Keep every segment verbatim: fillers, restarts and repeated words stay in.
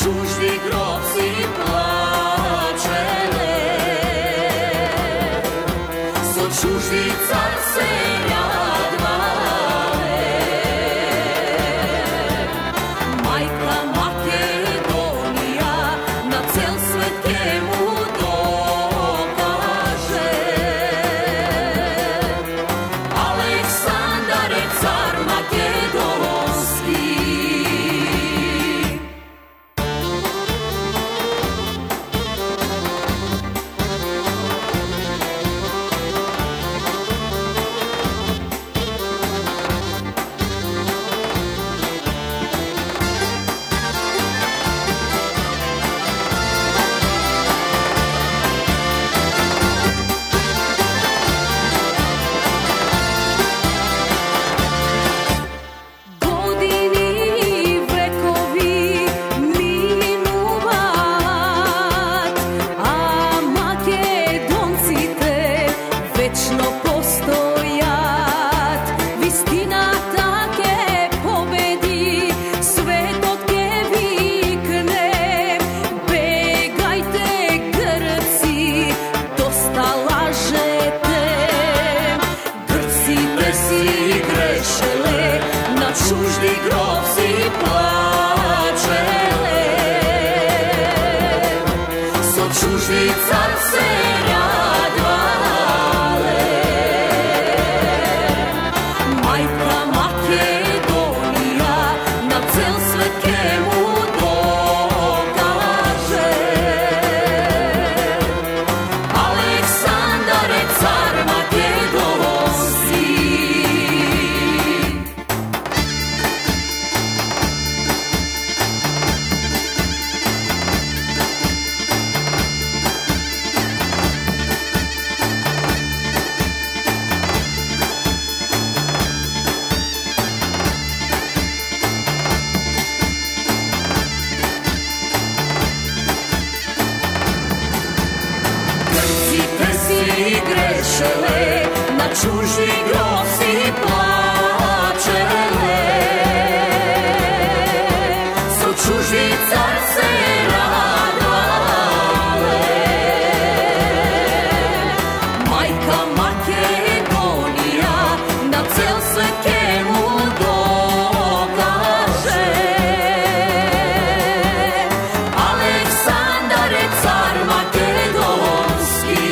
чужди гробци плачеле, со чужди цар се радвале. Мајка Македонија на цел свет ке му докаже, Александар е цар македонски. Чужди гробци плачеле, со чужди цар се радвале. Мајка Македонија на цел свет ке му докаже, Александар е цар македонски. Грешеле, на чужди гробци плачеле, со чужди цар се радвале. Мајка Македонија на цел свет ке му докаже, Александар е цар македонски.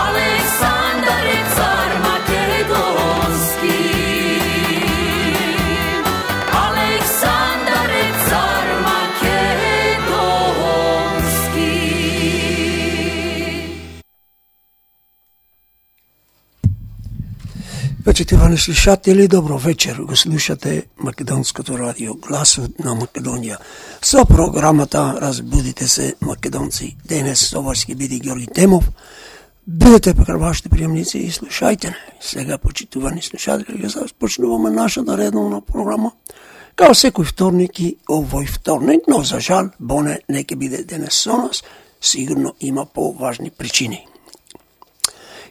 Александар е цар македонски. Александар е цар македонски. Почитувани слушатели, добро вечер. Го слушате Македонското радио, гласот на Македонија. Со програмата Разбудите се македонци. Денес со вас ќе биде Георги Темов. Бидете покрај вашите приемници и слушајте не. Сега, почитувани слушатели, ќе започнуваме нашата редовна програма. Као секој вторник и овој вторник, но за жал, Боне не ќе биде денес со нас, сигурно има поважни причини.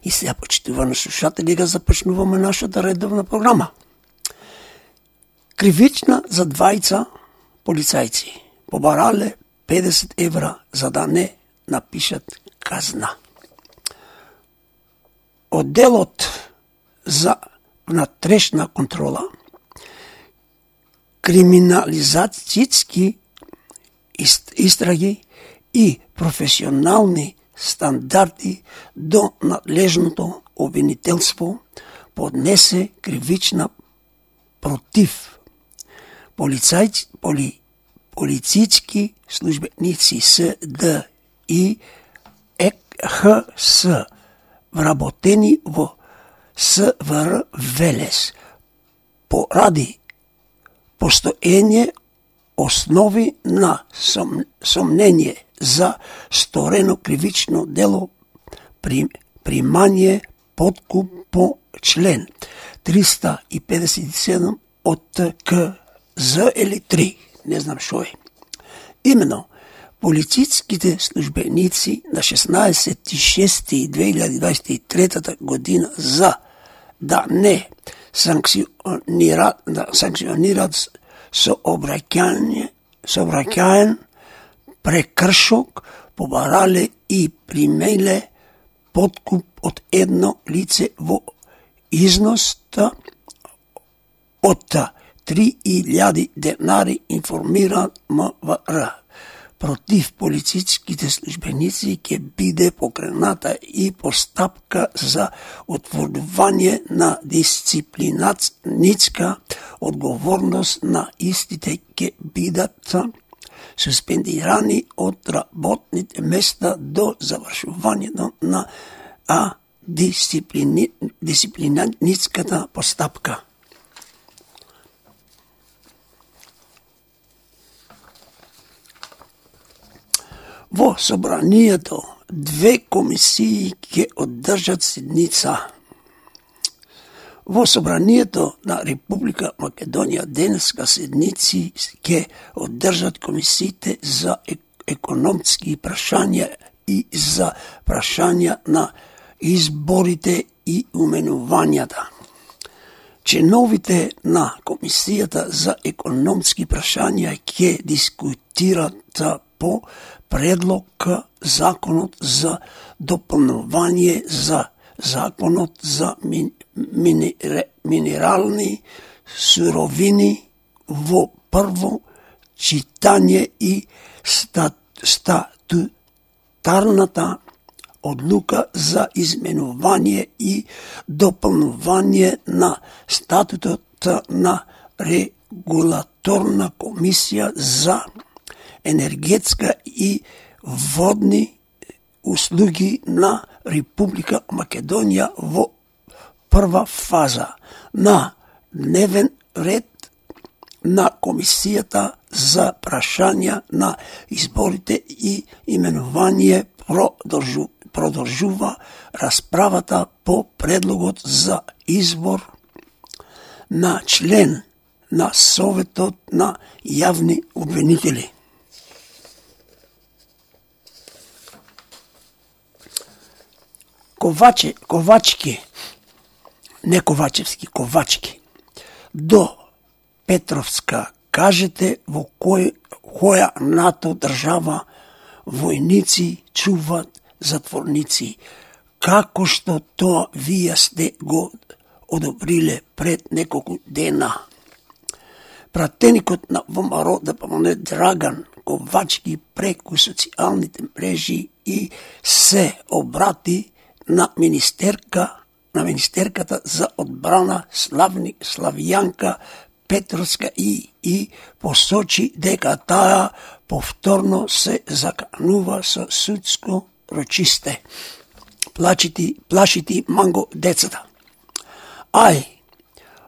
И сега, почитувани слушатели, га започнуваме нашата редовна програма. Кривична за двајца полицајци побарале педесет евра за да не напишат казна. Одделот за внатрешна контрола, криминализацијски истраги и професионални стандарди до надлежното обвинителство поднесе кривична против полицајци, поли, полицички службеници С Д и Е Х С вработени во С В Р Велес поради постоење основи на сом, сомнение за сторено кривично дело при, примање подкуп по член триста и педесет и седум од К З или три, не знам шо е. Имено, полициските службеници на шеснаесети шести две илјади дваесет и трета година за да не санкционират, да санкционират сообраќање, сообраќаен прекршок, побарале и примеле подкуп од едно лице во износта од три илјади денари, информира МВР. Против полициските службеници ќе биде покрената и постапка за утврдување на дисциплинарска одговорност, на истите ќе бидат суспендирани од работните места до завршувањето на а дисциплини, дисциплинарската постапка. Во собранието две комисии ќе одржат седница. Во собранието на Република Македонија денеска седници ќе одржат комисиите за економски прашања и за прашања на изборите и уменувањата. Членовите на Комисијата за економски прашања ќе дискутират по предлог законот за дополнување за законот за мин, минер, минерални суровини во прво читање и стат, статутарната одлука за изменување и дополнување на статутот на регулаторна комисија за енергетска и водни услуги на Република Македонија во прва фаза на дневен ред на Комисијата за прашања на изборите и именување продолжу, продолжува расправата по предлогот за избор на член на Советот на јавни обвинители. Коваче, Ковачки, не Ковачевски, Ковачки, до Петровска, кажете во кој, која НАТО држава војници чуват затворници, како што тоа вие сте го одобриле пред неколку дена. Пратеникот на ВМРО ДПМН Драган Ковачки преку социјалните мрежи и се обрати на министерка, на министерката за одбрана Славни, Славјанка Петровска и, и посочи дека таа повторно се заканува со судско рочисте. Плачити, плашити манго децата. Ај,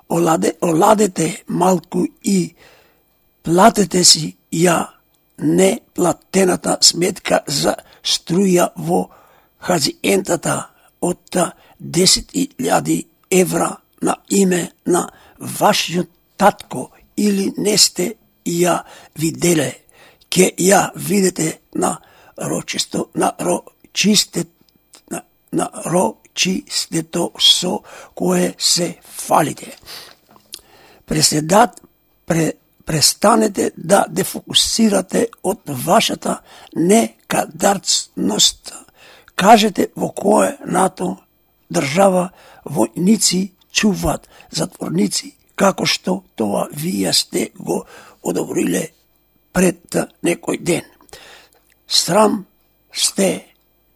оладе, оладете малку и платете си ја неплатената сметка за струја во хазиентата од десет илјади евра на име на вашиот татко, или не сте ја виделе, ке ја видите на рочисто, на рочисте, на, на рочистето со кое се фалите. Преседат, пре, престанете да дефокусирате од вашата некадарцност. Кажете во кое НАТО држава војници чуват затворници, како што тоа вие сте го одобриле пред некој ден. Срам сте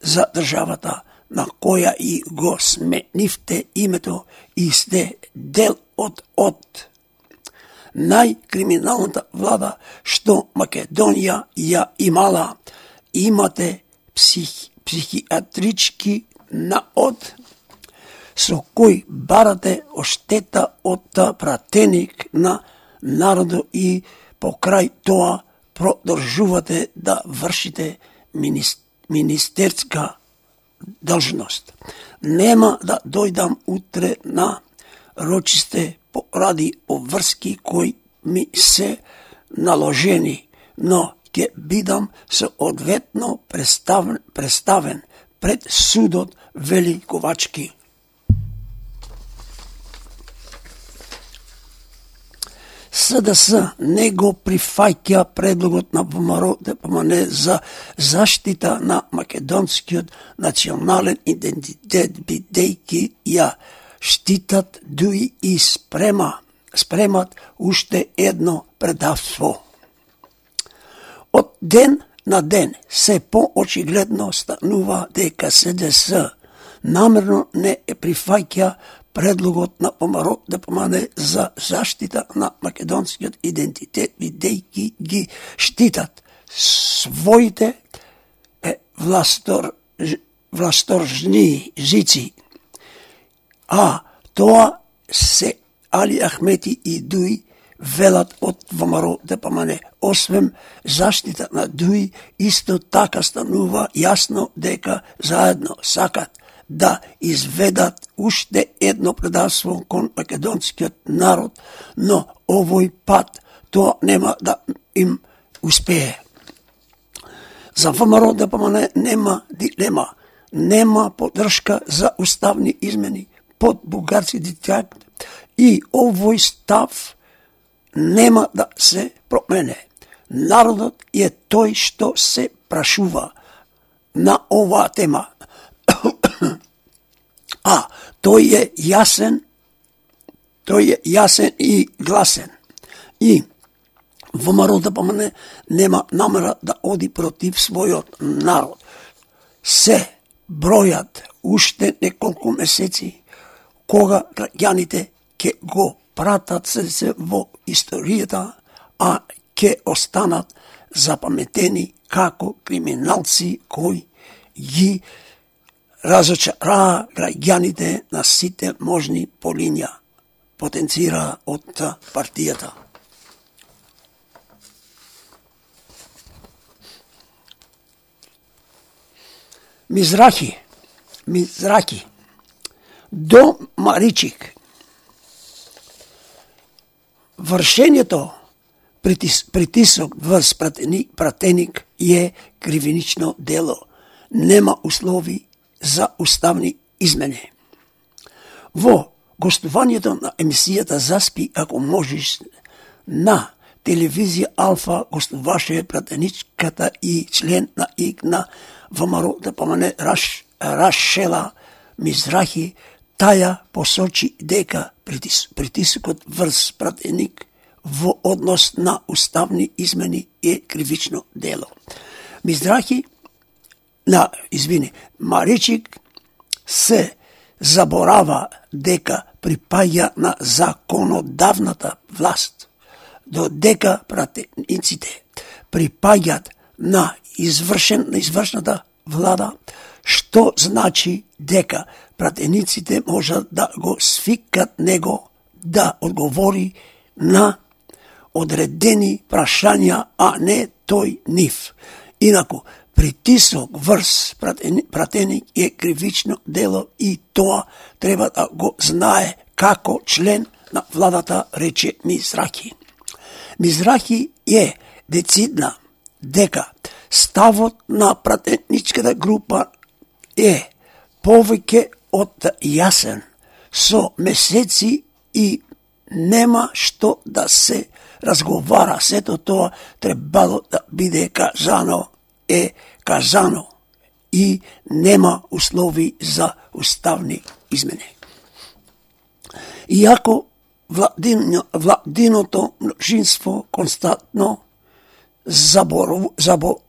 за државата на која и го сменивте името и сте дел од од најкриминалната влада што Македонија ја имала. Имате псих, психиатрички наод со кој барате оштета од пратеник на народо и покрај тоа продолжувате да вршите министерска должност. Нема да дојдам утре на рочисте поради обврски кои ми се наложени, но ќе бидам соодветно представен, представен пред судот, вели Ковачки. С Д С не го прифаќа предлогот на ВМРО Д П М Н за заштита на македонскиот национален идентитет, бидејќи ја штитат дуи и спрема, спремат уште едно предавство. Од ден на ден се поочигледно станува дека С Д С намерно не е прифаќа предлогот на ВМРО Д П М Н за заштита на македонскиот идентитет, бидејќи ги штитат своите е, властор, власторжни жици. А тоа се Али Ахмети и Дуи велат од ВМРО Д П М Н. Освен заштита на Дуи, исто така станува јасно дека заедно сакат да изведат уште едно предавство кон македонскиот народ, но овој пат тоа нема да им успее. За ВМРО Д П М Н нема дилема, нема поддршка за уставни измени под бугарски диктат и овој став нема да се промене. Народот е тој што се прашува на оваа тема. А тој е јасен, тој е јасен и гласен. И ВМРО Д П М Н нема намера да оди против својот народ. Се бројат уште неколку месеци кога граѓаните ќе го пратат се во историјата, а ќе останат запаметени како криминалци кои ги разочараа граѓаните на сите можни полиња, потенцира од партијата. Мизрахи, Мизрахи, до Маричик. Вршењето притис, притисок врз пратеник, пратеник е кривинично дело. Нема услови за уставни измени. Во гостувањето на емисијата Заспи ако можеш на телевизија Алфа гостуваше пратеничката и член на ИК на ВМРО Д П М Н Раш, Рашела Мизрахи. Таја посочи дека притис, притисокот врз пратеник во однос на уставни измени е кривично дело. Мизрахи на, извини, Маричик се заборава дека припаѓа на законодавната власт, додека пратениците припаѓат на извршен, на извршната влада, што значи дека пратениците можат да го свикат него да одговори на одредени прашања, а не тој нив. Инаку, притисок врз пратеник е кривично дело и тоа треба да го знае како член на владата, рече Мизрахи. Мизрахи е децидна дека ставот на пратеничката група е повеќе од јасен, со месеци и нема што да се разговара. Сето тоа требало да биде кажано, е кажано и нема услови за уставни измени. Иако владино, владиното множинство константно забору, забо,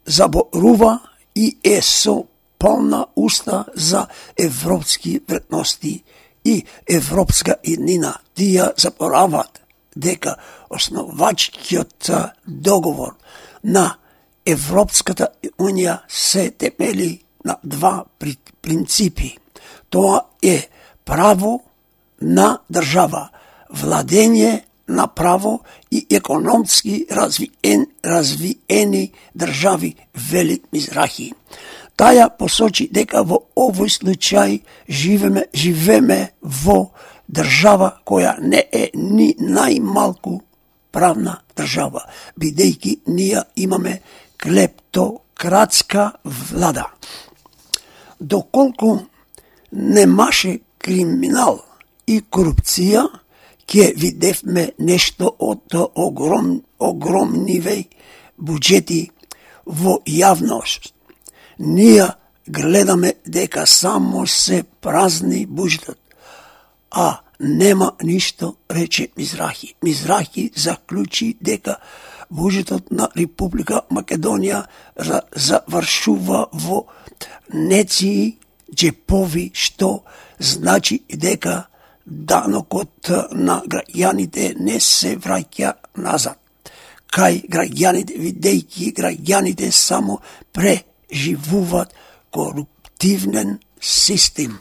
заборува и е со полна уста за европски вредности и европска еднина. Тие заборават дека основачкиот договор на Европската унија се темели на два принципи. Тоа е право на држава, владење на право и економски развиен, развиени држави, вели Мизрахи. Таја посочи дека во овој случај живеме, живеме во држава која не е ни најмалку правна држава, бидејќи ние имаме клептократска влада. Доколку немаше криминал и корупција, ке видевме нешто од огром, огромниве буџети во јавност. Ние гледаме дека само се празни буџетот, а нема ништо, рече Мизрахи. Мизрахи заклучи дека буџетот на Република Македонија завршува во неции џепови, што значи дека данокот на граѓаните не се враќа назад кај граѓаните, видејќи граѓаните само преживуваат коруптивен систем.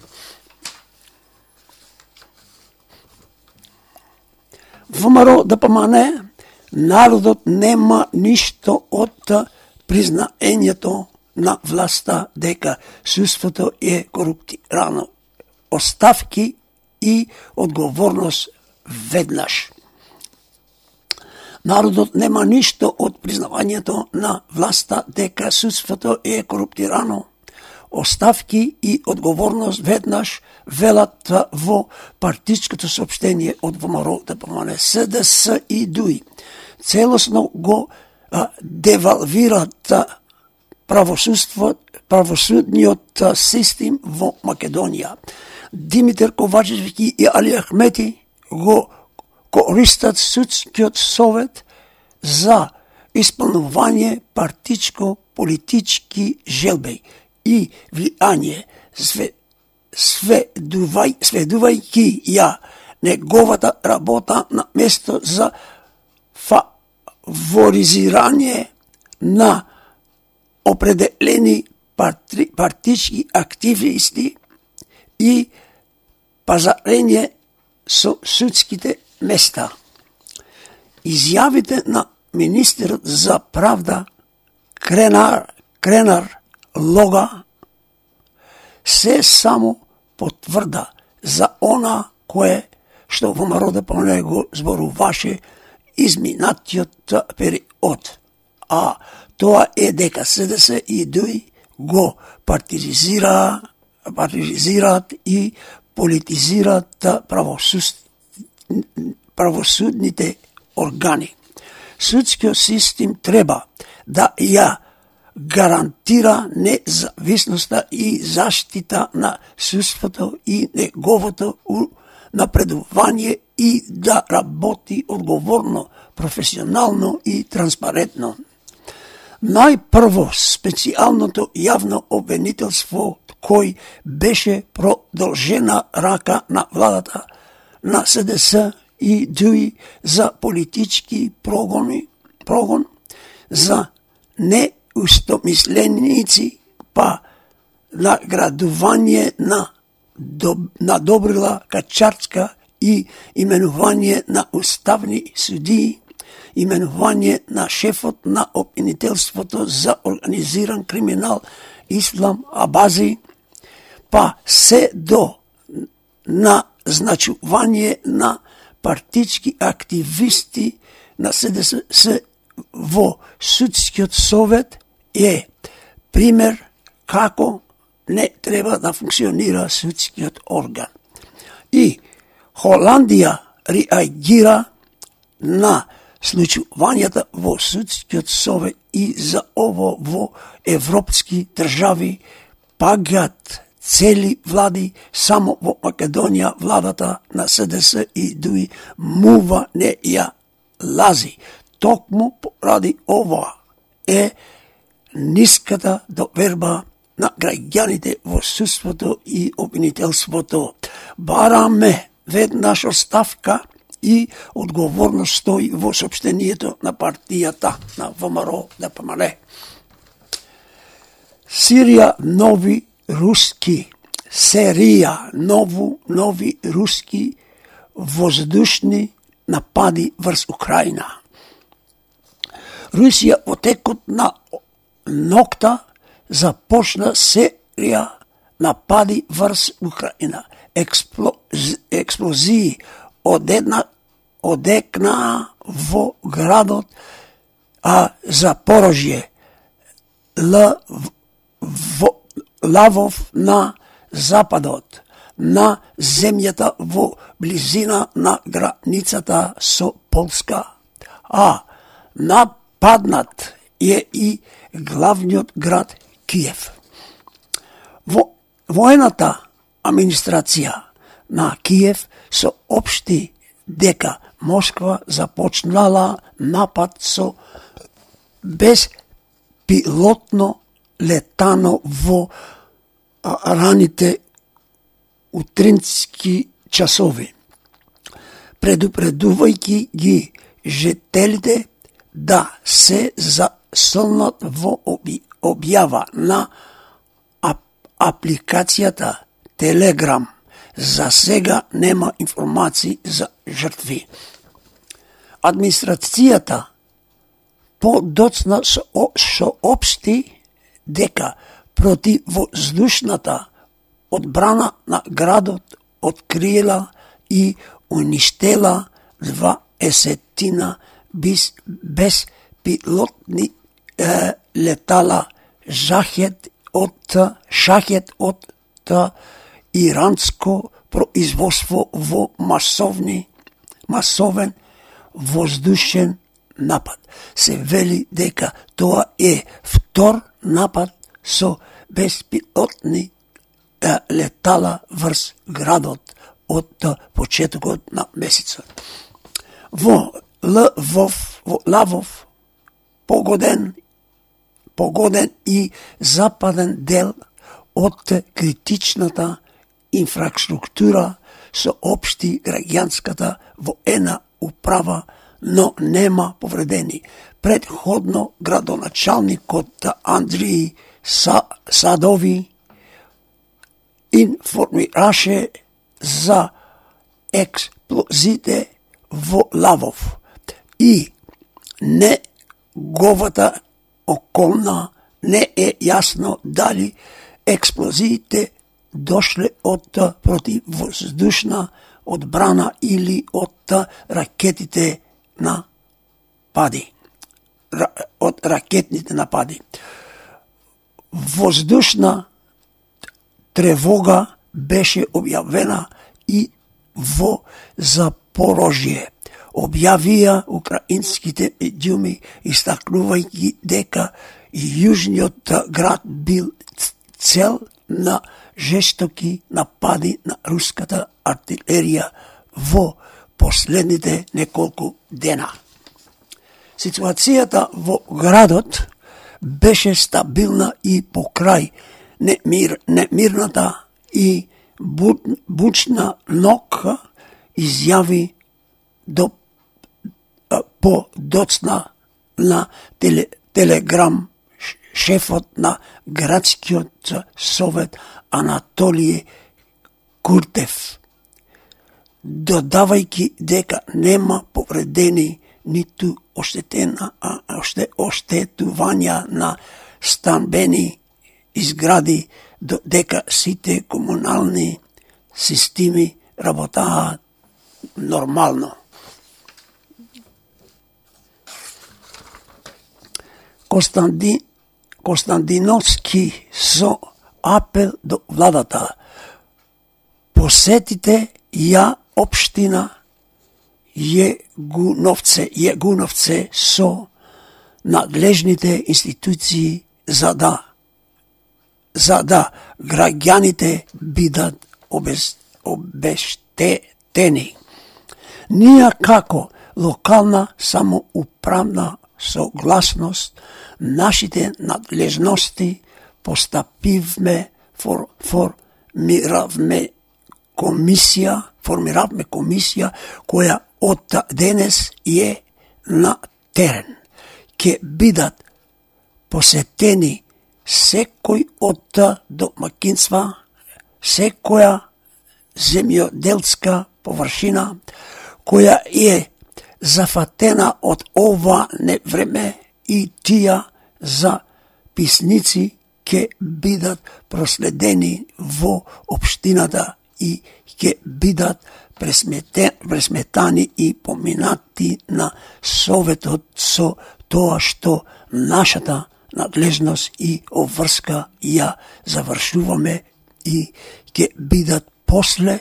ВМРО ДПМН, народот нема ништо од признаењето на власта дека судството е коруптирано. Оставки и одговорност веднаш. Народот нема ништо од признавањето на власта дека судството е коруптирано. Оставки и одговорност веднаш, велат во партичкото соопштение од ВМРО ДПМН. СДС и ДУИ целосно го а, девалвираат правосудство, правосудниот систем во Македонија. Димитар Ковачевски и Али Ахмети го користат судскиот совет за исполнување партичко-политички желби и влијание, све, сведувај, сведувајќи ја неговата работа на место за фаворизирање на определени парти, партички активисти и пазарење со судските места. Изјавите на министерот за правда Кренар, Кренар Лога се само потврда за она кое што ВМРО ДПМН го зборуваше изминатиот период, а тоа е дека СДС и ДУИ го партизира, партизираат и политизираат правосуд, правосудните органи. Судскиот систем треба да ја гарантира независноста и заштита на судството и неговото напредување и да работи одговорно, професионално и транспарентно. Најпрво специјалното јавно обвинителство кој беше продолжена рака на владата на СДС и ДУИ за политички прогони, прогон, за неустомисленици, па наградување на на Добрила Качарска и именување на уставни судии, именување на шефот на обвинителството за организиран криминал Ислам Абази, па се до назначување на партички активисти на СДС во судскиот совет е пример како не треба да функционира судскиот орган. И Холандија реагира на случувањата во судскиот совет и за ово во европски држави пагат цели влади, само во Македонија владата на СДС и ДУИ мува не ја лази. Токму поради ова е ниската доверба на граѓаните во судството и обвинителството. Бараме веднаш оставка и одговорност, стои во соопштението на партијата на ВМРО ДПМН. Сирија нови руски, серија нову, нови руски воздушни напади врз Украина. Русија во текот на ноќта започна серија напади врз Украина. Експлози, експлозии одедна, одекна во градот а Запорожје, Л, во, Лавов на западот, на земјата во близина на границата со Полска, а нападнат е и главниот град Киев. Во воената администрација на Киев соопшти дека Москва започнала напад со безпилотно летано во раните утрински часови, предупредувајќи ги жителите да се засолнат во објава на апликацијата Телеграм. За сега нема информации за жртви. Администрацијата подоцна соопшти дека противвоздушната одбрана на градот открила и уништела дваесетина безпилотни е, летала шахет од шахет од иранско производство во масовни масовен воздушен напад. Се вели дека тоа е втор напад со безпилотни е, летала врз градот од почетокот на месецот. Во Лвов, во Лавов погоден погоден и западен дел од критичната инфраструктура соопшти граѓанската воена управа, но нема повредени. Предходно градоначалникот Андриј Садови информираше за експлозите во Лавов и неговата околна не е јасно дали експлозиите дошле од противвоздушна одбрана или од ракетите на пади. Од ракетните напади. Воздушна тревога беше објавена и во Запорожје. Објавија украинските медиуми, истакнувајќи дека јужниот град бил цел на жестоки напади на руската артилерија во последните неколку дена. Ситуацијата во градот беше стабилна и покрај немир, немирната и бучна ноќ, изјави до по доцна на теле, Телеграм шефот на градскиот совет Анатолиј Куртев, додавајќи дека нема повредени ниту оштетена, а оште оштетувања на станбени изгради, додека сите комунални системи работаат нормално. Константин Константиновски со апел до владата: посетите ја општина Јегуновце, Јегуновце со надлежните институции за да за да граѓаните бидат обез, обештетени. Ние како локална самоуправна согласност нашите надлежности постапивме фор, формиравме комисија, формиравме комисија која од денес е на терен. Ке бидат посетени секој од домакинства, секоја земјоделска површина која е зафатена од ова невреме, и тие записници ќе бидат проследени во општината и ќе бидат пресметани и поминати на советот со тоа што нашата надлежност и обврска ја завршуваме и ќе бидат после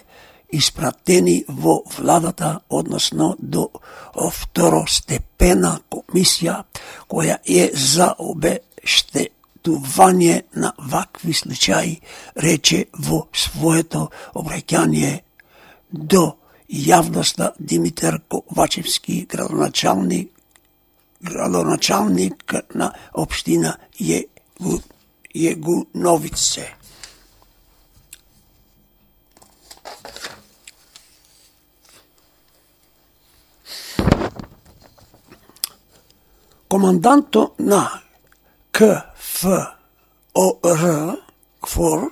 испратени во владата, односно до второстепена комисија, која е за обештетување на вакви случаи, рече во своето обраќање до јавноста Димитар Ковачевски, градоначалник, градоначалник на општина Јегу, Јегуновице. Команданто на К Ф О Р КФОР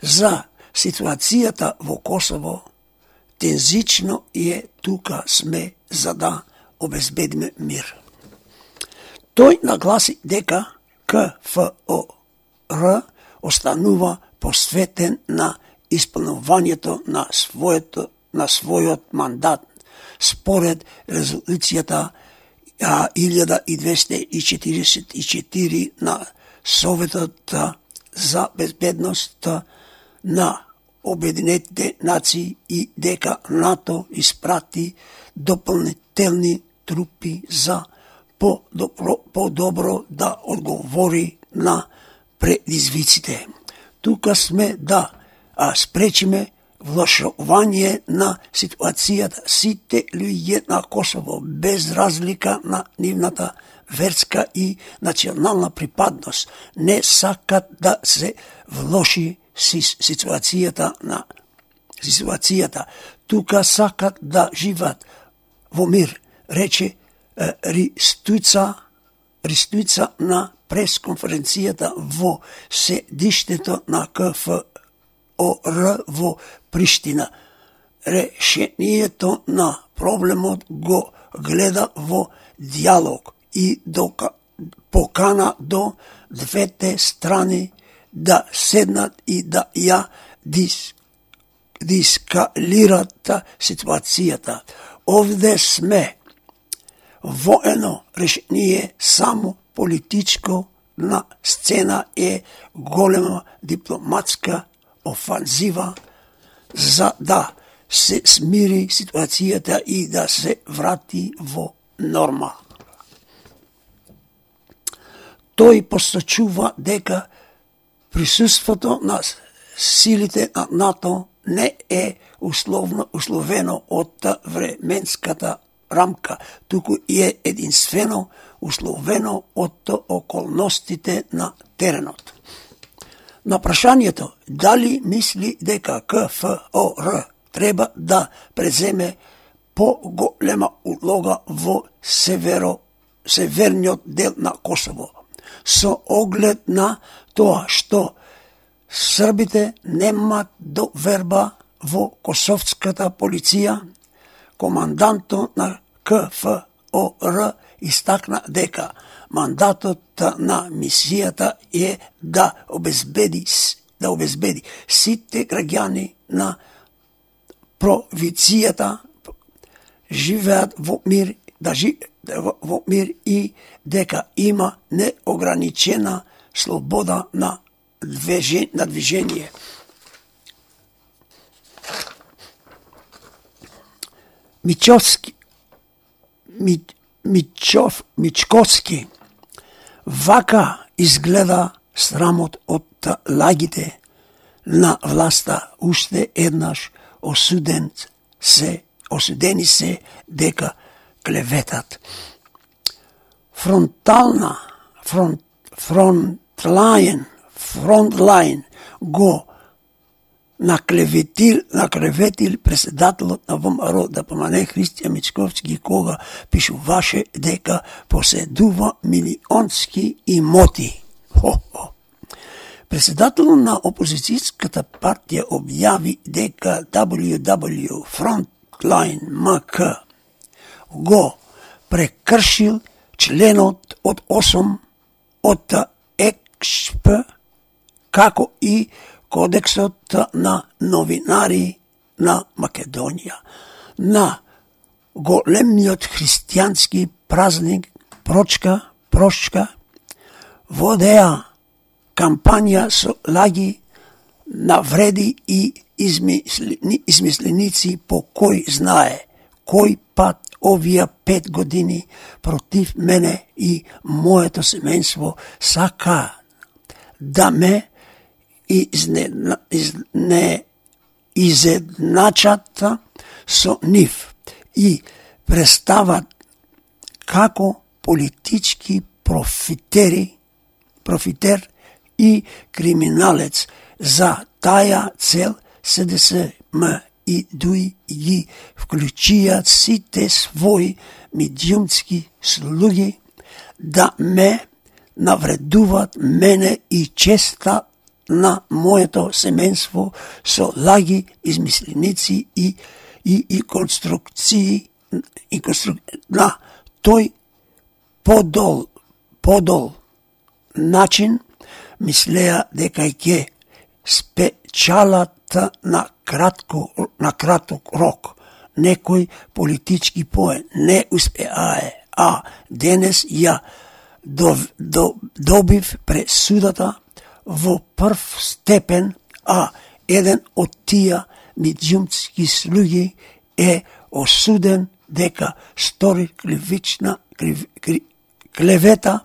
за ситуацијата во Косово тензично е тука сме за да обезбедиме мир. Тој нагласи дека К Ф О Р останува посветен на исполнувањето на своето на својот мандат според резолуцијата илјада двесте и четиридесет и четири на Советот за безбедност на Обединетите нации и дека НАТО испрати дополнителни трупи за по-добро, по-добро да одговори на предизвиците. Тука сме да а, спречиме влошување на ситуацијата. Сите луѓе на Косово, без разлика на нивната верска и национална припадност, не сакат да се влоши ситуацијата на ситуацијата. Тука сакат да живеат во мир, рече Ристујца, Ристујца на пресконференцијата во седиштето на К Ф О Р во Приштина. Решението на проблемот го гледа во диалог и до покана до двете страни да седнат и да ја дис, дискалират ситуацијата. Овде сме воено решение само политичко, на сцена е голема дипломатска офанзива за да се смири ситуацијата и да се врати во норма. Тој посочува дека присуството на силите на НАТО не е условно, условено од временската рамка, туку е единствено условено од околностите на теренот. На прашањето дали мисли дека К Ф О Р треба да преземе по-голема улога во северо, северниот дел на Косово, со оглед на тоа што србите немаат доверба во косовската полиција, команданто на К Ф О Р истакна дека мандатот на мисијата е да обезбеди да обезбеди сите граѓани на провинцијата живеат во мир, да живеат во мир и дека има неограничена слобода на движење, на движење. Мичовски Ми, Мичов, Мичковски вака изгледа срамот од лагите на власта уште еднаш осуден се, осудени се дека клеветат. Фронтална, фронт, фронтлайн, фронтлайн го наклеветил, наклеветил председателот на Во М Р да помане Христијан Мичковски, кога пишуваше дека поседува милионски имоти. Хо-хо. Председателот на опозицијската партија објави дека W W Frontline М К го прекршил членот од осум од Е К П, како и Кодексот на новинари на Македонија. На големиот христијански празник Прочка, Прошка, водеа кампања со лаги, навреди и измислени, измисленици по кој знае кој пат овие пет години против мене и моето семејство сака да ме изне, изне, изедначат со нив и представат како политички профитери, профитер и криминалец. За тая цел СДСМ и ДУИ ги вклучијат сите своји медиумски слуги да ме навредуват мене и честа на моето семејство со лаги, измисленици и, и, и конструкции и конструк... на тој подол, подол начин мислеа дека ќе спечалат на кратко на краток рок. Некој политички поен не успеае, а денес ја дов, до, добив пресудата во прв степен, а еден од тие медиумски слуги е осуден дека стори кривична крив, крив, клевета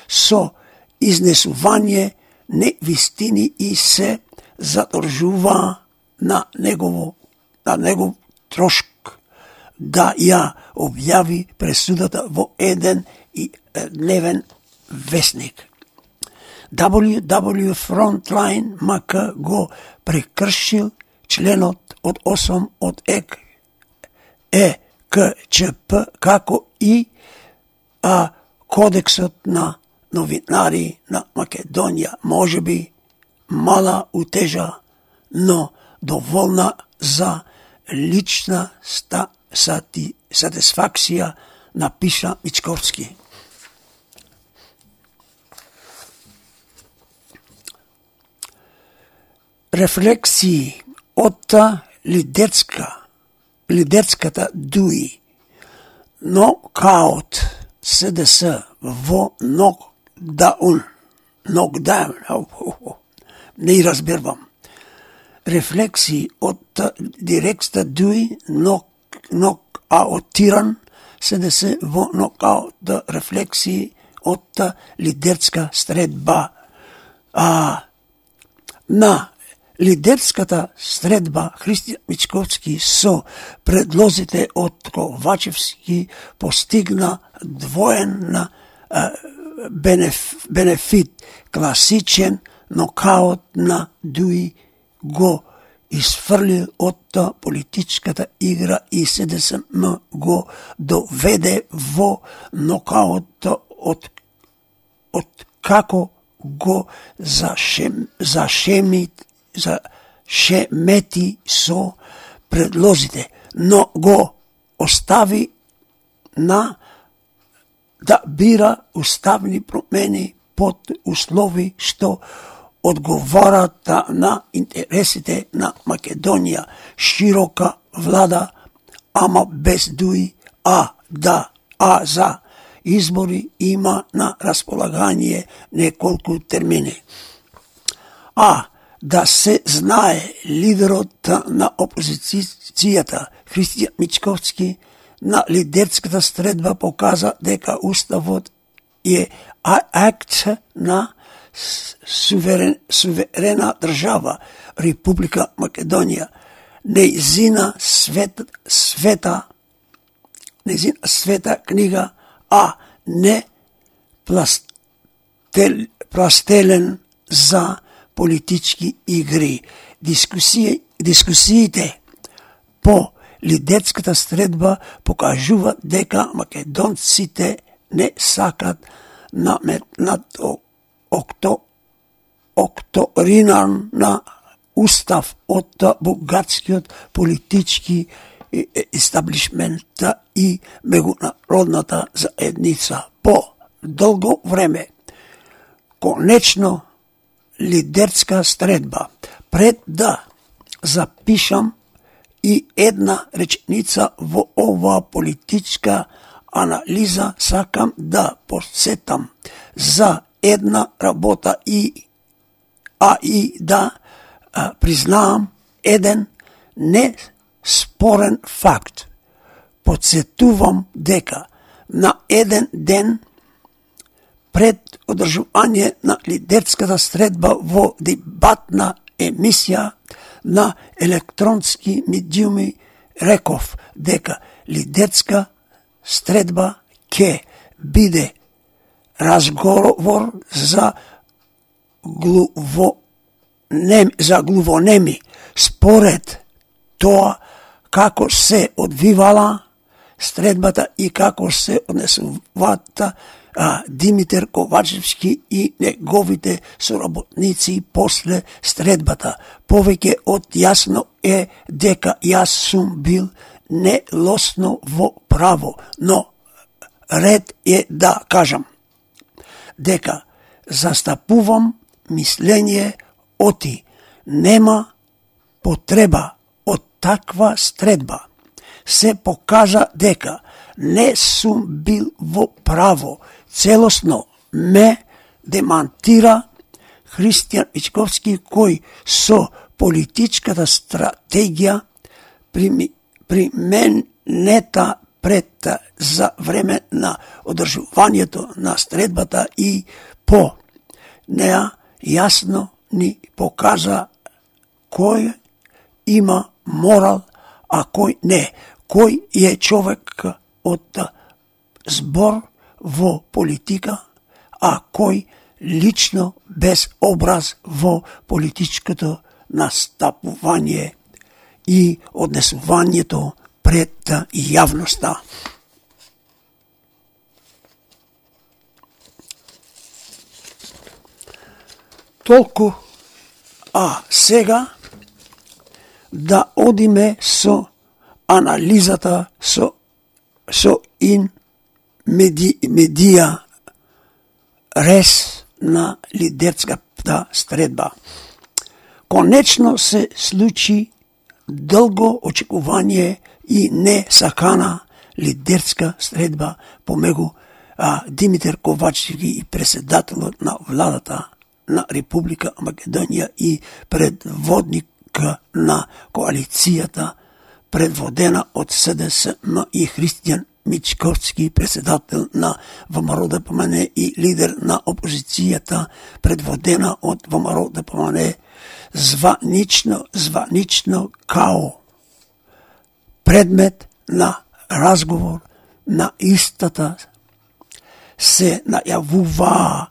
со изнесување невистини и се задржува на негово на негов трошк да ја објави пресудата во еден и дневен весник. дабл ю дабл ю Frontline ем ка го прекршил членот од осум од ЕК Е К Ч П, како и а, кодексот на новинари на Македонија. Може би мала утежа, но доволна за лична ста, сати, сатисфакција, напиша Мичковски. Рефлексии од лидерска, лидерската ДУИ, нокаут СДС во нокдаун, нокдаун, не разбервам. Рефлексии од дирекста ДУИ, нок, нокаутиран СДС во нокаут, рефлексии од лидерска средба. А, на лидерската средба Христијан Мичковски со предлозите од Ковачевски постигна двоен бенеф, бенефит. Класичен нокаут на ДУИ го изфрли од политичката игра и СДСМ го доведе во нокаут од, од како го зашем, зашеми за шемети со предлозите, но го остави на да бира уставни промени под услови што одговорат на интересите на Македонија, широка влада, ама без ДУИ, а да, а за избори има на располагање неколку термини. А да се знае, лидерот на опозицијата Христијан Мичковски на лидерската средба показа дека уставот е акт на суверен, суверена држава Република Македонија, нејзина свет, света нејзина света книга, а не пластел, пластелен за политички игри. Дискусии, дискусиите по лидерската средба покажуваат дека македонците не сакат наметнат окто, окторинан на устав од бугарскиот политички естаблишмент и меѓународната заедница. По долго време, конечно, лидерска средба. Пред да запишам и една реченица во оваа политичка анализа, сакам да подсетам за една работа и а и да а, признаам еден неспорен факт. Подсетувам дека на еден ден пред одржување на лидерската средба во дебатна емисија на електронски медиуми реков дека лидерска средба ќе биде разговор за глувонеми, за глувонеми според тоа како се одвивала средбата и како се однесувата а, Димитар Ковачевски и неговите соработници после средбата. Повеќе од јасно е дека јас сум бил нелосно во право, но ред е да кажам дека застапувам мислење оти нема потреба од таква средба. Се покажа дека не сум бил во право. Целосно ме демантира Христијан Мичковски, кој со политичката стратегија применета пред за време на одржувањето на средбата и по неа јасно ни покажа кој има морал, а кој не. Кој е човек од збор во политика, а кој лично без образ во политичкото настапување и однесувањето пред јавноста. Толку, а сега да одиме со анализата со со ин меди, медија рез на лидерската средба. Конечно се случи долго очекување и не сакана лидерска средба помегу а, Димитар Ковачевски и председателот на владата на Република Македонија и предводник на коалицијата предводена од СДСМ и Христијан Мичковски, председател на ВМРО-ДПМН и лидер на опозицијата предводена од ВМРО-ДПМН, званично, званично као предмет на разговор на истата се најавуваа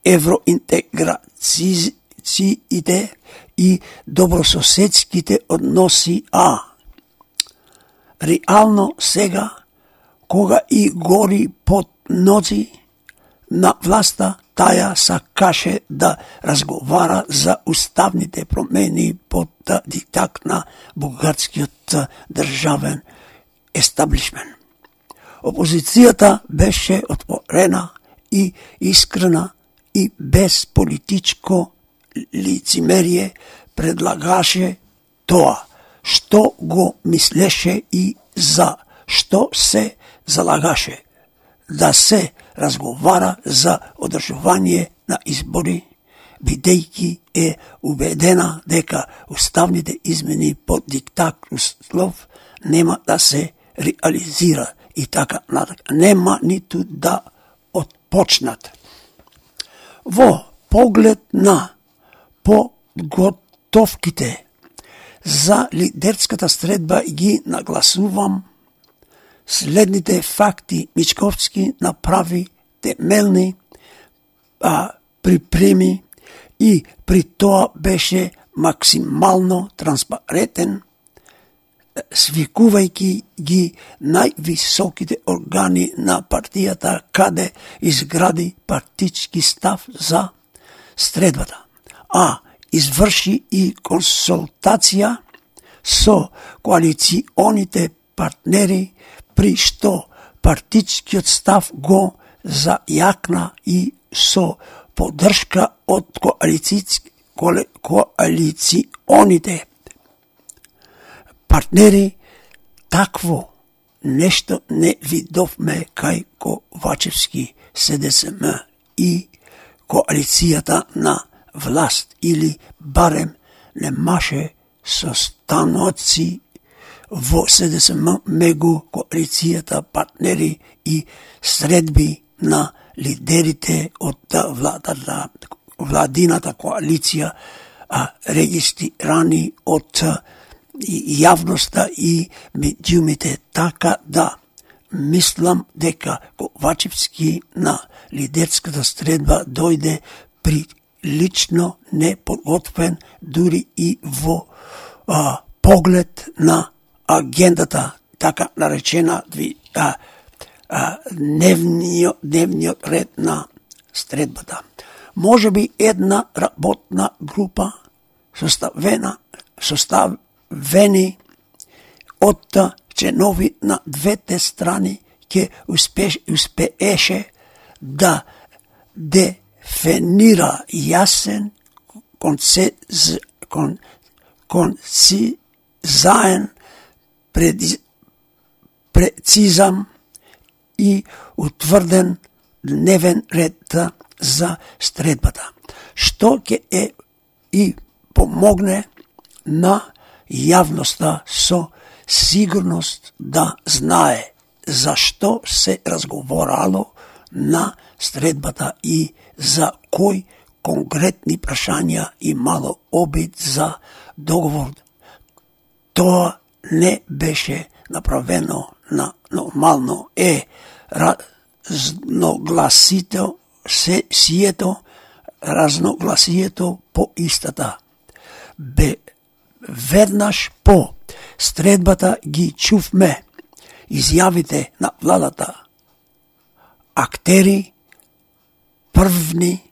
евроинтеграциите и добрососедските односи, а реално сега, кога и гори под нози на власта, таја сакаше да разговара за уставните промени под диктат на бугарскиот државен естаблишмент. Опозицијата беше отворена и искрена и без политичко лицемерие предлагаше тоа што го мислеше и за што се залагаше, да се разговара за одржување на избори, бидејќи е убедена дека уставните измени под диктат услов нема да се реализира и така натака. Нема ниту да отпочнат. Во поглед на подготовките за лидерската средба ги нагласувам следните факти. Мичковски направи темелни а, припреми и при тоа беше максимално транспарентен, свикувајќи ги највисоките органи на партијата, каде изгради партички став за средбата, а изврши и консултација со коалиционите партнери, при што партичкиот став го зајакна и со поддршка од коалиционите партнери. Такво нешто не видовме кај Ковачевски, СДСМ и коалицијата на власт, или барем немаше состаноци во СДСМ мегу коалицијата партнери и средби на лидерите од владата, владината коалиција, а, регистрирани од јавноста и медиумите, така да мислам дека Ковачевски на лидерската средба дојде прилично неподготвен дури и во а, поглед на агендата, така наречена а, а, дневниот, дневниот ред на средбата. Може би една работна група составена, составени од членови на двете страни ќе успеш, успееше да дефинира јасен концез, кон, концизаен пред, прецизам и утврден дневен ред за средбата, што ќе е и помогне на јавноста со сигурност да знае зашто се разговорало на средбата и за кои конкретни прашања имало обид за договор. Тоа не беше направено на нормално е разногласито се сието, разногласието по истата. Бе веднаш по средбата ги чувме изјавите на владата актери, првни,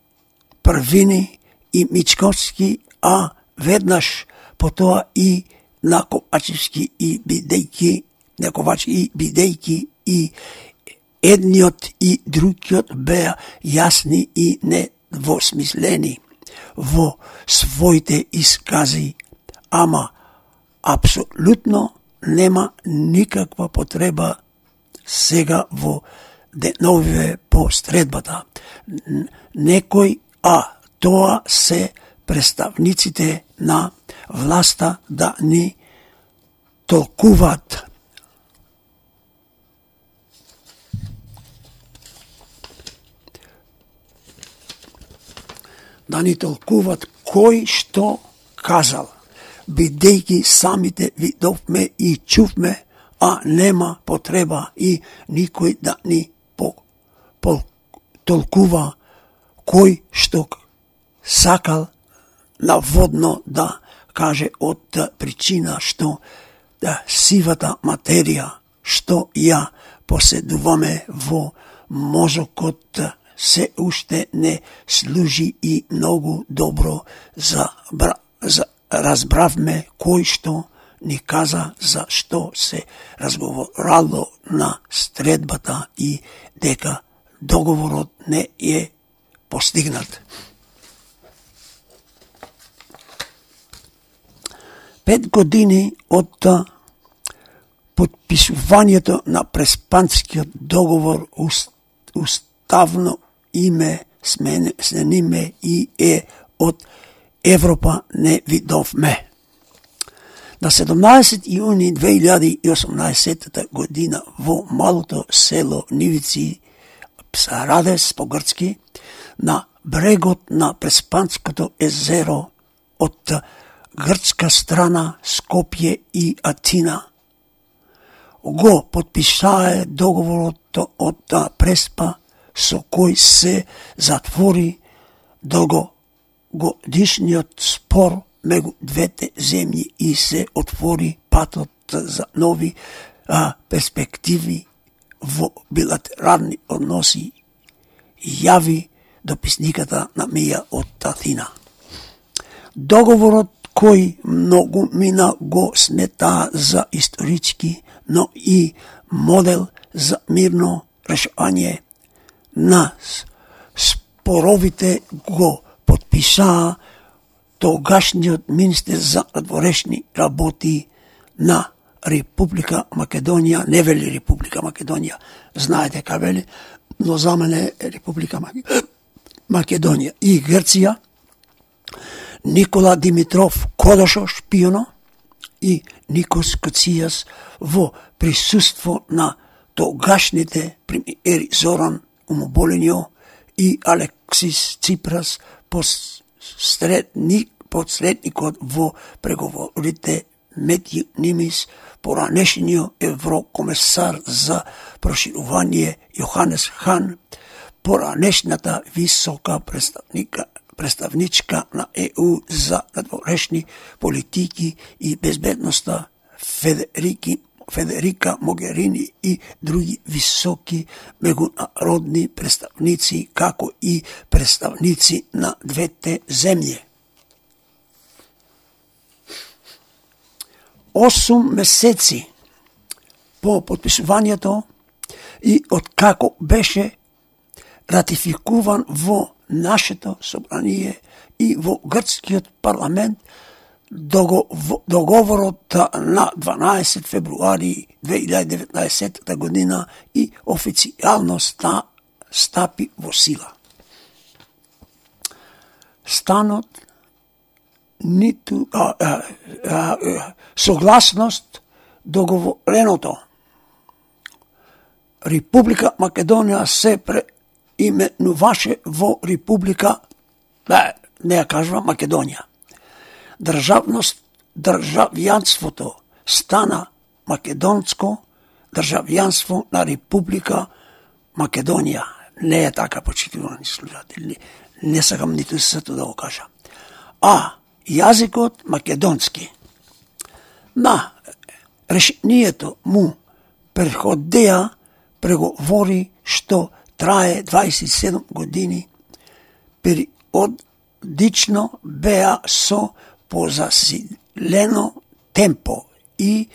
првини и Мичковски, а веднаш потоа и на Ковачевски и бидејки, на Ковачевски и бидејки и едниот и другиот беа јасни и недвосмислени во своите искази, ама апсолутно нема никаква потреба сега во деновиве по средбата. Некој, а тоа се представниците на власта, да ни толкуваат да ни толкуваат кој што казал, бидејќи самите видовме и чувме, а нема потреба и никој да ни по, по, толкува кој што сакал наводно да каже од причина што да, сивата материја што ја поседуваме во мозокот се уште не служи и многу добро за, за разбравме кој што ни каза за што се разговорало на средбата и дека договорот не е постигнат. Пет години од подписувањето на Преспанскиот договор уставно име смениме и е од Европа не видовме. На седумнаесет јуни две илјади и осумнаесета година во малото село Нивици, Псарадес по-грцки, на брегот на Преспанското езеро од грчка страна Скопје и Атина го подпишае договорот од Преспа со кој се затвори долгогодишниот спор меѓу двете земји и се отвори патот за нови а, перспективи во билатерални односи, јави дописниката на Мија од Атина. Договорот кој многу мина го смета за исторички, но и модел за мирно решање на споровите го подпишаа тогашниот министер за надворешни работи на Република Македонија, не вели Република Македонија, знаете ка вели, но за мене е Република Македонија и Грција, Никола Димитров Кодошо, шпионо, и Никос Кацијас во присуство на тогашните премиери Зоран Умоболенио и Алексис Ципрас, посредник, посредникот во преговорите меѓу Нимис, поранешниот еврокомесар за проширување Јоханес Хан, поранешната висока представника представничка на Е У за надворешни политики и безбедноста Федерики, Федерика Могерини и други високи меѓународни представници, како и представници на двете земји. Осум месеци по подписувањето и откако беше ратификуван во нашето собрание и во грчкиот парламент договорот на дванаесет февруари две илјади и деветнаесетта година и официјално ста, стапи во сила. Станот ниту а, а, а, а, согласност договореното Република Македонија се преименуваше во Република, бе, не ја кажува Македонија. Државност, државјанството стана македонско државјанство на Република Македонија. Не е така, почитувани слушатели. Не сакам ниту сето да го кажам. А јазикот македонски. На решението му преходеа преговори што трае дваесет и седум години, периодично беа со позасилено темпо и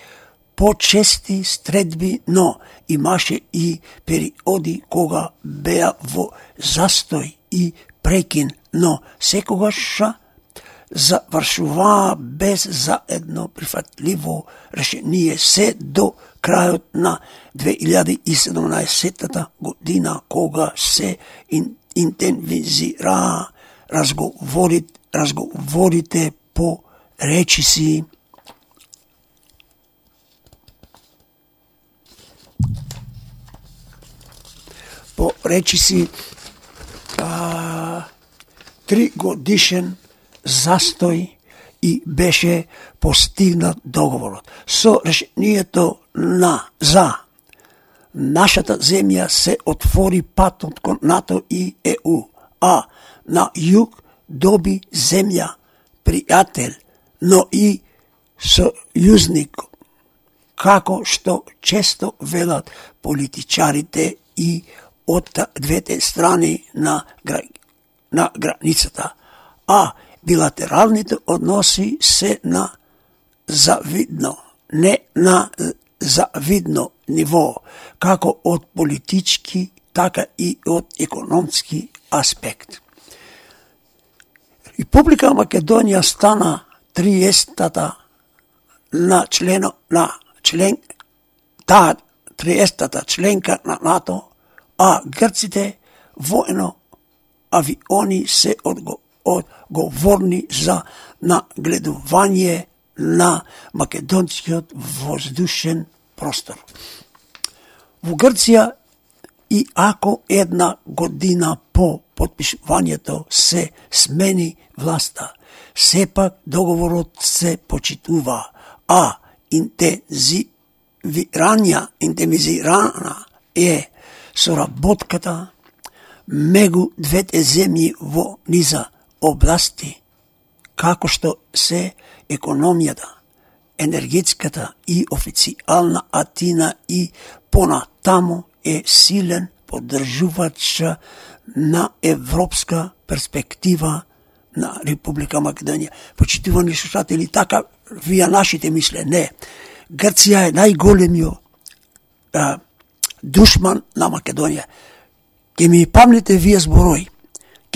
почести стредби, но имаше и периоди кога беа во застој и прекин, но секогаш завршуваа без заедно прифатливо решение се до крајот на две илјади и седумнаесетта година, кога се интензивираа разговорите, разговорите по речиси по речиси а, три годишен застој и беше постигнат договорот. Со решението на за нашата земја се отвори патот кон НАТО и Е У, а на југ доби земја пријател, но и сојузник, како што често велат политичарите и од двете страни на, гра... на границата. А билатералните односи се на завидно, не на завидно ниво, како од политички, така и од економски аспект. Република Македонија стана триесеттата на члено на член таа триесеттата членка на НАТО, а грците воено авиони се одго одговорни за нагледување на македонскиот воздушен простор. Во Грција, и ако една година по подпишувањето се смени власта, сепак договорот се почитува, а интензивирања, интензивирана е соработката меѓу двете земји во низа области, како што се економијата, енергетската и официјална Атина и понатамо е силен поддржувач на европска перспектива на Република Македонија. Почитувани слушатели, така вија нашите мисле. Не. Грција е најголемиот а, душман на Македонија. Ке ми памнете вие зборои.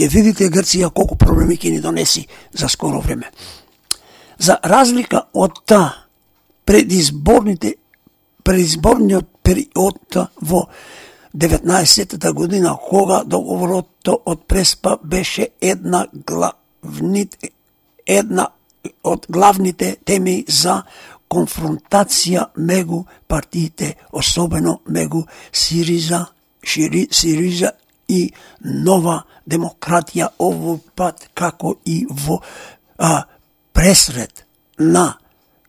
Ке видите Грција колку проблеми ќе ни донеси за скоро време. За разлика од та предизборните предизборниот период во деветнаесеттата година, кога договорот од Преспа беше една главните една од главните теми за конфронтација мегу партиите, особено мегу Сириза, Шири, Сириза и Нова демократија овој пат, како и во а, пресред на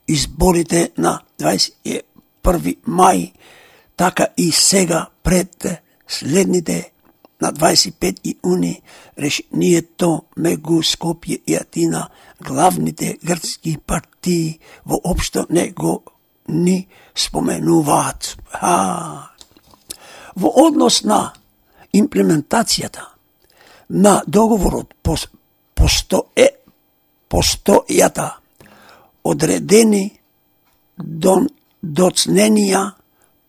изборите на дваесет и први мај, така и сега пред следните на дваесет и пети јуни решението мегу Скопје и Атина, главните грчки партии воопшто не го ни споменуваат. А, во однос на имплементацијата на договорот постоe, постојата одредени дон, доцненија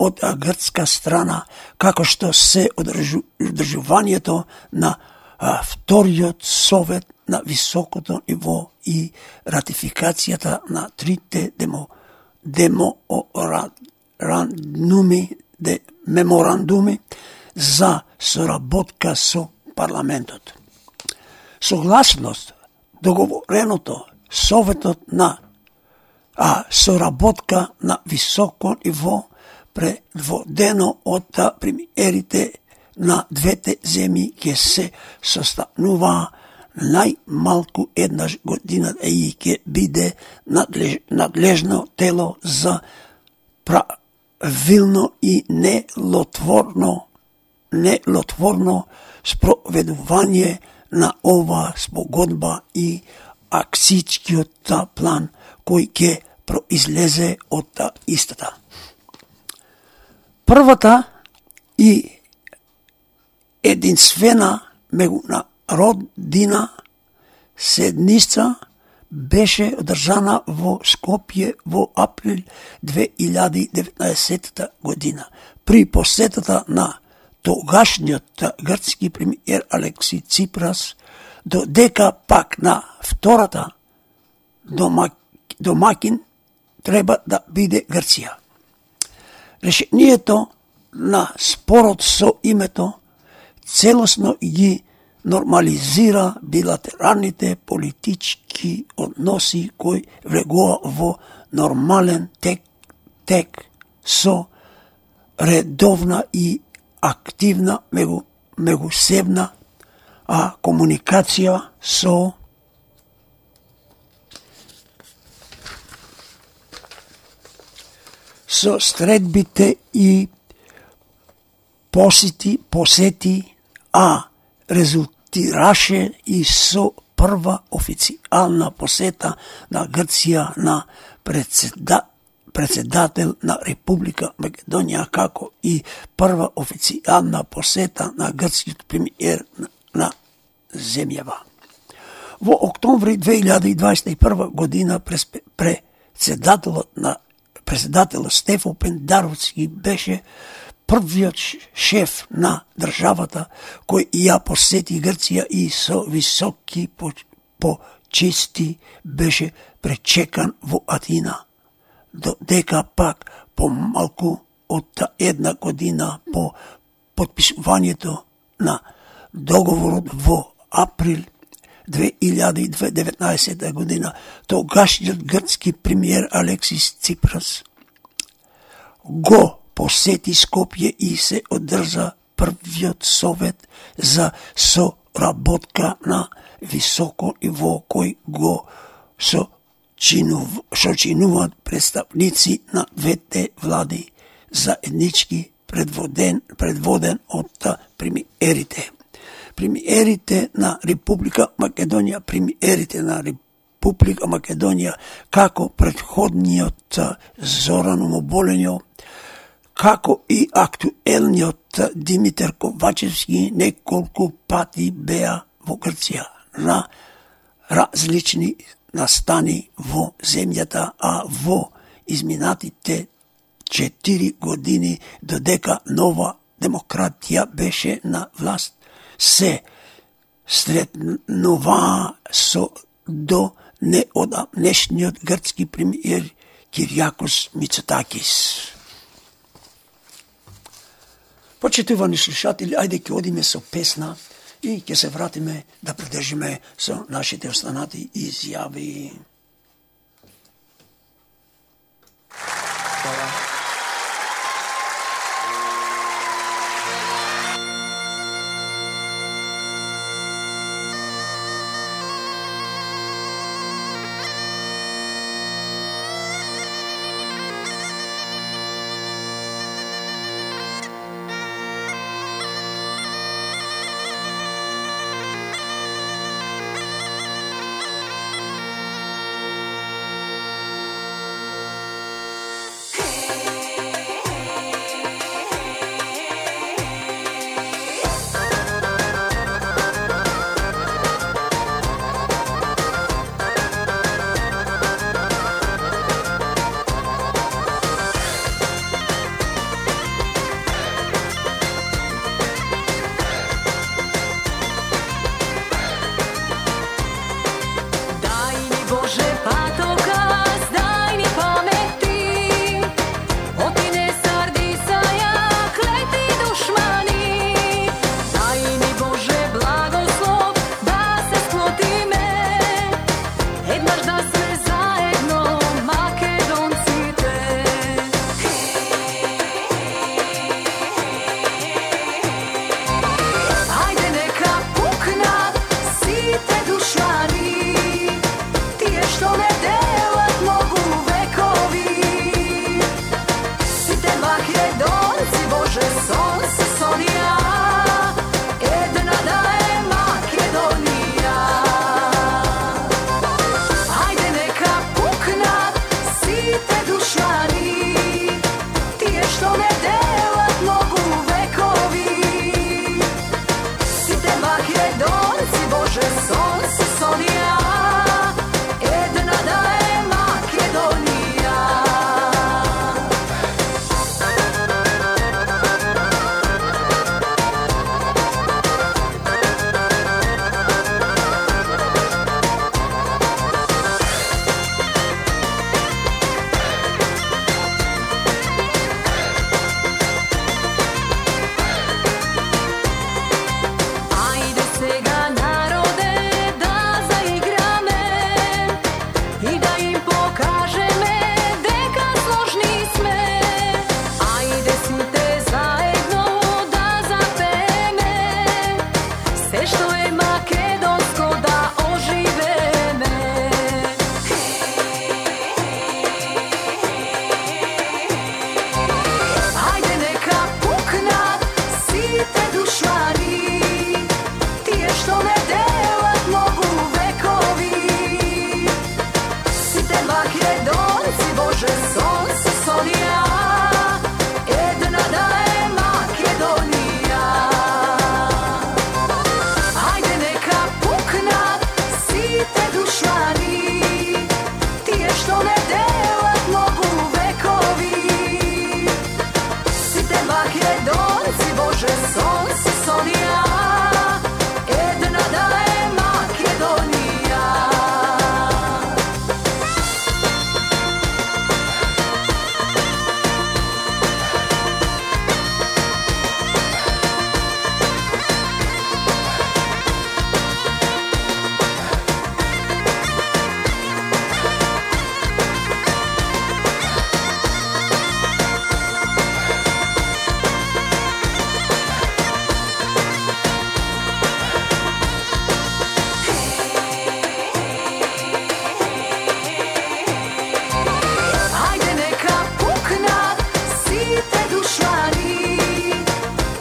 од грчка страна, како што се одржу, одржувањето на а, вториот совет на високото ниво и ратификацијата на трите демо, деморандуми, де, меморандуми за соработка со парламентот. Согласност договореното Советот на а, соработка на високо ниво предводено од премиерите на двете земји ќе се состанува најмалку еднаш година и ќе биде надлеж, надлежно тело за правилно и нелотворно нелотворно спроведување на ова спогодба и акцијскиот план кој ќе произлезе од истата. Првата и единствена меѓународна седница беше одржана во Скопје во април две илјади и деветнаесетта година. При посетата на тогашниот грчки премиер Алекси Ципрас, додека пак на втората домак, домакин треба да биде Грција. Решението на спорот со името целосно ги нормализира билатералните политички односи кои влегува во нормален тек, тек со редовна и активна мегу, мегусебна а комуникација со со средбите и посети, посети, а резултираше и со прва официјална посета на Грција на председа, председател на Република Македонија, како и прва официјална посета на грчкиот премиер на земјава. Во октомври две илјади и дваесет и прва година председателот на председателот Стефан Пендаровски беше првиот шеф на државата кој ја посети Грција и со високи почести беше пречекан во Атина, додека пак помалку од една година по потпишувањето на договорот во април две илјади и деветнаесетта година, тогашниот грчки премиер Алексис Ципрас го посети Скопје и се одржа првиот совет за соработка на високо ниво кој го сочинуваат представници на двете влади заеднички предводен, предводен од премиерите. Премиерите на Република Македонија, премиерите на Република Македонија, како претходниот Зоран Моболенјо, како и актуелниот Димитар Ковачевски, неколку пати беа во Грција на различни настани во земјата, а во изминатите четири години, додека нова демократија беше на власт, се сретнуваа со до неодамнешниот грчки премиер Киријакос Мицотакис. Почитувани слушатели, ајде ќе одиме со песна и ќе се вратиме да придржиме со нашите останати изјави. Боже, сонце сонија, една да е Македонија. Ајде сега народе да заиграме и да им покажеме дека сложни сме. Ајде сите заедно да запееме се што е македонско да оживеме. Ајде нека пукнат сите душмани, тие што не делат многу векови. Сите македонци, Боже, сонце сонија, една да е Македонија. Ајде нека пукнат сите душмани, тие што не делат многу векови. Сите македонци, Боже, сонце сонија, една да е Македонија. Ајде нека пукнат сите душмани,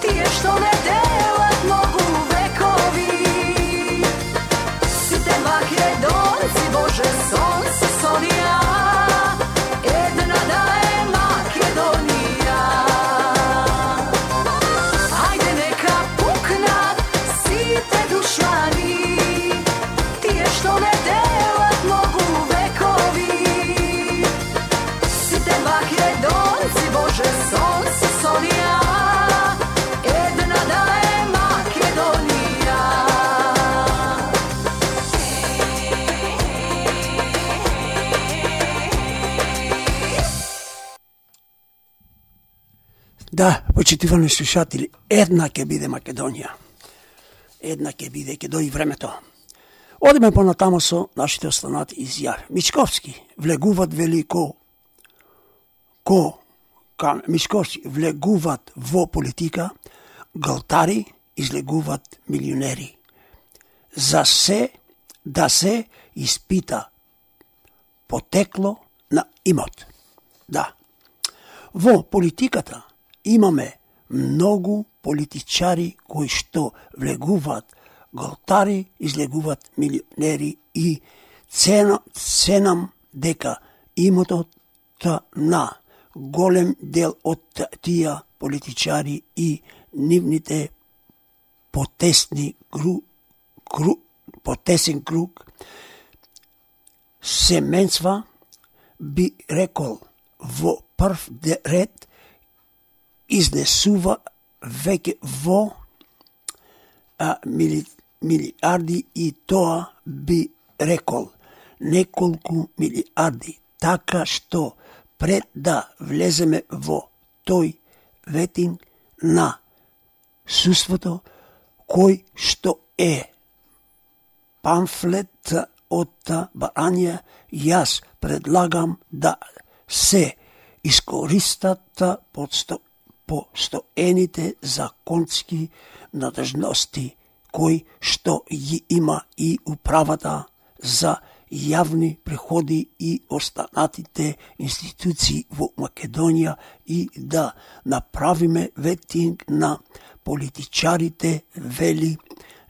тие што не делат многу векови. Сите македонци, Боже, сонце сонија, една да е Македонија. Ајде нека пукнат сите душмани, тие што не делат многу векови. Сите македонци, Боже, сонце сонија, една да е Македонија. Да, почитувани слушатели, една ќе биде Македонија. Една ќе биде, ќе дојде времето. Одиме понатамо со нашите останати изјави. Мичковски влегуваат велико ко кам Мичковски влегуваат во политика, галтари излегуваат милионери. За се да се испита потекло на имот. Да. Во политиката имаме многу политичари кои што влегуваат галтари, излегуваат милионери и цена, ценам дека имотот на голем дел од тие политичари и нивните потесни гру, гру, потесен круг семенства би рекол во прв ред изнесува веќе во а, мили, милиарди и тоа би рекол неколку милиарди, така што пред да влеземе во тој ветинг на суството кој што е памфлет од Барања, јас предлагам да се искористат подсто, постоените законски надржности кои што ги има и управата за јавни приходи и останатите институции во Македонија и да направиме ветинг на политичарите, вели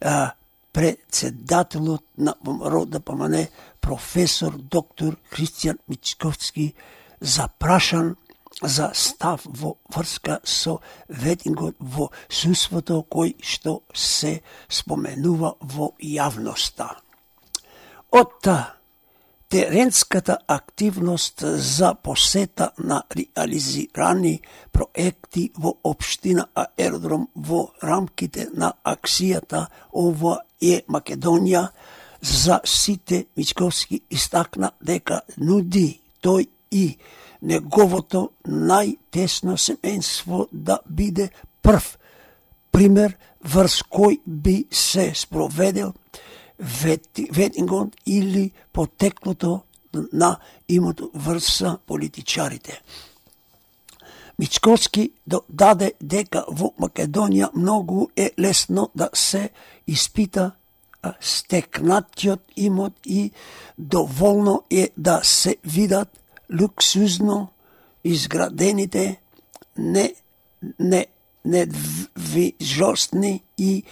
а, председателот на ВМРО да помане професор доктор Христијан Мичковски, запрашан за став во врска со ветингот во суството кој што се споменува во јавноста. Од теренската активност за посета на реализирани проекти во општина Аеродром во рамките на акцијата Ова е Македонија, за сите Мичковски истакна дека нуди тој и неговото најтесно семејство да биде прв пример врз кој би се спроведел ветингот или потеклото на имото врз политичарите. Мичковски додаде дека во Македонија многу е лесно да се испита стекнатиот имот и доволно е да се видат луксузно изградените не, не, недвижосни и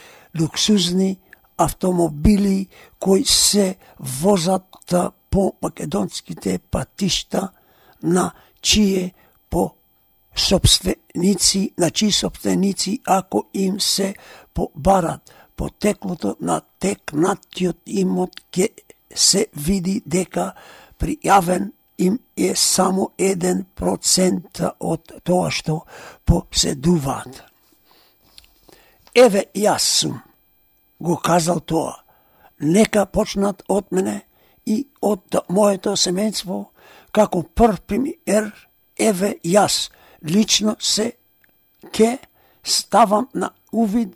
луксузни автомобили кои се возат по македонските патишта, на чие по собственици, на чии собственици ако им се побарат потеклото на текнатиот имот, ке се види дека пријавен им е само еден процент од тоа што поседуваат. Еве јас сум го казал тоа. Нека почнат од мене и од моето семејство, како прв премиер, еве јас лично се ке ставам на увид,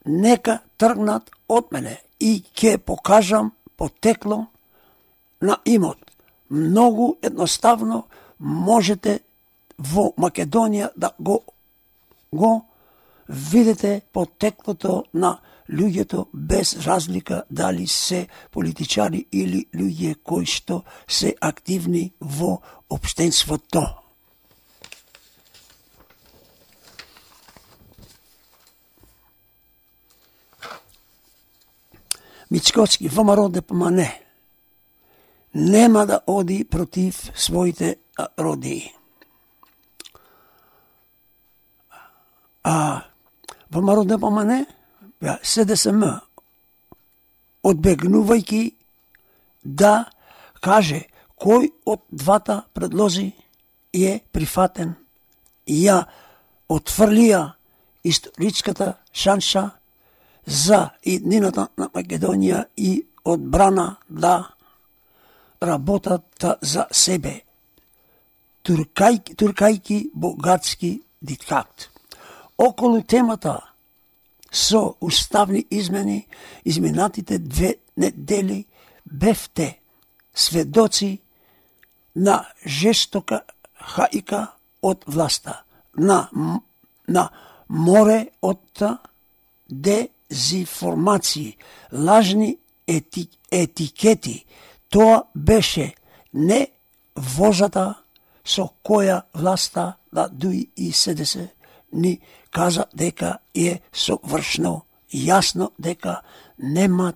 нека тргнат од мене и ке покажам потекло на имот. Многу едноставно можете во Македонија да го, го видите потеклото на луѓето без разлика дали се политичари или луѓе кои што се активни во општенството. Мичковски ВМРО ДПМН нема да оди против своите родии. А ВМРО ДПМН, СДСМ, одбегнувајќи да каже кој од двата предлози е прифатен, ја отфрлија историчката шанса за иднината на Македонија и одбрана да работат за себе, туркајки, туркајки богатски диктат. Околу темата со уставни измени изминатите две недели бевте сведоци на жестока хајка од власта, на, на море од дезинформации, лажни ети, етикети. Тоа беше не возата со која власта да дуи и СДС ни каза дека е совршно јасно дека нема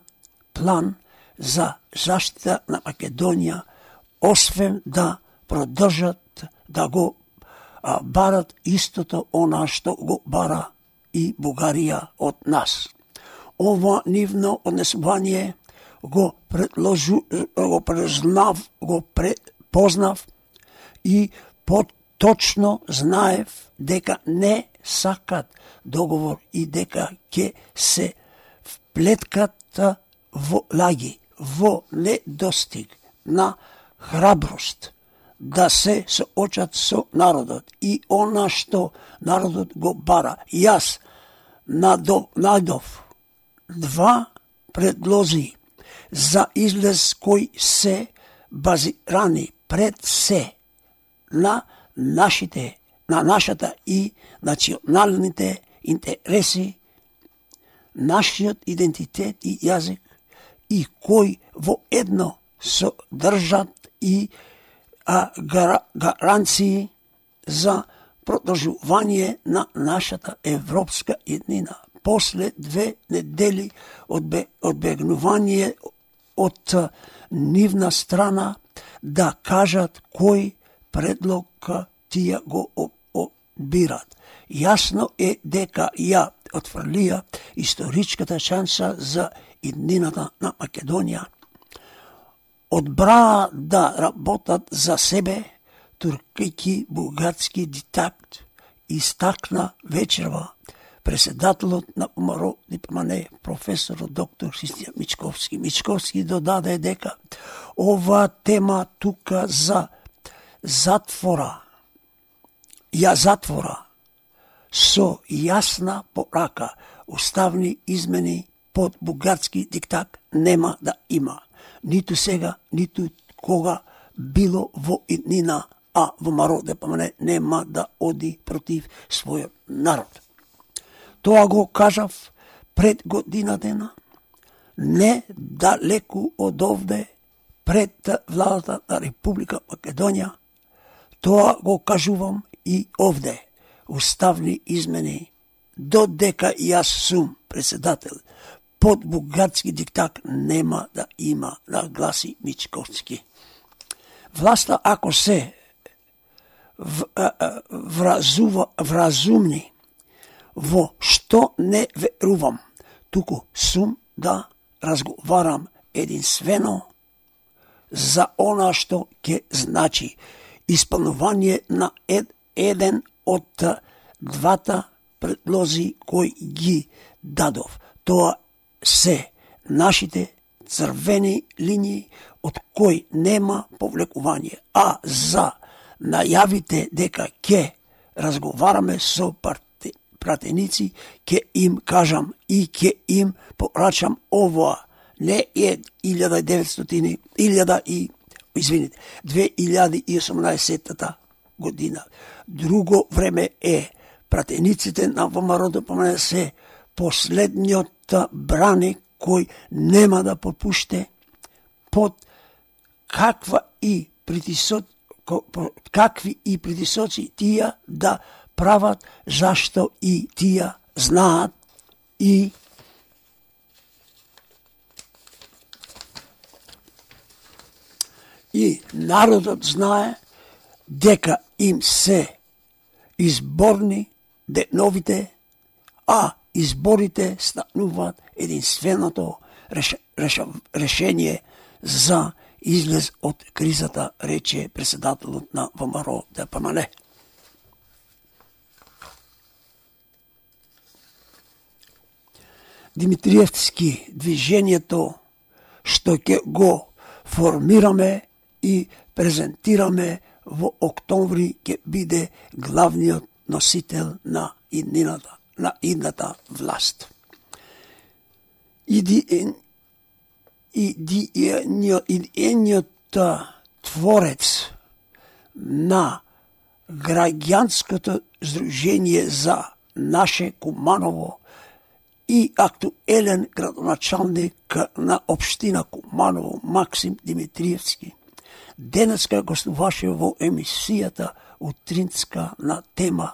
план за заштита на Македонија, освен да продолжат да го а, барат истото она што го бара и Бугарија од нас. Ова нивно однесување го предложу, го презнав, го препознав и поточно знаев дека не сакат договор и дека ќе се вплеткат во лаги, во недостиг на храброст да се соочат со народот и она што народот го бара. Јас надов два предлози за излез кои се базирани пред се на нашите, на нашата и националните интереси, нашиот идентитет и јазик, и кои во едно содржат и а, гар, гаранции за продолжување на нашата европска еднина. После две недели одбе, одбегнување од нивна страна да кажат кој предлог тие го одбират. Јасно е дека ја отфрлија историчката шанса за иднината на Македонија. Одбраа да работат за себе, туркајќи бугарски диктат, истакна вечерва председателот на УМРО Дипмане, професорот доктор Христијан Мичковски. Мичковски додаде дека ова тема тука за затвора, ја затвора со јасна порака, уставни измени под бугарски диктат нема да има. Ниту сега, ниту кога било во иднина, а во МРО ДПМН нема да оди против својот народ. Тоа го кажав пред година дена, не далеку од овде, пред владата на Република Македонија. Тоа го кажувам и овде. Уставни измени, додека јас сум председател, под бугарски диктат нема да има, нагласи Мичковски. Власта, ако се вразува, вразумни, во што не верувам, туку сум да разговарам единствено за она што ќе значи исполнување на ед, еден од двата предлози кои ги дадов. Тоа се нашите црвени линии од кои нема повлекување, а за најавите дека ќе разговараме со парти, пратеници, ќе им кажам и ќе им порачам ова, не е илјада и деветстотини, илјада и, извините, две илјади и осумнаесетта година. Друго време е, пратениците на ВМРО ДПМН се последниот брани кој нема да попуште под каква и притисоци, какви и притисоци тие да прават, зашто и тие знаат и и народот знае дека им се изборни деновите, а изборите стануваат единственото реш, реш, решение за излез од кризата, рече председателот на ВМРО ДПМН. Димитриевски движењето што ќе го формираме и презентираме во октомври ќе биде главниот носител на иднината, на идната власт. Иди идејниот творец на граѓанското здружение за наше Куманово и актуелен градоначалник на општина Куманово Максим Димитриевски денеска гостуваше во емисијата утринска на тема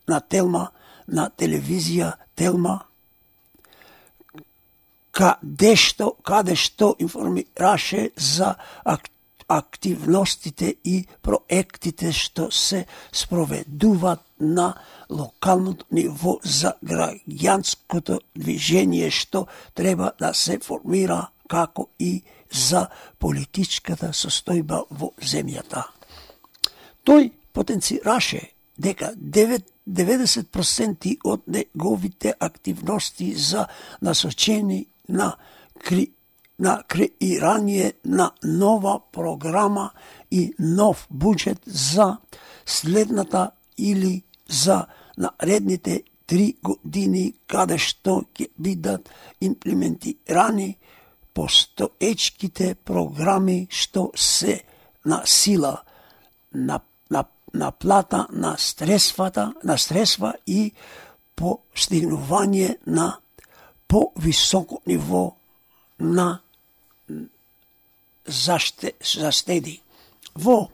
на Телма, на телевизија Телма, каде што, каде што информираше за активностите и проектите што се спроведуваат на локалното ниво за граѓанското движење што треба да се формира, како и за политичката состојба во земјата. Тој потенцираше дека деветдесет проценти од неговите активности за насочени на, кри, на креирање на нова програма и нов буџет за следната или за наредните три години, каде што ќе бидат имплементирани постоечките програми што се на сила на, на, на плата на средствата, на средства и постигнување на по-високо ниво на заштеди. Во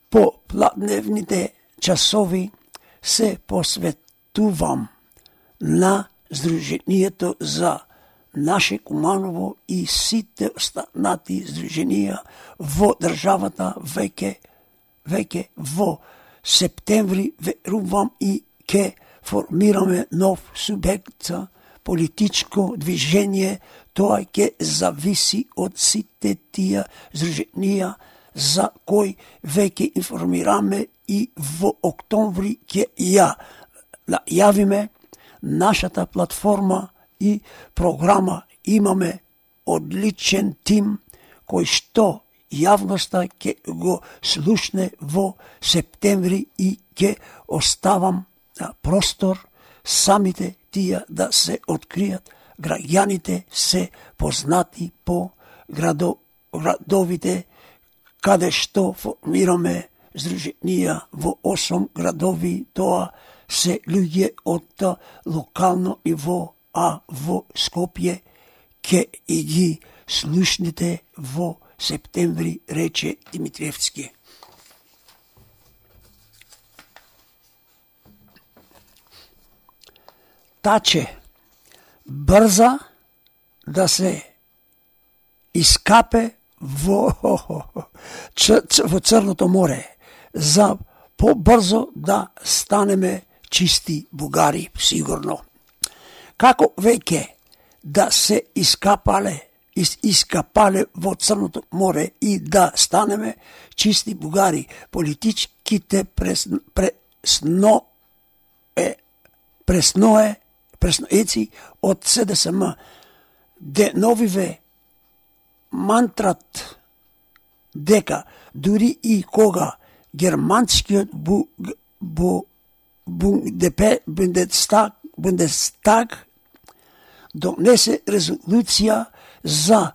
попладневните часови се посветувам на Сдруженијето за наше Куманово и сите останати здруженија во државата веќе веќе во септември верувам и ке формираме нов субјект за политичко движење. Тоа ќе зависи од сите тие здруженија за кои веќе информираме и во октомври ќе ја најавиме нашата платформа и програма. Имаме одличен тим кој што јавноста ќе го слушне во септември и ќе оставам простор самите тие да се откријат. Граѓаните се познати по градо, градовите каде што формираме здруженија во осум градови. Тоа се луѓе од локално ниво, а во Скопје ке и ги слушните во септември, рече Димитриевски. Таче брза да се искапе во, во Црното море, за побрзо да станеме чисти бугари, сигурно. Како веќе да се искапале, ис, искапале во Црното море и да станеме чисти бугари, политичките пресно, пресно, е, пресное, пресноеци од СДСМ, деновиве мантрат дека дури и кога германскиот бу, бу, Бундестаг, Бундестаг донесе резолуција за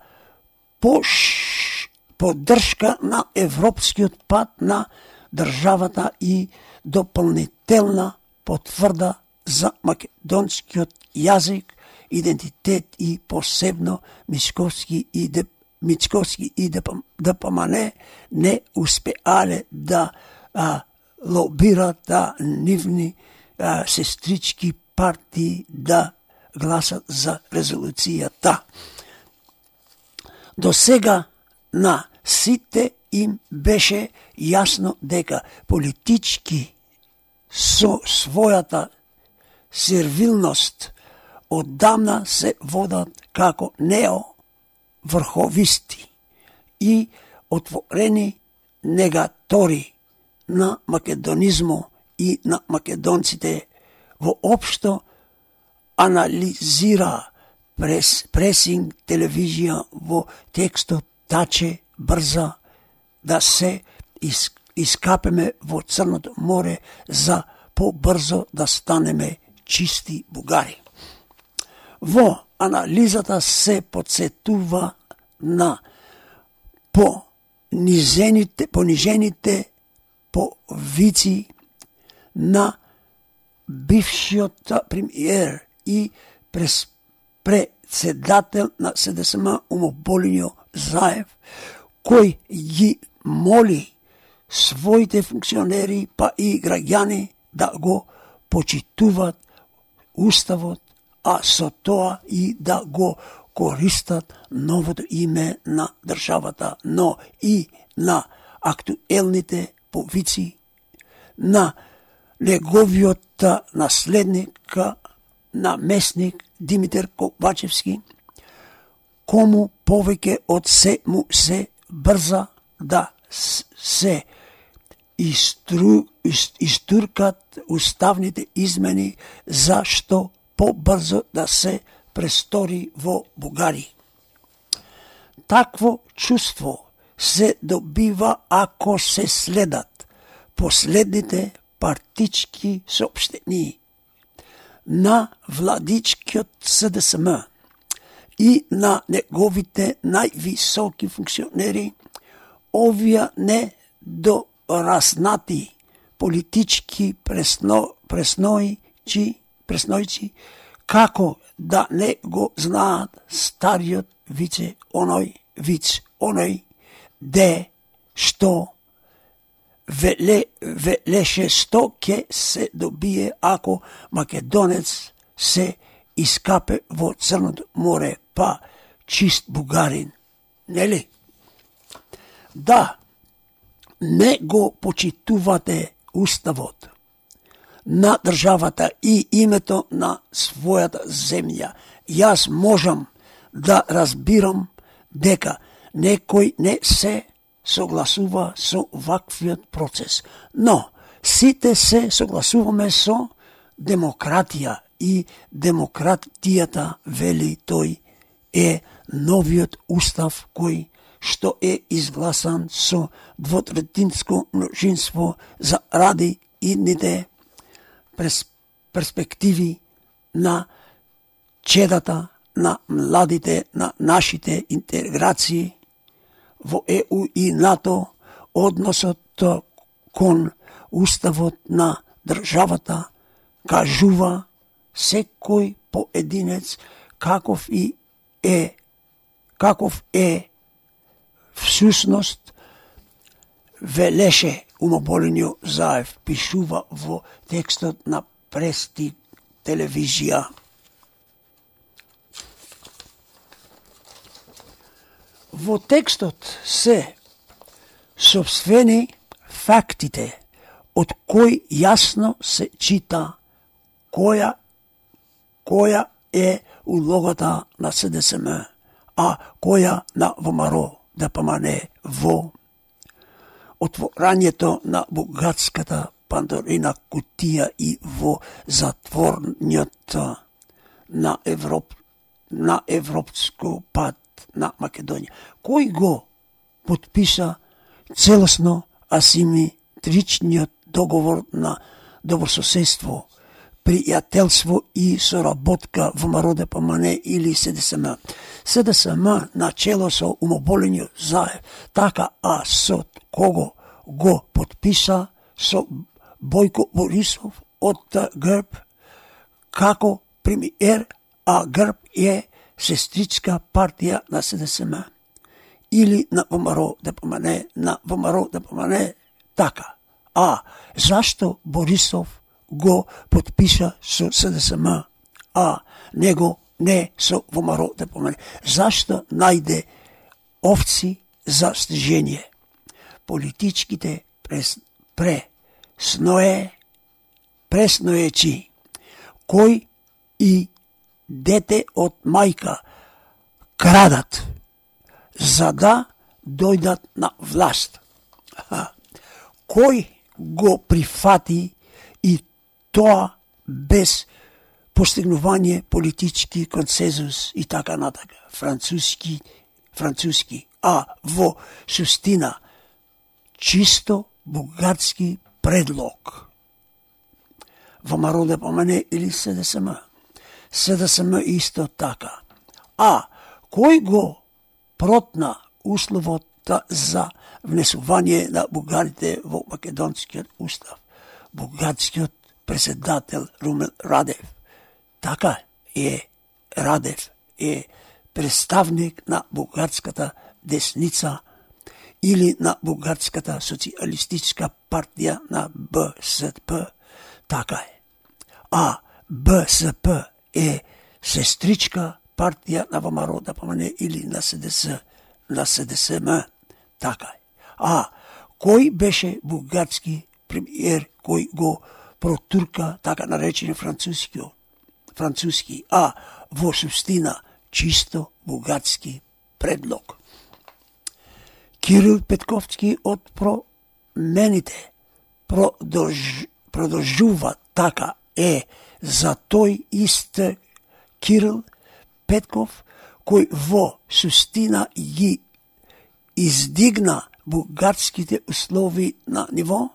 пош, поддршка на европскиот пат на државата и дополнителна потврда за македонскиот јазик, идентитет и посебно Мицковски и Деп, Мицковски и ДПМН не успеале да а, лобират да нивни а, сестрички партии да гласат за резолуцијата. До сега на сите им беше јасно дека политички со својата сервилност оддамна се водат како неоврховисти и отворени негатори на македонизмо и на македонците. Воопшто анализира прес, пресинг телевизија во текстот Таче брза да се из, искапеме во Црното море за побрзо да станеме чисти бугари. Во анализата се подсетува на понижените, понижените повици на бившиот премиер и прес председател на СДСМ Умоболињо Заев, кој ги моли своите функционери па и граѓани да го почитуваат уставот, а со тоа и да го користат новото име на државата, но и на актуелните повици на неговиот наследник, наместник Димитар Ковачевски, кому повеќе од се му се брза да се истру, истуркат уставните измени, зашто побрзо да се престори во Бугари. Такво чувство се добива ако се следат последните партички соопштении на владичкиот СДСМ и на неговите највисоки функционери. Овие не дораснати политички пресно, преснојчи, преснојци, како да не го знаат стариот вице оној, виц оној, де што веле, велеше што ке се добие ако македонец се искапе во Црното море, па чист бугарин, нели? Да, не го почитувате уставот на државата и името на својата земја, јас можам да разбирам дека некој не се согласува со ваквиот процес. Но сите се согласуваме со демократија и демократијата, вели тој, е новиот устав кој што е изгласан со двотретинско множинство за ради идните перспективи на чедата, на младите, на нашите интеграции во Е У и НАТО, односот кон уставот на државата кажува секој поединец каков и е каков е всушност, велеше умоболениот Заев, пишува во текстот на Прести телевизија. Во текстот се сопствени фактите, од кои јасно се чита која која е улогата на С Д С М, а која на Во М Р Д П М Н во отворањето на бугарската Пандорина кутија и во затворниот на Европ на европско пат на Македонија. Кој го потписа целосно асиметричниот договор на добрососедство, пријателство и соработка во М Р Д П М Н или С Д С М. С Д С М начело со умоболениот Заев, така, а со кого го потписа со Бојко Борисов од Грб како премиер, а Грб е сестричка партија на С Д С М или на Во М Р Д П М Н, на Во М Р Д П М Н, така. А зашто Борисов го потпиша со С Д С М, а него не со Во М Р Д П М Н? Зашто најде овци за стижење? Политичките прес, пресное, пресноечи, кој и дете од мајка крадат за да дојдат на власт. Кој го прифати и тоа без постигнување политички консензус и така натака, француски, француски, а во суштина чисто бугарски предлог. Во М Р Д П М Н или С Д С М. С Д С М исто така. А кој го протна условот за внесување на бугарите во македонскиот устав? Бугарскиот председател Румен Радев. Така е, Радев е представник на бугарската десница или на бугарската социјалистичка партија на Б С П. Така е. А Б С П е сестричка партија на Во М Р Д П М Н или на С Д С, на С Д С М. Така е. А кој беше бугарски премиер кој го протурка така наречени француски, француски, а во суштина чисто бугарски предлог? Кирил Петковски од промените продолж, продолжува така е за тој ист Кирил Петков кој во суштина ги издигна бугарските услови на ниво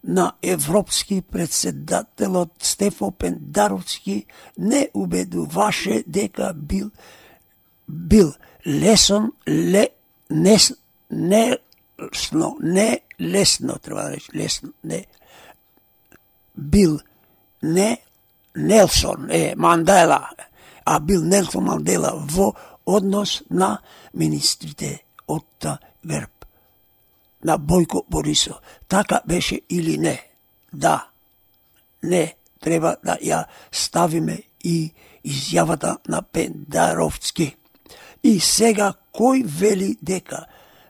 на европски председателот Стефо Пендаровски не убедуваше дека бил бил лесон ле не не лесно не лесно треба да рече лесно не бил не Нелсон е Мандела, а бил Нелсон Мандела во однос на министрите од Грб, на Бојко Борисов. Така беше или не? Да, не, треба да ја ставиме и изјавата на Пендаровски. И сега кој вели дека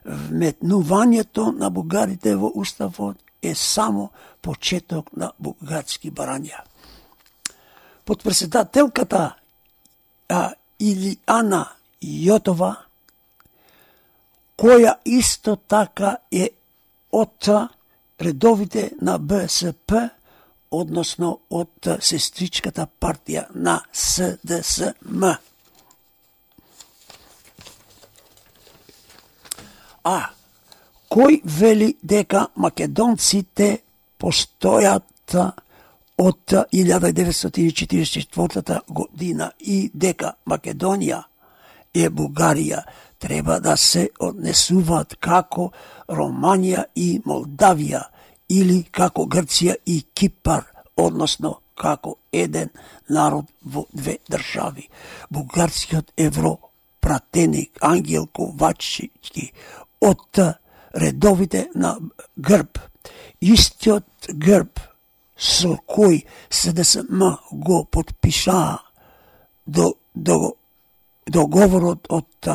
вметнувањето на бугарите во уставот е само почеток на бугарски барања. Подпредседателката а, Илијана Јотова, која исто така е од редовите на Б С П, односно од сестричката партија на С Д С М. А кој вели дека македонците постојат од илјада деветстотини четиридесет и четвртата година и дека Македонија е Бугарија, треба да се однесуваат како Романија и Молдавија или како Грција и Кипар, односно како еден народ во две држави. Бугарскиот европратеник Ангел Ковачевски од редовите на грб, истиот грб со кој С Д С М го подпишаа до, до договорот од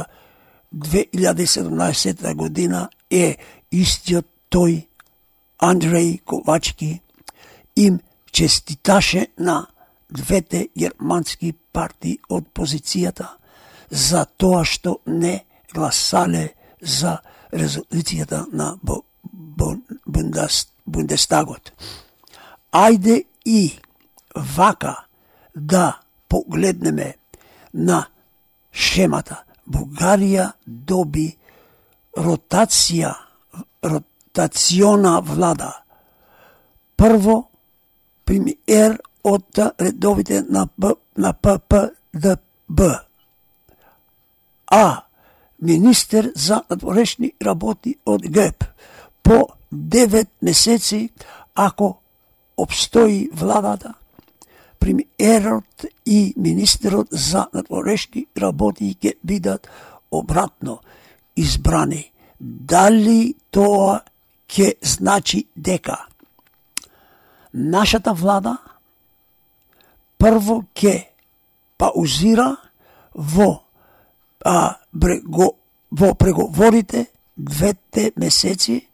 две илјади и седумнаесетта година, е истиот тој Андреј Ковачки, им честиташе на двете германски партии од позицијата за тоа што не гласале за резолуцијата на Бундестагот. Ајде и вака да погледнеме на шемата. Бугарија доби ротација, ротациона влада. Прво, премиер од редовите на, Б, на П П Д Б, а министер за надворешни работи од Г П. По девет месеци, ако обстои владата, премиерот и министерот за надворешни работи ќе бидат обратно избрани. Дали тоа ќе значи дека нашата влада прво ќе паузира во, а, брего, во преговорите двете месеци,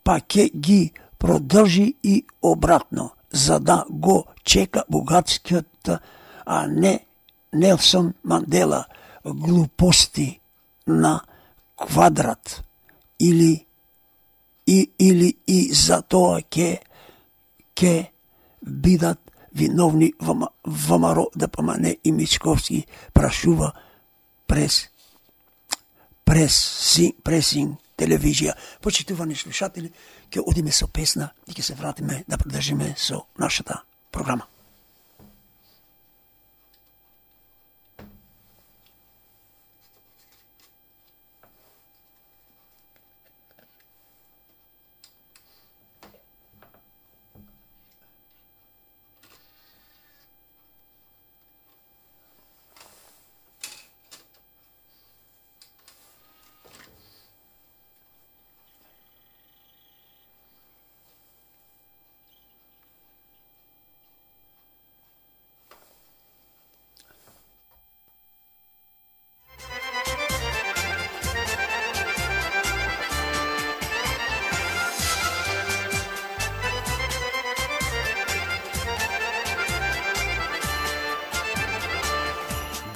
па ќе ги продолжи и обратно, за да го чека бугарскиот, а не Нелсон Мандела, глупости на квадрат, или и или и за тоа ќе ќе бидат виновни ВМРО Д П М Н и Мичковски, прашува прес прес пресинг телевизија. Почитувани слушатели, ќе одиме со песна и ќе се вратиме да продолжиме со нашата програма.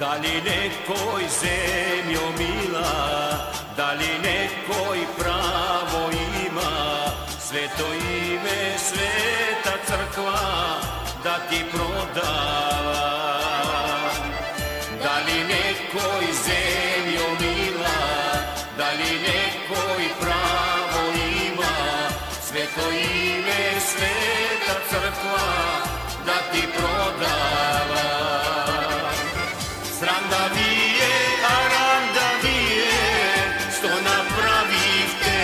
Дали некој земјо мила, дали некој право има, свето име, света црква да ти продава. Дали некој земјо мила, дали некој право има, свето име, света црква да ти продава. Срам да вие, арам да вие, што направивте,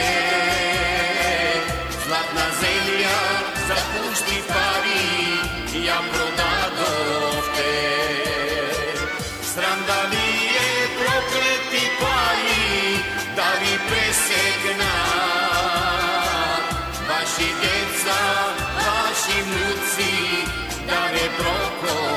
златна земја за пушти пари ја продадовте. Срам да вие, проклети пари, да ви пресекнат, ваши деца, ваши внуци, да не проконат.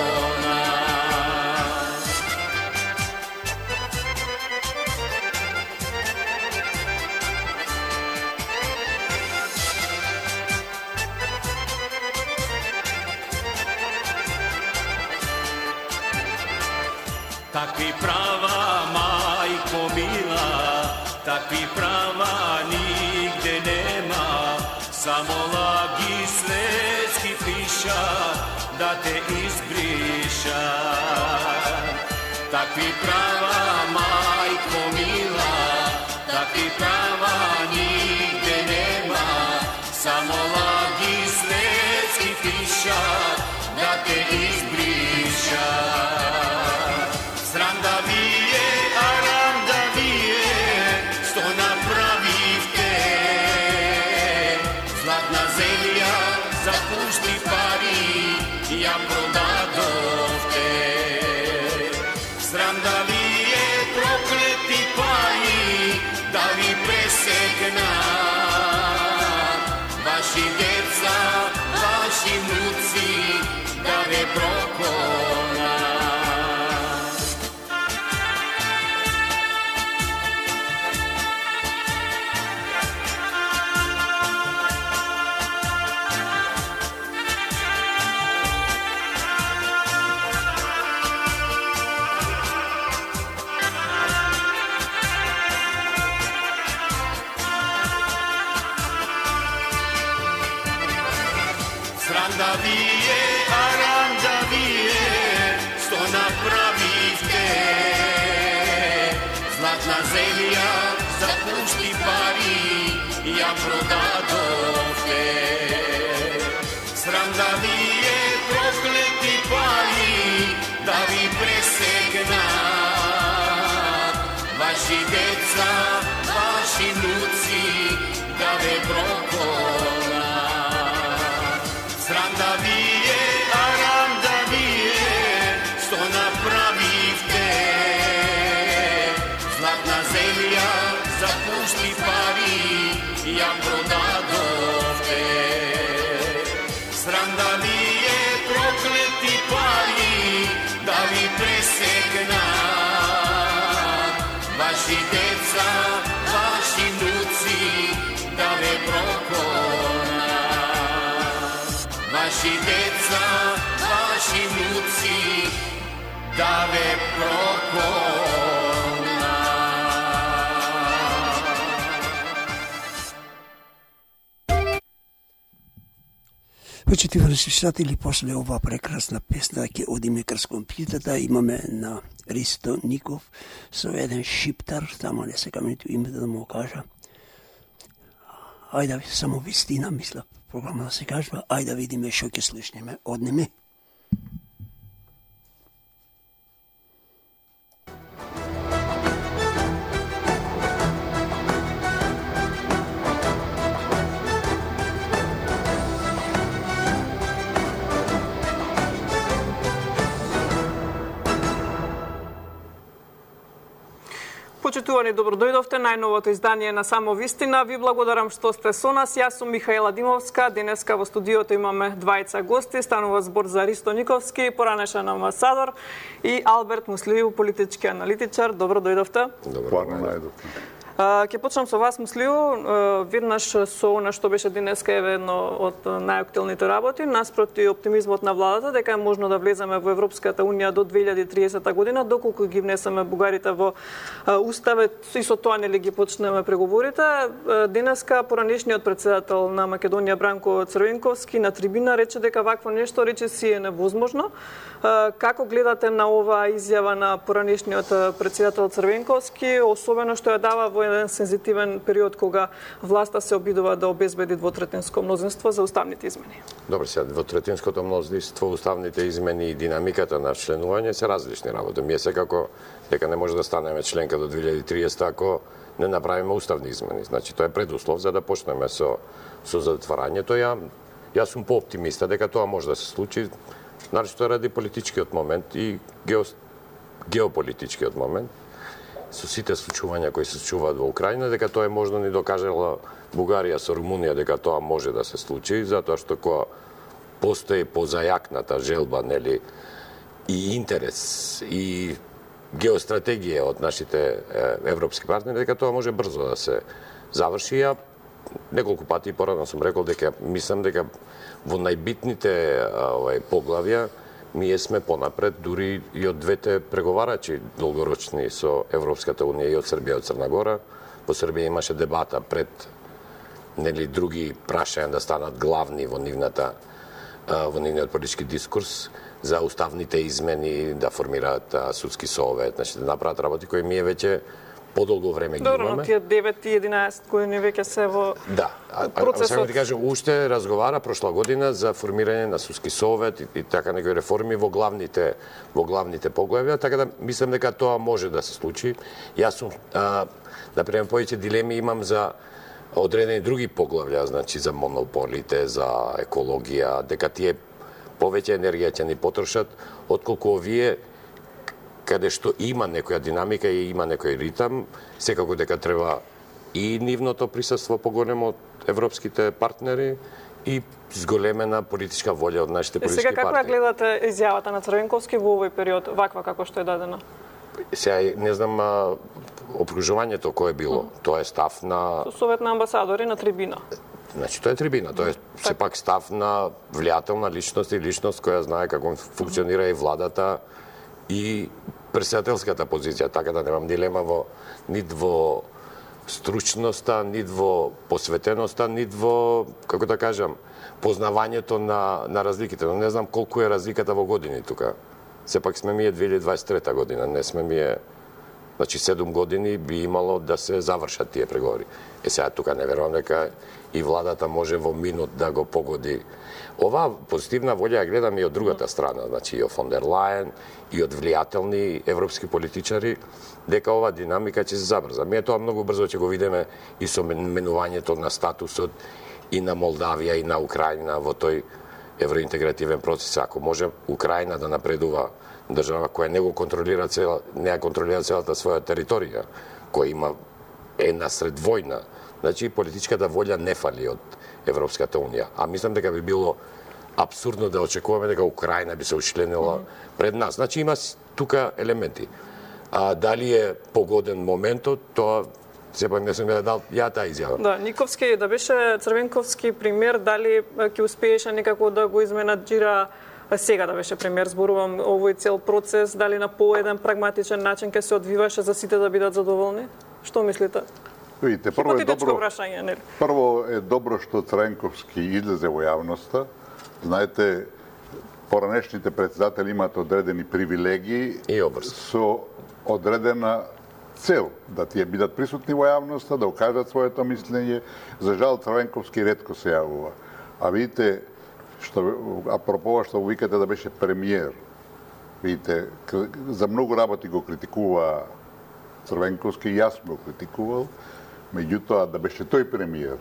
Takvi prava, majko mila, takvi prava nigde nema, samo lagi svetski piša, da te izbriša. Takvi prava, majko mila, takvi prava nigde nema, samo lagi svetski piša, da te izbriša. Sram da vije, aram da vije, što napravivte. Zlatna zemlja za pušti pari, ja prodadovte. Sram da vije, prokleti pari, da vi presekna. Vaši deca, vaši vnuci, da ve prokona. Sram da vije, aram da vije, što napravivte. Zlatna zemlja za pušti pari, ja prodadovte. Sram da vije, prokleti pari, da vi presekna. Vaši deca, vaši vnuci, da ve prokona. Sram da vije, aram da vije, što napravivte. Zlatna zemlja za pušti pari, ja prodadovte. Sram da vije, prokleti pari, da vi presekna. Vaši deca, vaši vnuci, da ve prokona. Vaši deca, vaši vnuci, da ve prokona. Почитувани слушатели, после ова прекрасна песна ќе одиме крз компјутерата. Имаме на Ристо Ников со еден шиптар, тамо не секам ниту името да му кажа. Ајде, само вистина, мисля, програма да се кажва. Ајде да видиме што ќе слушнеме од неме. Почитувани, добро дојдовте. Најновото издание на Само вистина. Ви благодарам што сте со нас. Јас сум Михаела Димовска. Денеска во студиото имаме двајца гости. Станува збор за Ристо Никовски, поранешен амбасадор, и Алберт Муслију, политички аналитичар. Добро дојдовте. Добро дојдовте. Ќе почнам со вас, Муслију, веднаш со она што беше денеска еве едно од најактуелните работи, наспроти оптимизмот на владата дека е можно да влеземе во Европската унија до две илјади и триесета година, доколку ги внесеме бугарите во уставот и со тоа нели ги почнеме преговорите. Денеска поранешниот председател на Македонија Бранко Црвенковски на трибина рече дека вакво нешто рече си е невозможно. Како гледате на оваа изјава на поранешниот председател Црвенковски, особено што ја дава во еден сензитивен период кога власта се обидува да обезбеди двотретинско мнозинство за уставните измени? Добро, сега двотретинското мнозинство, уставните измени и динамиката на членување се различни работи. Ние секако дека не може да станеме членка до две илјади и триесета ако не направиме уставни измени. Значи тоа е предуслов за да почнеме со со затварањето. Ја јас сум пооптимиста дека тоа може да се случи, начто ради политичкиот момент и гео, геополитичкиот момент. Со сите случувања кои се случуваат во Украина, дека тоа е можно ни докажала Бугарија со Румунија дека тоа може да се случи, затоа што кога постои позајакната желба, нели, и интерес и геостратегија од нашите европски партнери, дека тоа може брзо да се заврши. Ја неколку пати порано сум рекол дека мислам дека во најбитните овај поглавја ние сме понапред, дури и од двете преговарачи долгорочни со Европската унија и од Србија и од Црна Гора. Во Србија имаше дебата пред нели други прашања да станат главни во нивната во нивниот политички дискурс за уставните измени, да формираат судски совет, значи да направат работи кои ние веќе подолго време ги Добро, имаме. но тие девет и единаесет години веќе се во Да, а, процесот. а, а, ти кажам, уште разговара прошла година за формирање на судски совет и, и така некои реформи во главните во главните поглавја, така да мислам дека тоа може да се случи. Јас сум а, да приемам повеќе дилеми имам за одредени други поглавја, значи за монополите, за екологија, дека тие повеќе енергија ќе ни потрошат, отколку овие каде што има некоја динамика и има некој ритам, секако дека треба и нивното присуство поголемо од европските партнери и зголемена политичка волја од нашите И политички сега како ја партнери. гледате изјавата на Црвенковски во овој период, ваква како што е дадена? Сега не знам а, опружувањето кое е било. Тоа е став на Со Совет на амбасадори на трибина. Значи, тоа е трибина, тоа е сепак став на влијателна личност и личност која знае како функционира и владата и председателската позиција, така да немам дилема во нит во стручноста, нит во посветеноста, нит во, како да кажам, познавањето на, на разликите. Но не знам колку е разликата во години тука. Сепак сме ми е две илјади дваесет и трета година, не сме ми е... Значи, седум години би имало да се завршат тие преговори. Е, сега тука не верувам дека и владата може во минут да го погоди. Оваа позитивна волја ја гледам и од другата страна, значи и од фон дер Лајен, и од влијателни европски политичари, дека ова динамика ќе се забрза. Ние тоа многу брзо ќе го видиме и со менувањето на статусот и на Молдавија и на Украина во тој евроинтегративен процес. Ако може Украина да напредува, држава која не го контролира цела, не ја контролира целата своја територија, која има е насред војна, значи политичката волја не фали од Европската унија. А мислам дека би било апсурдно да очекуваме дека Украина би се учленила пред нас. Значи има тука елементи. А дали е погоден моментот, тоа сепак не сум ја дал ја таа изјава. Да, Никовски, да беше Црвенковски премиер, дали ќе успееше некако да го изменаџира сега да беше премиер, зборувам овој цел процес, дали на поеден прагматичен начин ќе се одвиваше за сите да бидат задоволни? Што мислите? Видите, прво е добро, прашање, нели? прво е добро што Црвенковски излезе во јавноста. Знаете, поранешните председатели имаат одредени привилегии И обрз. со одредена цел да тие бидат присутни во јавноста, да окажат своето мислење. За жал Црвенковски ретко се јавува. А видите, што апропо што викате да беше премиер. Видите, за многу работи го критикува Црвенковски, јас го критикувал, меѓутоа да беше тој премиер,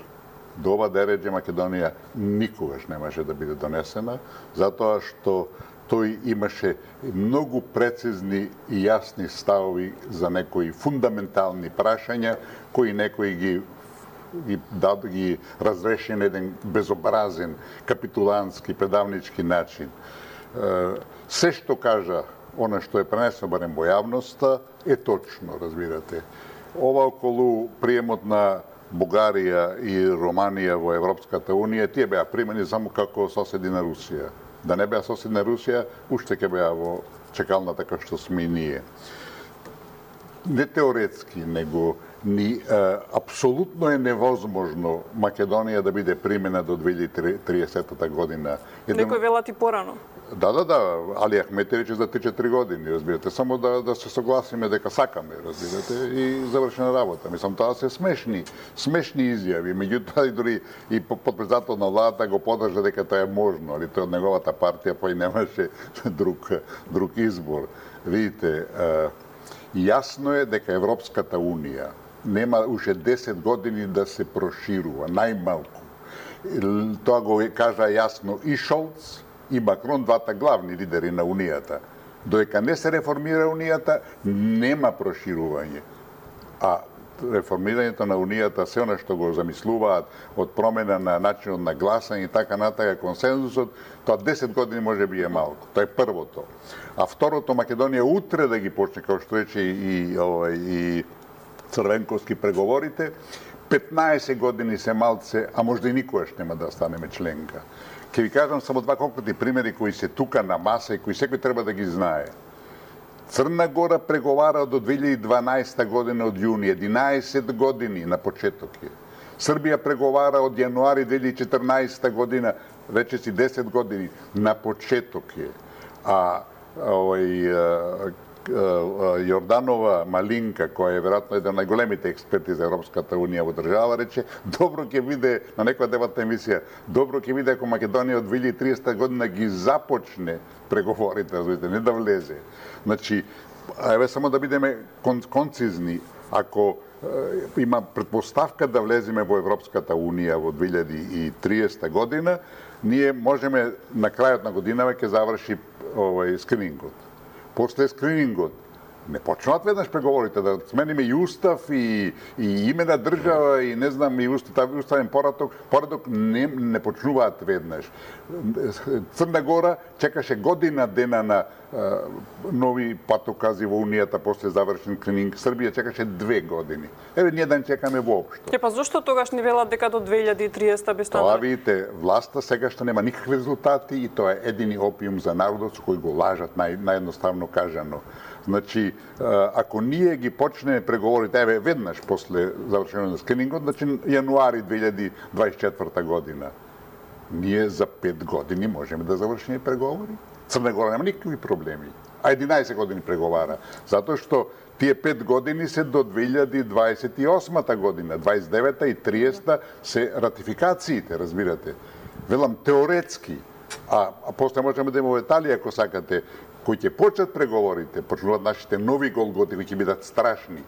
до ова дереđe Македонија никогаш немаше да биде донесена, затоа што тој имаше многу прецизни и јасни ставови за некои фундаментални прашања, кои некои ги ги дад ги разреши на еден безобразен, капитулантски, предавнички начин. Се што кажа она што е пренесено барем во јавноста е точно, разбирате. Ова околу приемот на Бугарија и Романија во Европската унија, тие беа примени само како соседи на Русија. Да не беа соседи на Русија, уште ќе беа во чекалната како што сме и ние. Не теоретски, него ни е, апсолутно е невозможно Македонија да биде примена до две илјади и триесета година. Еден... Некој велат и порано. Да, да, да, Али Ахмети рече за три-четири години, разбирате, само да, да се согласиме дека сакаме, разбирате, и завршена работа. Мислам, тоа се смешни, смешни изјави, меѓутоа и дури и подпредседател на владата го подржа дека тоа е можно, али тоа од неговата партија па и немаше друг, друг избор. Видите, јасно е дека Европската унија нема уште десет години да се проширува, најмалку. Тоа го кажа јасно и Шолц, и Макрон, двата главни лидери на Унијата. Додека не се реформира Унијата, нема проширување. А реформирањето на Унијата, се она што го замислуваат од промена на начинот на гласање и така натака консензусот, тоа десет години може би е малку. Тоа е првото. А второто, Македонија утре да ги почне, како што рече и, овај, и Црвенковски преговорите, петнаесет години се малце, а можда и никогаш нема да станеме членка. Ќе ви кажам само два конкретни примери кои се тука на маса и кои секој треба да ги знае. Црна Гора преговара до две илјади и дванаесета година од јуни, единаесет години на почеток е. Србија преговара од јануари две илјади и четрнаесета година, рече десет години, на почеток е. А овој Јорданова Малинка, која е веројатно еден од најголемите експерти за Европската унија во држава, рече, добро ќе биде, на некоја дебатна емисија, добро ќе биде ако Македонија од две илјади и триесета година ги започне преговорите, разбирате, не да влезе. Значи, еве само да бидеме кон, концизни, ако е, има предпоставка да влеземе во Европската унија во две илјади и триесета година, ние можеме на крајот на годинава ќе заврши овој скринингот. После скринингот не почнуваат веднаш преговорите, да смениме и устав и, и име на држава и не знам и устав, уставен порадок, порадок не, не почнуваат веднаш. Црна Гора чекаше година дена на а, нови патокази во Унијата после завршен скрининг. Србија чекаше две години. Еве ние да не чекаме воопшто. Е, па зошто тогаш не велат дека до две илјади и триесета би станало? Тоа видите, власта сега што нема никакви резултати и тоа е едини опиум за народот со кој го лажат, нај, наједноставно кажано. Значи, ако ние ги почнеме преговорите, еве веднаш после завршено на скринингот, значи јануари две илјади дваесет и четврта година, ние за пет години можеме да завршиме преговори. Црна Гора нема никакви проблеми, а единаесет години преговара, затоа што тие пет години се до две илјади дваесет и осма година, дваесет и девета и триесета се ратификациите, разбирате. Велам теоретски, а, а после можеме да имаме Италија, ако сакате, кои ќе почнат преговорите, почнуваат нашите нови голготи, кои ќе бидат страшни.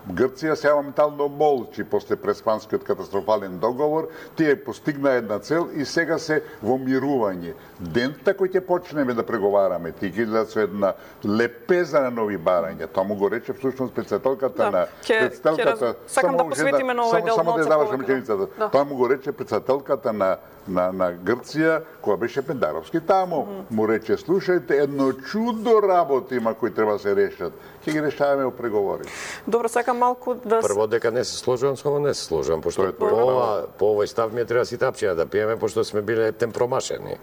Грција се моментално молчи после преспанскиот катастрофален договор, тие постигна една цел и сега се во мирување. Дента кој ќе почнеме да преговараме, тие ќе идат со една лепеза на нови барања. Тоа му го рече всушност председателката да, на ке, председателката раз... Сакам да посветиме на овој дел. Само да завршам повеќе. реченицата. Да. Тоа му го рече председателката на на на Грција, која беше Пендаровски таму. Mm. Му рече, слушајте, едно чудо работи има кои треба да се решат. Ќе ги решаваме во преговори. Добро, сакам малку да Прво дека не се сложувам, само не се сложувам, пошто Тоа е по, твоја ова, по овој став ми е треба ситапчина да пиеме, пошто сме биле ептен промашени.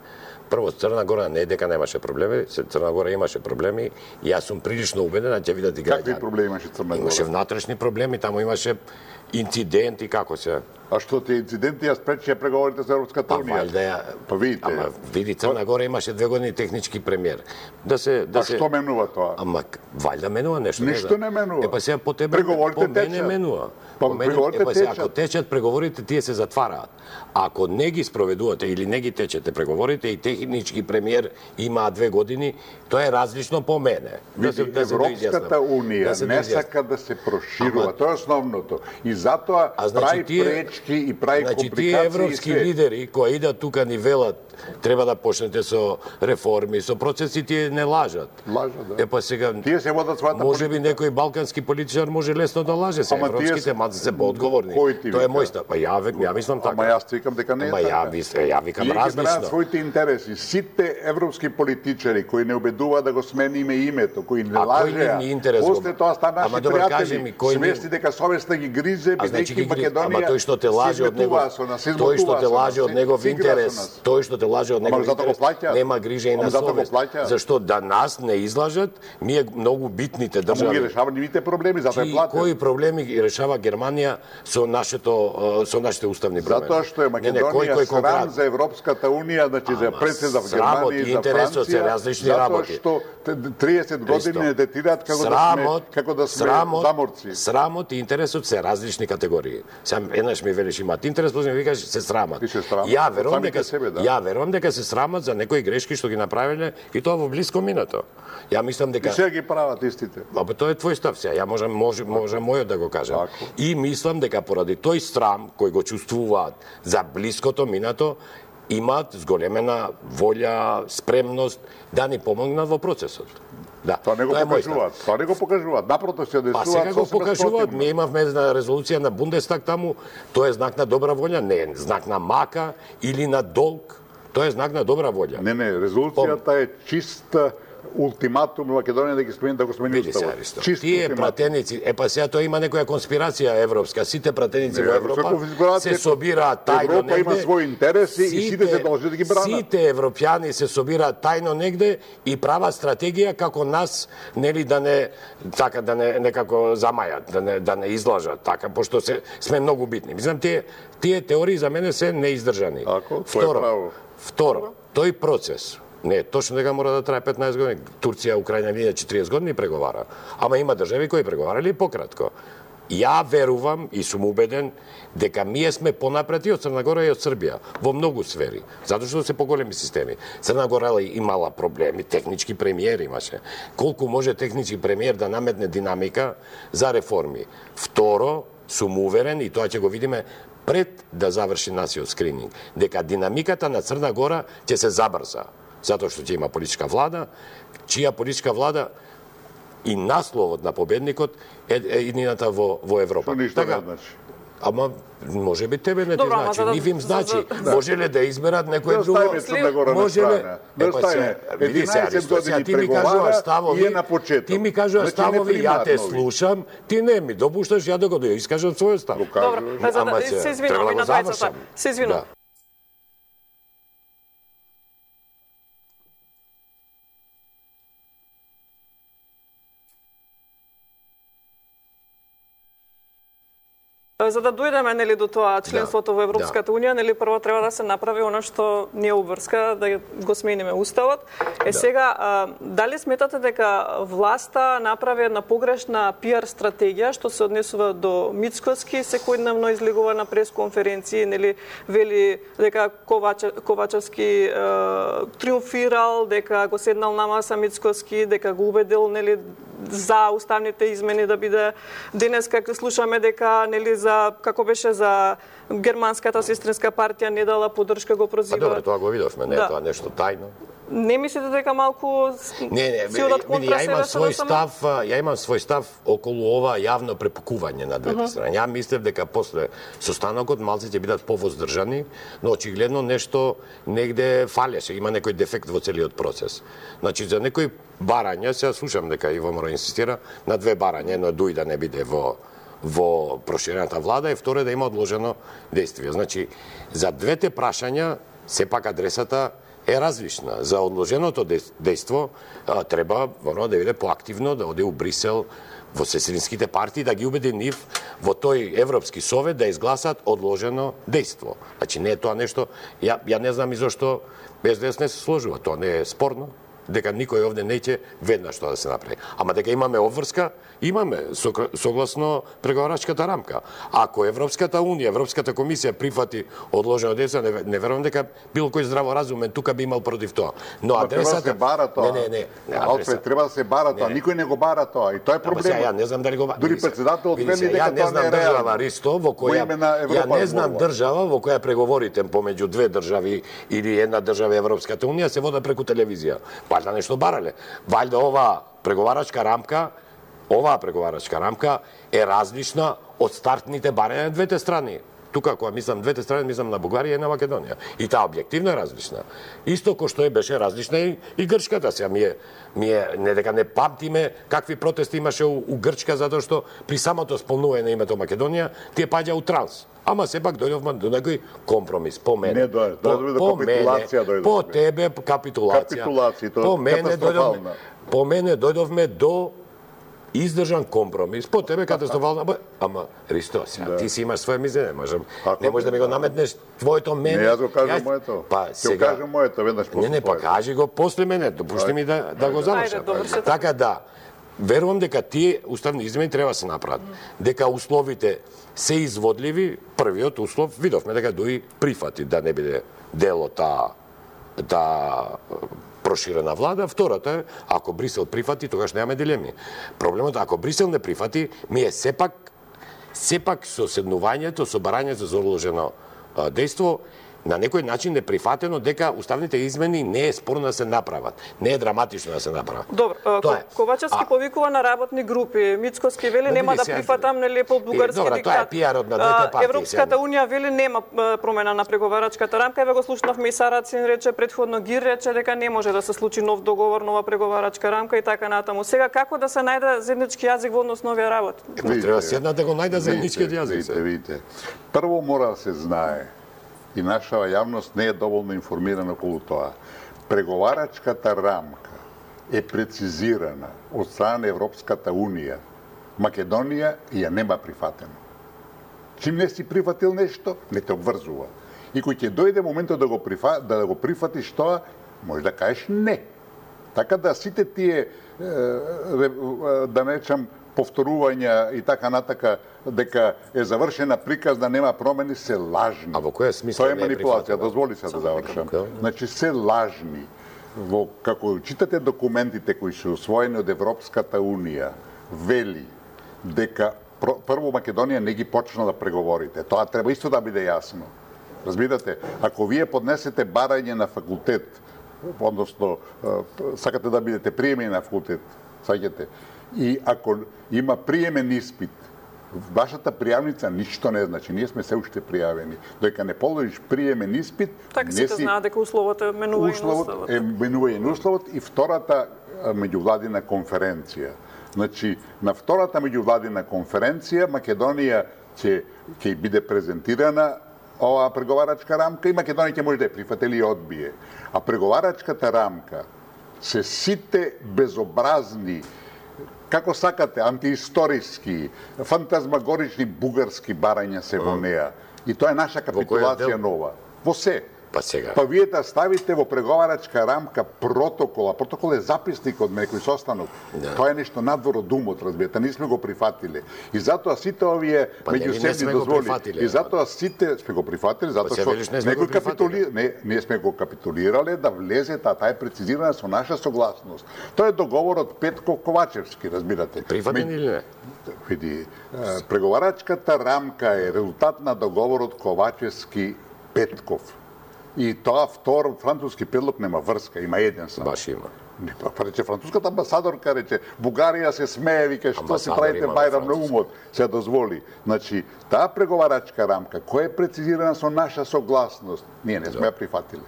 Прво, Црна Гора не е дека немаше проблеми, Црна Гора имаше проблеми и јас сум прилично убеден, ќе видат и граѓани. Какви проблеми имаше Црна Гора? Имаше внатрешни проблеми, таму имаше инциденти, како се. А што тие инциденти ја спречија преговорите со Европската Па унија? валјда ја. Па видите. Ама види Црна Гора имаше две години технички премиер. Да се да А се што менува тоа? Ама валјда менува нешто. Ништо не менува. Е па сега по тебе Преговорите по мене течат. менува. Па По мене, преговорите е па сега, течат. ако течат преговорите, тие се затвараат. Ако не ги спроведувате или не ги течете преговорите и технички премиер има две години, тоа е различно по мене. Види, Европската унија да се не доизјасни. сака да се проширува, Ама- тоа е основното. И затоа А, значи, прави тие- пречки и прави Значи, тие компликации и европски све. лидери кои идат тука ни велат треба да почнете со реформи, со процеси, тие не лажат. Лажат, да. Е па сега Тие се водат својата може би некој балкански политичар може лесно да лаже, се Ама тие европските се- маци се поодговорни. Кој ти Тоа е вика? мој став. Па ја век, ја мислам така. Ама јас викам дека не е Ама ја така. мислам, ја викам Тие ги бранат различно. своите интереси. Сите европски политичари кои не обедува да го смениме името, кои не А кој лажеа, ни интерес го- после тоа стана Ама наши добро, кажи пријатели, ми, кој ни- свести дека совеста ги гризе, А значи бидејќи ги гри- Македонија ама тој што те лаже од него, се изметува со нас, се тој што измотува те со лаже нас, од се- негов се игра со интерес, нас. тој што те лаже од Ама негов затоа го интерес, плаќаат. нема грижа и Ама на затоа го совест. плаќаат. Зашто да нас не излажат, ние многу битните Ама ги држави. решава нивните проблеми, затоа е Чи платен. кои проблеми ги решава Германија со нашето со нашите уставни промени? Затоа што е Не, не, кој, Македонија кој срам конкретно? за Европската унија, значи за Ама, председа в срамот Германија и и за интересот се Франција, различни затоа работи. што т- триесет години не детират како да Срамот, сме како да сме срамот, заморци. Срамот и интересот се различни категории. Сам еднаш ми велиш имаат интерес, после ми викаш се срамат. Ти се срамат Ја од верувам самите дека себе, да. ја верувам дека се срамат за некои грешки што ги направиле и тоа во блиско минато. Ја мислам И дека сега ги прават истите. Абе тоа е твој став сега. Ја можам може може мојот да го кажам. Тако. И мислам дека поради тој срам кој го чувствуваат за блиското минато имаат зголемена волја, спремност да ни помогнат во процесот. Да, Тоа не го е мој став. покажуваат. Тоа не го покажуваат. Напротив се Па одесуваат сега го сосема покажуваат. спротивно. Ние имавме една резолуција на Бундестаг таму, тоа е знак на добра волја, не е знак на мака или на долг. Тоа е знак на добра волја. Не, не, резолуцијата е чиста ултиматум Македонија да ги смени да го смени Види се, уставот. Аристо. Чист Тие ултиматум. пратеници, е па сега тоа има некоја конспирација европска, сите пратеници Не, во секој Европа конспирација- се собираат тајно Европа негде. има своји интереси и сите се должи да ги бранат. Сите европјани се собираат тајно негде и прават стратегија како нас, нели да не така да не некако замајат, да не да не излажат, така пошто се сме многу битни. Мислам тие тие теории за мене се неиздржани. Ако, тоа е право. Второ, тој процес не, точно дека мора да трае петнаесет години. Турција, Украина, ние четириесет години преговара. Ама има држави кои преговарали пократко. Ја верувам и сум убеден дека ние сме понапред и од Црна Гора и од Србија во многу сфери, затоа што се поголеми системи. Црна Гора имала проблеми, технички премиер имаше. Колку може технички премиер да наметне динамика за реформи? Второ, сум уверен и тоа ќе го видиме пред да заврши насиот скрининг, дека динамиката на Црна Гора ќе се забрза, затоа што ќе има политичка влада, чија политичка влада и насловот на победникот е, е иднината во, во Европа. Што ништо не значи. Ама може би тебе не ти Добро, ама значи, за да- нив им за- значи. за- Може ли да изберат некој Да друго? оставиме Црна Гора на Може ли? страна. Да Е, па оставиме. се, види се, единаесет Аристо, сега години ти ми кажува преговара ставови, и е на почеток. ти ми кажува Значи, не ставови, ја примаат те нови. слушам, ти не ми допушташ ја да го да искажам својот став. Го Добро, кажуваш. па за Ама да се, се извинувам треба и да на го тројцата. завршам. Се извинувам. Да. За да дојдеме нели до тоа членството Да, во Европската унија, нели прво треба да се направи она што не обврска, да го смениме уставот. Е Да. сега, а, дали сметате дека власта направи една погрешна пиар стратегија што се однесува до Мицкоски, секојдневно излегува на пресконференции, нели вели дека Коваче, Ковачевски е, триумфирал, дека го седнал на маса Мицкоски, дека го убедил нели за уставните измени да биде денес како слушаме дека нели за како беше за германската сестринска партија не дала поддршка, го Па прозива. добро, тоа го видовме, не е Да. тоа нешто тајно. Не мислите дека малку Не, не, си одат види, контра ја себе имам со свој ДСМ? став, а, ја имам свој став околу ова јавно препукување на двете страни. Ја мислев дека после состанокот малце ќе бидат повоздржани, но очигледно нешто негде фалеше, има некој дефект во целиот процес. Значи за некои барања, сега слушам дека Иво мора инсистира на две барања, едно е Дуј да не биде во во проширената влада и второ е да има одложено действие. Значи за двете прашања сепак адресата е различна. За одложеното дејство а, треба воно да биде поактивно, да оде у Брисел, во сестринските партии, да ги убеди нив во тој Европски совет да изгласат одложено дејство. Значи не е тоа нешто, ја, ја не знам и зашто Ес Де Ес не се сложува, тоа не е спорно, дека никој овде неќе веднаш тоа да се направи. Ама дека имаме обврска, имаме согласно преговарачката рамка. Ако Европската унија, Европската комисија прифати одложено дејство, не, не верувам дека било кој здраворазумен тука би имал против тоа. Но Ама треба да адресата се бара тоа. Не, не, не. не Алфред, треба да се бара тоа. Не, не. Никој не го бара тоа. И тоа е Ама сега, ја проблемот. не знам дали го бара. Дури председателот Види вели се, дека ја не тоа знам не е држава реално. Ристо во Во која име на ја Европа не знам зборува. држава во која преговорите помеѓу две држави или една држава и Европската унија се водат преку телевизија. Вајда нешто барале. Вајда ова преговарачка рамка, оваа преговарачка рамка е различна од стартните барања на двете страни. Тука, кога мислам двете страни, мислам на Бугарија и на Македонија. И таа објективно е различна. Исто кој што е беше различна и, и Грчката. Сега ми е, ми е, не дека не памтиме какви протести имаше у, у Грчка, затоа што при самото сполнување на името Македонија, тие паѓа у транс. Ама сепак дојдовме до некој компромис по мене. Не дојде, по, дојде до по капитулација мене, дојдовме. по тебе капитулација. Капитулација, тоа по е мене дојдовме, катастрофална. по мене дојдовме до издржан компромис. По тебе катастрофална, бе, ама Ристо, сега, Да. ти си имаш своје мислење, можам. Ако Не можеш да ми го да. наметнеш твоето мене. Не, јас го кажам Јас- моето. Па Ќе го сега кажам моето веднаш после Не, не, па твоето. кажи го после мене, допушти ми да да го завршам. Ајде, довршете. Така да, верувам дека тие уставни измени треба да се направат. Дека условите се изводливи, првиот услов видовме дека Дуј прифати да не биде дел од таа таа проширена влада. Втората е, ако Брисел прифати, тогаш немаме дилеми. Проблемот е, ако Брисел не прифати, ми е сепак сепак со седнувањето, со барањето за одложено а, дејство, на некој начин е прифатено дека уставните измени не е спорно да се направат. Не е драматично да се направат. Добро, Тоа е. Ковачевски А... повикува на работни групи, Мицкоски вели Да, нема види да сега, прифатам нели по бугарски добра, диктат. тоа е пиарот на двете партии. Европската унија вели нема промена на преговарачката рамка. Еве го слушнавме и Сарацин рече, предходно Гир рече дека не може да се случи нов договор, нова преговарачка рамка и така натаму. Сега како да се најде заеднички јазик во однос на овие работи? Треба седна да го најде заедничкиот јазик. Видите, видите. Прво мора да се знае и наша јавност не е доволно информирана околу тоа. Преговарачката рамка е прецизирана од страна на Европската унија. Македонија ја нема прифатено. Чим не си прифатил нешто, не те обврзува. И кој ќе дојде моментот да го прифа, да го прифатиш тоа, може да кажеш не. Така да сите тие да нечам повторувања и така натака дека е завршена приказна, нема промени, се лажни. А во која смисла тоа е не е манипулација, прифатено? дозволи се да завршам. Така. Значи се лажни. Во како читате документите кои се усвоени од Европската унија, вели дека прво Македонија не ги почна да преговорите. Тоа треба исто да биде јасно. Разбирате, ако вие поднесете барање на факултет, односно сакате да бидете приемени на факултет, саѓате, и ако има приемен испит, вашата пријавница ништо не значи. Ние сме се уште пријавени. Додека не положиш приемен испит, Така не сите си... знаат дека условот е менување на Условот условот. е менување на условот и втората меѓувладина конференција. Значи, на втората меѓувладина конференција Македонија ќе ќе биде презентирана оваа преговарачка рамка и Македонија ќе може да ја прифати или ја одбие. А преговарачката рамка се сите безобразни, како сакате, антиисториски, фантазмагорични бугарски барања се во неа. И тоа е наша капитулација нова. Во се. Па сега. Па вие да ставите во преговарачка рамка протокол, а протокол е записник од некој состанок. Да. Тоа е нешто надвор од умот, разбирате, не сме го прифатиле. И затоа сите овие Па не, не меѓусебни сме го дозволи. прифатиле, И затоа сите сме го прифатиле, затоа Па се што велиш, не сме некој го прифатиле. капитули... не, ние сме го капитулирале да влезе, та таа е прецизирана со наша согласност. Тоа е договорот Петков Ковачевски, разбирате. Прифатен или не? Види, преговарачката рамка е резултат на договорот Ковачевски Петков. И тоа втор француски предлог нема врска, има еден само. Баш има. Не, па, па рече француската амбасадорка рече Бугарија се смее, вика што се Амбасадор правите има во бајрам на Француска. умот, се дозволи. Значи, таа преговарачка рамка која е прецизирана со наша согласност, ние не сме ја прифатиле.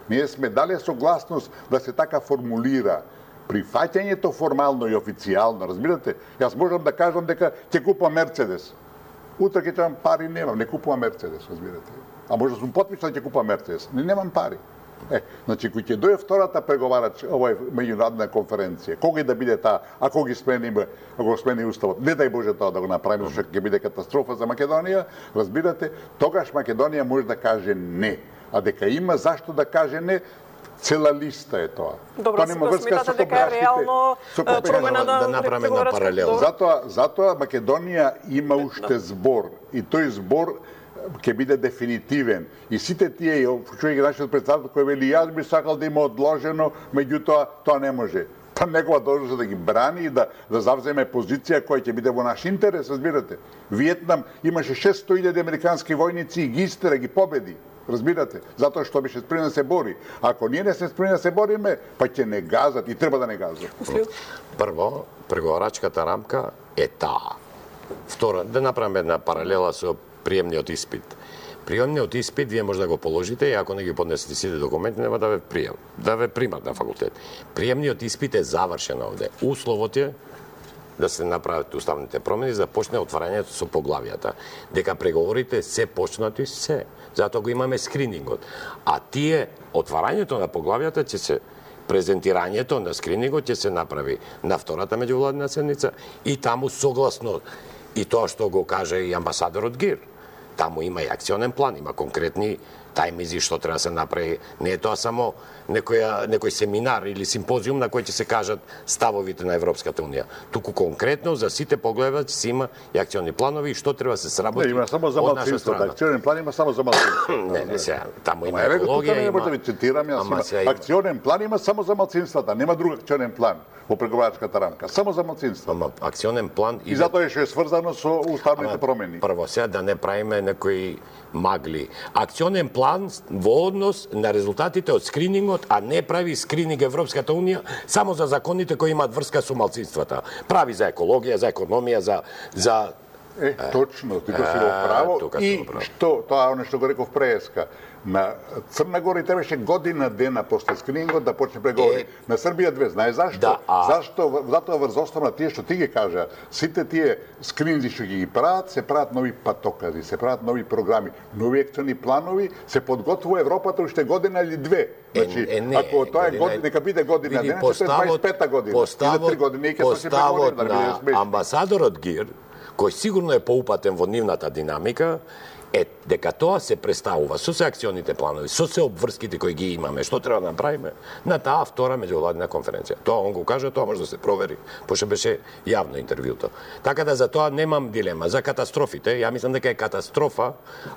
Ние сме дали согласност да се така формулира прифаќањето формално и официјално, разбирате? Јас можам да кажам дека ќе купам Мерцедес. Утре ќе имам пари, немам, не купувам Мерцедес, разбирате? А може да сум потпишан ќе купам Мерцедес, не немам пари. Е, значи кој ќе дојде втората преговарач, ова е меѓународна конференција, кога и да биде таа, ако ги смениме, ако го смени уставот, не дај Боже тоа да го направиме, што ќе биде катастрофа за Македонија, разбирате, тогаш Македонија може да каже не, а дека има зашто да каже не, цела листа е тоа. Добро, Тоа нема врска смятате со дека е копрашките, реално со е, копрашките. промена на Да направиме една преговарачка- паралела. Добро. Затоа, затоа Македонија има уште збор и тој збор ќе биде дефинитивен. И сите тие, чуј ги нашиот председател кој вели јас би сакал да има одложено, меѓутоа тоа не може. Па негова должност да ги брани и да да завземе позиција која ќе биде во наш интерес, разбирате. Виетнам имаше шестстотини илјади американски војници и ги истера, ги победи. Разбирате? Затоа што беше спремен да се бори. Ако ние не сме спремни да се бориме, па ќе не газат и треба да не газат. Прво, преговарачката рамка е таа. Второ, да направиме една паралела со приемниот испит. Приемниот испит вие може да го положите и ако не ги поднесете сите документи нема да ве прием, да ве примат на факултет. Приемниот испит е завршен овде. Условот е да се направат уставните промени за да почне отварањето со поглавијата. Дека преговорите се почнати се. Затоа го имаме скринингот. А тие отварањето на поглавијата ќе се презентирањето на скринингот ќе се направи на втората меѓувладина седница и таму согласно и тоа што го каже и амбасадорот Гир. Таму има и акционен план, има конкретни тајмизи што треба да се направи. Не е тоа само некоја, некој семинар или симпозиум на кој ќе се кажат ставовите на Европската унија. Туку конкретно за сите погледа ќе се има и акциони планови и што треба да се сработи. Не, има само за од наша малцинството. страна. Акционен план има само за малцинството. Не, не сега, таму има Ама еве го тука екологија, не може да има... ви цитирам, јас Ама има. сега има- Акционен план има само за малцинствата, нема друг акционен план во преговарачката рамка, само за малцинствата. Ама акционен план И затоа е што е сврзано со уставните промени. Прво, сега да не правиме некои магли. Акционен план план во однос на резултатите од скринингот, а не прави скрининг Европската унија само за законите кои имаат врска со малцинствата. Прави за екологија, за економија, за за Е, точно, ти го си го право. И што, тоа оно што го реков преска, на Црна Гора и требаше година дена после скринингот да почне преговори. Е, на Србија две, знаеш зашто? Да, а... Зашто, затоа врз основа на тие што ти ги кажа, сите тие скрининзи што ги прават, се прават нови патокази, се прават нови програми, нови екциони планови, се подготвува Европата уште година или две. Значи, е, не, ако тоа е година, нека биде година дена, ќе се дваесет и пета година. Поставот, или три години, и ќе се поставот да на биде амбасадорот Гир, кој сигурно е поупатен во нивната динамика, е дека тоа се представува со се акционите планови, со се обврските кои ги имаме, што треба да направиме на таа втора меѓувладина конференција. Тоа он го каже, тоа може да се провери, пошто беше јавно интервјуто. Така да за тоа немам дилема. За катастрофите, ја мислам дека е катастрофа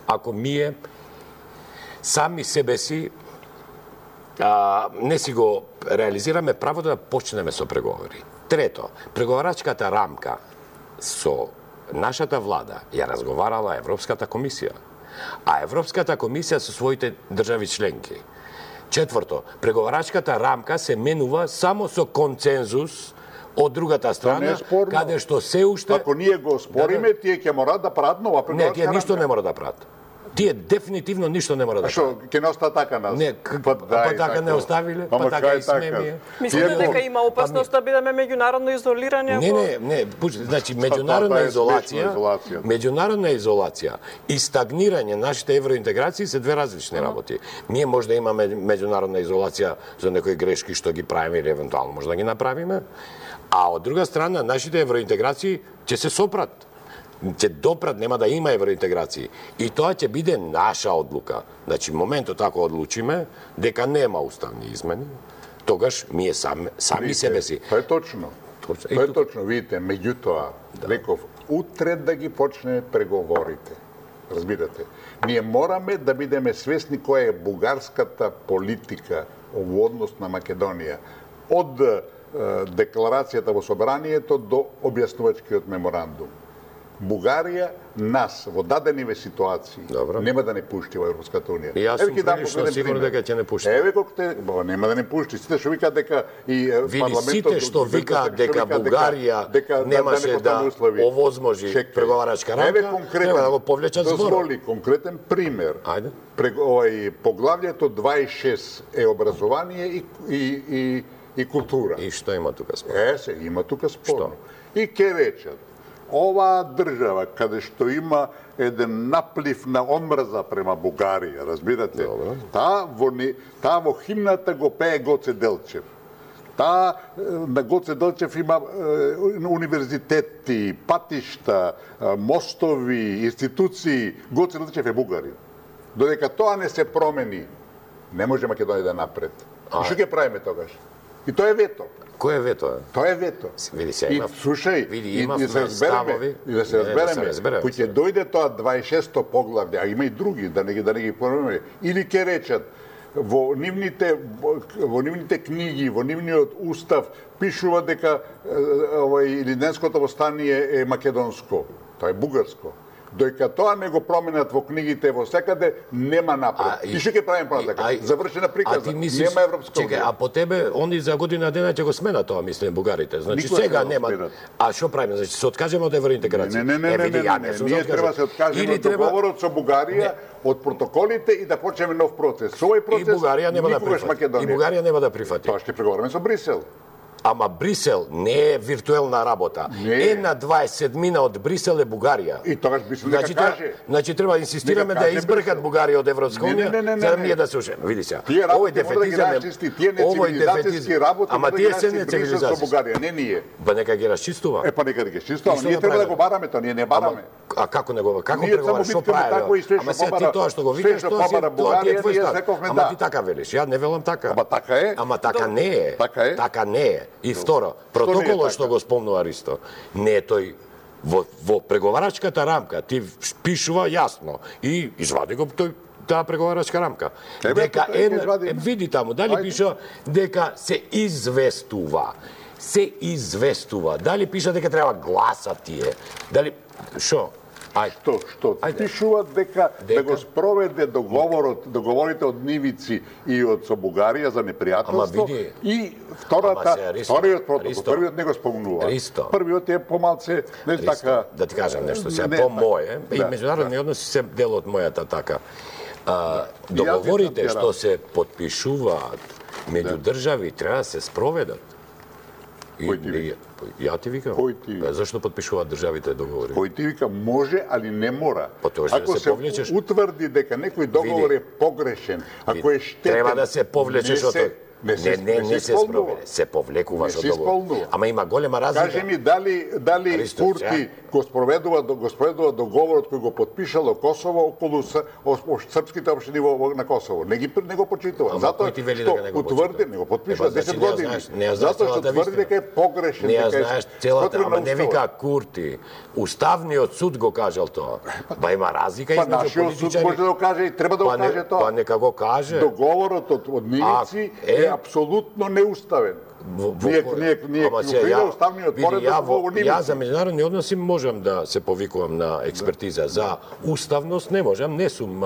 ако ние сами себе си а, не си го реализираме правото да почнеме со преговори. Трето, преговарачката рамка со нашата влада ја разговарала Европската комисија, а Европската комисија со своите држави членки. Четврто, преговарачката рамка се менува само со концензус од другата страна, каде што се уште... Ако ние го спориме, тие ќе мораат да прават нова преговарачка рамка. Не, тие ништо не мора да прават. Тие дефинитивно ништо не мора да прават. А што, ќе не остаа така нас? Не, па, па така не оставиле, па така и сме. Мислите дека има опасност да бидеме меѓународно изолирани? Не, не, не, значи меѓународна изолација, меѓународна изолација и стагнирање нашите евроинтеграции се две различни работи. Ние може да имаме меѓународна изолација за некои грешки што ги правиме или евентуално може да ги направиме, а од друга страна нашите евроинтеграции ќе се сопрат. Ќе допрат, нема да има евроинтеграции. И тоа ќе биде наша одлука. Значи, моментот ако одлучиме дека нема уставни измени, тогаш ние сами, сами видите, себе си. Тоа е точно. Точно. Тоа е точно, видите, меѓутоа, да. Реков, утре да ги почне преговорите. Разбирате? Ние мораме да бидеме свесни која е бугарската политика во однос на Македонија. Од е, декларацијата во собранието до објаснувачкиот меморандум. Бугарија нас во дадениве ситуации Добро. Нема да не пушти во Европската унија. И јас сум прилично сигурен дека ќе не пушти. Еве колку те, бо нема да не пушти. Сите што викаат дека и Види, парламентот сите што викаат дека Бугарија дека, немаше да, да, да овозможи преговарачка рамка, еве конкретен, да го повлечат збор. Дозволи конкретен пример. Ајде. Овој поглавјето дваесет и шест е образование и и и, и култура. И што има тука спорно? Е, се има тука спорно. И ке речат оваа држава, каде што има еден наплив на омрза према Бугарија, разбирате? Добре. Таа во, та во химната го пее Гоце Делчев. Таа на Гоце Делчев има е, универзитети, патишта, мостови, институции. Гоце Делчев е бугарин. Додека тоа не се промени, не може Македонија да напред. А, и што ќе правиме тогаш? И тоа е вето. Кој е вето? Тоа е вето. Види се, и има, слушај, види, и, има и се разбереме, и да се разбереме, разбереме кој ќе дојде тоа дваесет и шесто поглавје, а има и други, да не ги да не ги помнеме, или ќе речат во нивните во нивните книги, во нивниот устав пишува дека овој Илинденското восстание е македонско, тоа е бугарско. Дојка тоа не го променат во книгите во секаде, нема напред. А, и што ќе правим пратака? Завршена приказна. Мислиш, нема Европска унија. Чекај, а по тебе они за година дена ќе го сменат тоа, мислам, бугарите. Значи Никога сега нема. А што правиме? Значи се откажеме од евроинтеграција. Не, не, не, не, не, не, не, ние треба да се откажеме од договорот со Бугарија, од протоколите и да почнеме нов процес. Со овој процес и Бугарија нема да прифати. И Бугарија нема да прифати. Тоа ќе преговараме со Брисел. Ама Брисел не е виртуелна работа. Не. Една дваесет седмина од Брисел е Бугарија. И тогаш Брисел значи, нека каже. Значи треба да инсистираме да избркат Бугарија од Европска унија, за да ние да се ушеме. Види се. Овој дефетизам е тие нецивилизацијски работи. Ама тие се нецивилизацијски со Бугарија, не ние. Па нека ги расчистува. Е па нека ги расчистува, ние треба да го бараме тоа, ние не бараме. А како не го како преговара, што прави? Ама се ти тоа што го викаш, тоа си тоа ти е твој став. Ама ти така велиш, ја не велам така. Ама така е. Ама така не е. Така е. Така не е. И второ, протоколот што го спомнува Аристо, не е тој во, во преговарачката рамка, ти пишува јасно и извади го тој таа преговарачка рамка. Тебе, дека е, е, види таму, дали Ајде. Пишува дека се известува. Се известува. Дали пиша дека треба гласат тие? Дали шо? Ајде. Што, што пишува дека, дека да го спроведе договорот, договорите од Нивици и од со Бугарија за непријателство и втората, вториот протокол, првиот не го спомнува. Ристо. Првиот е помалце, не Ристо, така. Да ти кажам нешто, сега не, по моје, да, и меѓународни да. односи се дел од мојата така. А, да. договорите што се потпишуваат меѓу да. држави треба да се спроведат. Кој ти вика? Ја ти викам. Кој ти вика? Зашто потпишуваат државите договори? Кој ти вика може, али не мора. Ако се, се повлечеш, утврди дека некој договор види, е погрешен, ако е штетен, треба да се повлечеш од тој. Не, не, не, не, не се спроведе, се повлекуваш од договор. Ама има голема разлика. Кажи ми дали дали Христо, Курти го спроведува го спроведува договорот кој го потпишало Косово околу српските општини во на Косово. Не ги не го почитува. Затоа што утврди, не го потпишува десет години. Затоа што тврди дека е погрешен, дека е. Не знаеш целата, ама не вика Курти. Уставниот суд го кажал тоа. Па има разлика измеѓу политичари. Па нашиот суд може да го каже и треба да го каже тоа. Па нека го каже. Договорот од Нивици е апсолутно неуставен. Ние ние ние ја уставниот поредок во Нивици. Ја за меѓународни односи можам да се повикувам на експертиза. За уставност не можам, не сум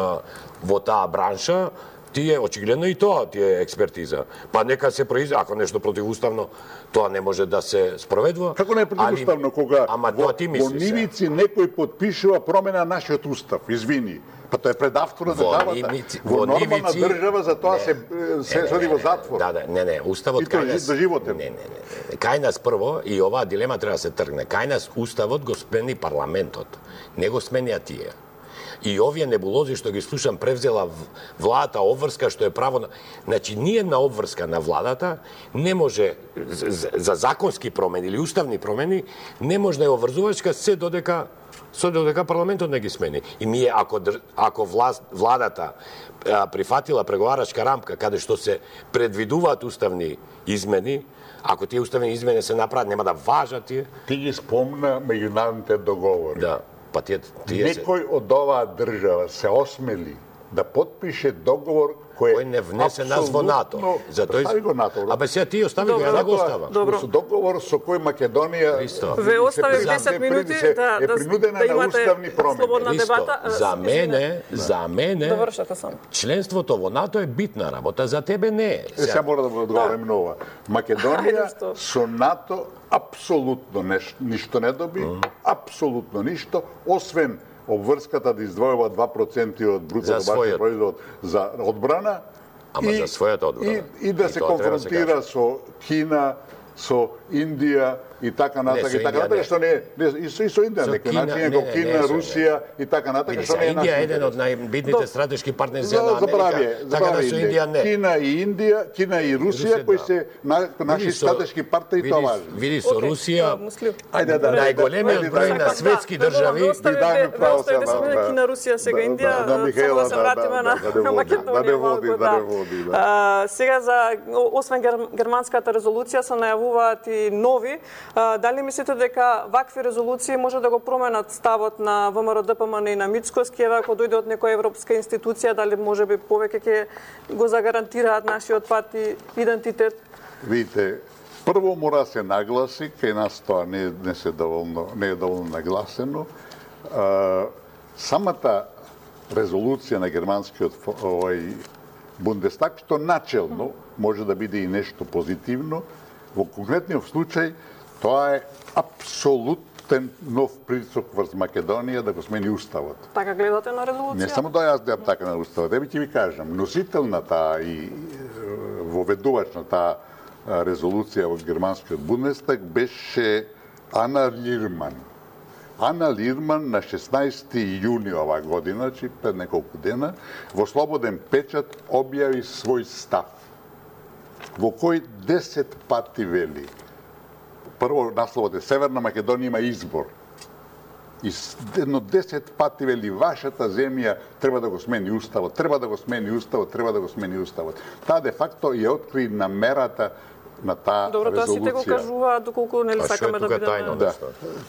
во таа бранша. Тие очигледно и тоа ти е експертиза. Па нека се произведе, ако нешто противуставно, тоа не може да се спроведува. Како не е противуставно кога ама во, ти во Нивици некој потпишува промена на нашиот устав? Извини. Па тоа е предавство на државата. Во нормална држава за тоа се се соди во затвор. Да, да, не, не, уставот кај нас до животен. Не, не, не. Кај нас прво и оваа дилема треба да се тргне. Кај нас уставот го смени парламентот. Не го сменија тие. И овие небулози што ги слушам превзела владата обврска што е право на... Значи, ние на обврска на владата не може за законски промени или уставни промени не може да е обврзувачка се додека со додека парламентот не ги смени. И ние ако ако власт, владата а, прифатила преговарачка рамка каде што се предвидуваат уставни измени, ако тие уставни измени се направат нема да важат тие. Ти ги спомна меѓународните договори. Да. Па тие, тие некој од оваа држава се осмели да потпише договор кој, кој не внесе нас во НАТО. Затоа остави го НАТО. Абе сега ти остави го, ја не го остава. Добро. Со договор со кој Македонија ве остави десет минути да е принудена да, да на уставни промени. Слободна дебата. За мене, за мене довршете само. Членството во НАТО е битна работа, за тебе не е. Сега мора да го одговорам на ова. Македонија со НАТО апсолутно ништо не доби, апсолутно ништо, освен обврската да издвојува два проценти од бруто домашен производ за одбрана. Ама и, за својата одбрана. И, и да и се конфронтира со Кина, со Индија и така натака и така натака што не не и со, и со Индија некој начин како Кина, Русија и така натака што не е Индија е еден од најбитните стратешки партнери за Америка. Така да со Индија не. Кина и Индија, Кина и Русија кои се наши стратешки партнери тоа важно. Види со Русија, ајде да најголемиот број на светски држави и даме право се да Кина, Русија, сега Индија, само да се вратиме на Македонија. Да не води, да не води. Сега за освен германската резолуција се најавуваат и нови. Дали мислите дека вакви резолуции може да го променат ставот на ВМРО Д П М Н и на Мицкоски, ева ако дојде од некоја европска институција, дали може би повеќе ќе го загарантираат нашиот пат и идентитет? Видите, прво мора да се нагласи, кај нас тоа не, не, се доволно, не е доволно нагласено. А, самата резолуција на германскиот овој Бундестаг, што начелно може да биде и нешто позитивно, во конкретниот случај тоа е апсолутен нов притисок врз Македонија да го смени уставот. Така гледате на резолуција? Не само да јас гледам така на уставот, еби ќе ви кажам, носител на таа и воведувач на таа резолуција во германскиот Бундестаг беше Ана Лирман. Ана Лирман на шеснаесети јуни оваа година, значи пред неколку дена, во Слободен печат објави свој став, во кој десет пати вели. Прво насловот е Северна Македонија има избор. И едно десет пати вели вашата земја треба да го смени уставот, треба да го смени уставот, треба да го смени уставот. Таа де факто ја откри намерата на таа Добро, тоа сите го резолуција. кажуваат доколку нели А што е сакаме да тука бидеме. тајно? Да, Нешто.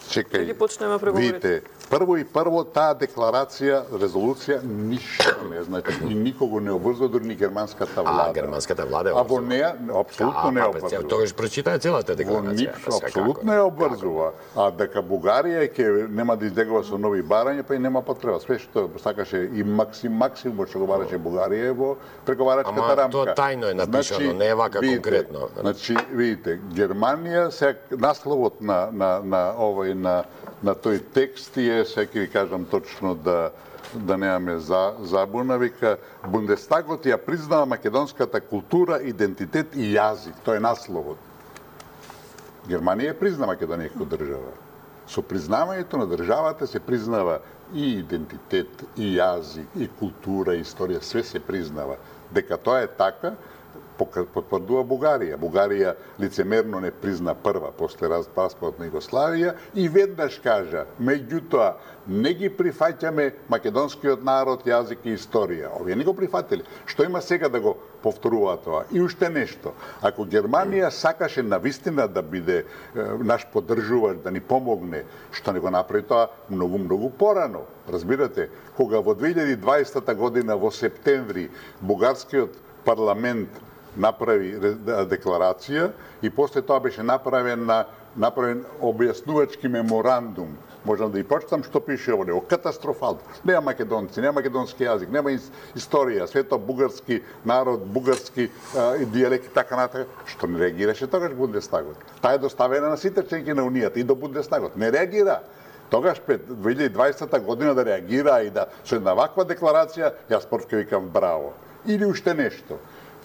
чекај. Да ги почнеме преговорите. Видите, прво и прво таа декларација, резолуција ништо не значи и никого не обврзува, дури ни германската влада. А, германската влада е А во неја апсолутно не обврзува. Тогаш прочитаја целата Во декларација. ништо Секако. апсолутно ја обврзува. А дека Бугарија ќе нема да излегува со нови барања, па и нема потреба. Све што сакаше и максим максимум што го бараше Бугарија е во преговарачката Ама рамка. тоа тајно е напишано, не е вака видите, конкретно. Значи, видите, Германија се насловот на на на овој на на тој текст е, сега ќе ви кажам точно да да немаме за, забуна, вика Бундестагот ја признава македонската култура, идентитет и јазик. Тоа е насловот. Германија ја призна Македонија како држава. Со признавањето на државата се признава и идентитет, и јазик, и култура, и историја, све се признава. Дека тоа е така, потврдува Бугарија. Бугарија лицемерно не призна прва после распадот на Југославија и веднаш кажа, меѓутоа, не ги прифаќаме македонскиот народ, јазик и историја. Овие не го прифатили. Што има сега да го повторува тоа? И уште нешто. Ако Германија сакаше навистина да биде е, наш поддржувач, да ни помогне, што не го направи тоа многу, многу порано. Разбирате, кога во две илјади и дваесета година во септември бугарскиот парламент направи декларација и после тоа беше направен на направен објаснувачки меморандум. Можам да и прочитам што пише во него. Катастрофално. Нема македонци, нема македонски јазик, нема историја, све тоа бугарски народ, бугарски а, дијалекти, така натака. Што не реагираше тогаш Бундестагот? Таа е доставена на сите членки на Унијата и до Бундестагот. Не реагира. Тогаш пред две илјади и дваесета година да реагира и да со една ваква декларација, јас прв ќе викам браво. Или уште нешто.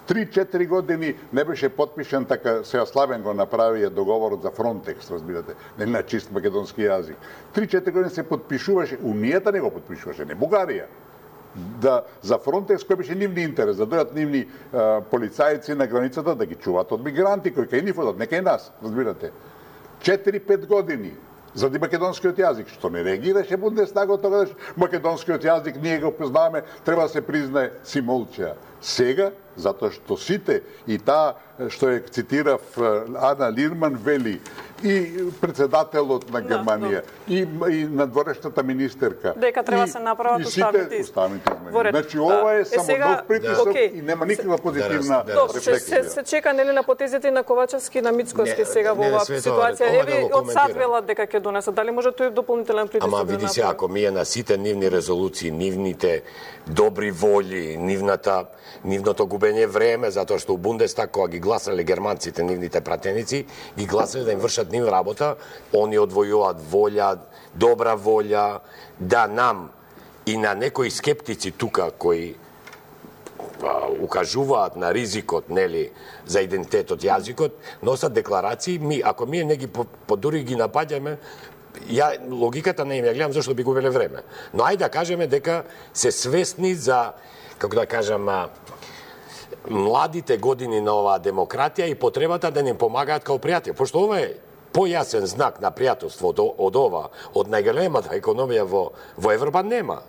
три-четири години не беше подпишан, така сега Славен го направи договорот за Фронтекс, разбирате, не на чист македонски јазик. три-четири години се подпишуваше, Унијата не го подпишуваше, не Бугарија. Да, за Фронтекс кој беше нивни интерес, да дојдат нивни а, полицајци на границата да ги чуваат од мигранти кои кај нив одат, не кај нас, разбирате. четири-пет години заради македонскиот јазик, што не реагираше Бундестагот тогаш, македонскиот јазик ние го познаваме, треба да се признае, си молча. Сега, затоа што сите и таа што е цитирав Ана Лирман вели и председателот на Германија и и надворешната министерка дека треба и, се направат и сите уставните уставните измени. во ред. Значи ова е, Е, само сега- нов притисок Окей. и нема никаква позитивна Да, Добро, се, се, рефлексија. се чека нели на потезите на Ковачевски и на Мицкоски Не, сега во не, не, оваа све тоа, ситуација. ова да Еве го од сад коментирам. велат дека ќе донесат. Дали може тој дополнителен притисок Ама да види се, направи? ако ми е на сите нивни резолуции, нивните добри воли, нивната, нивното губење време, затоа што у Бундестаг, кога ги гласале германците, нивните пратеници, ги гласале да им вршат нив работа, они одвојуваат волја, добра волја, да нам и на некои скептици тука кои а, укажуваат на ризикот, нели, за идентитетот, јазикот, носат декларации, ми, ако ние не ги по, по дури ги напаѓаме, ја логиката не им ја гледам зашто би губеле време. Но ајде да кажеме дека се свесни за, како да кажам, а, младите години на оваа демократија и потребата да ни помагаат као пријатели. Пошто ова е појасен знак на пријателство од, од ова, од најголемата економија во, во Европа нема.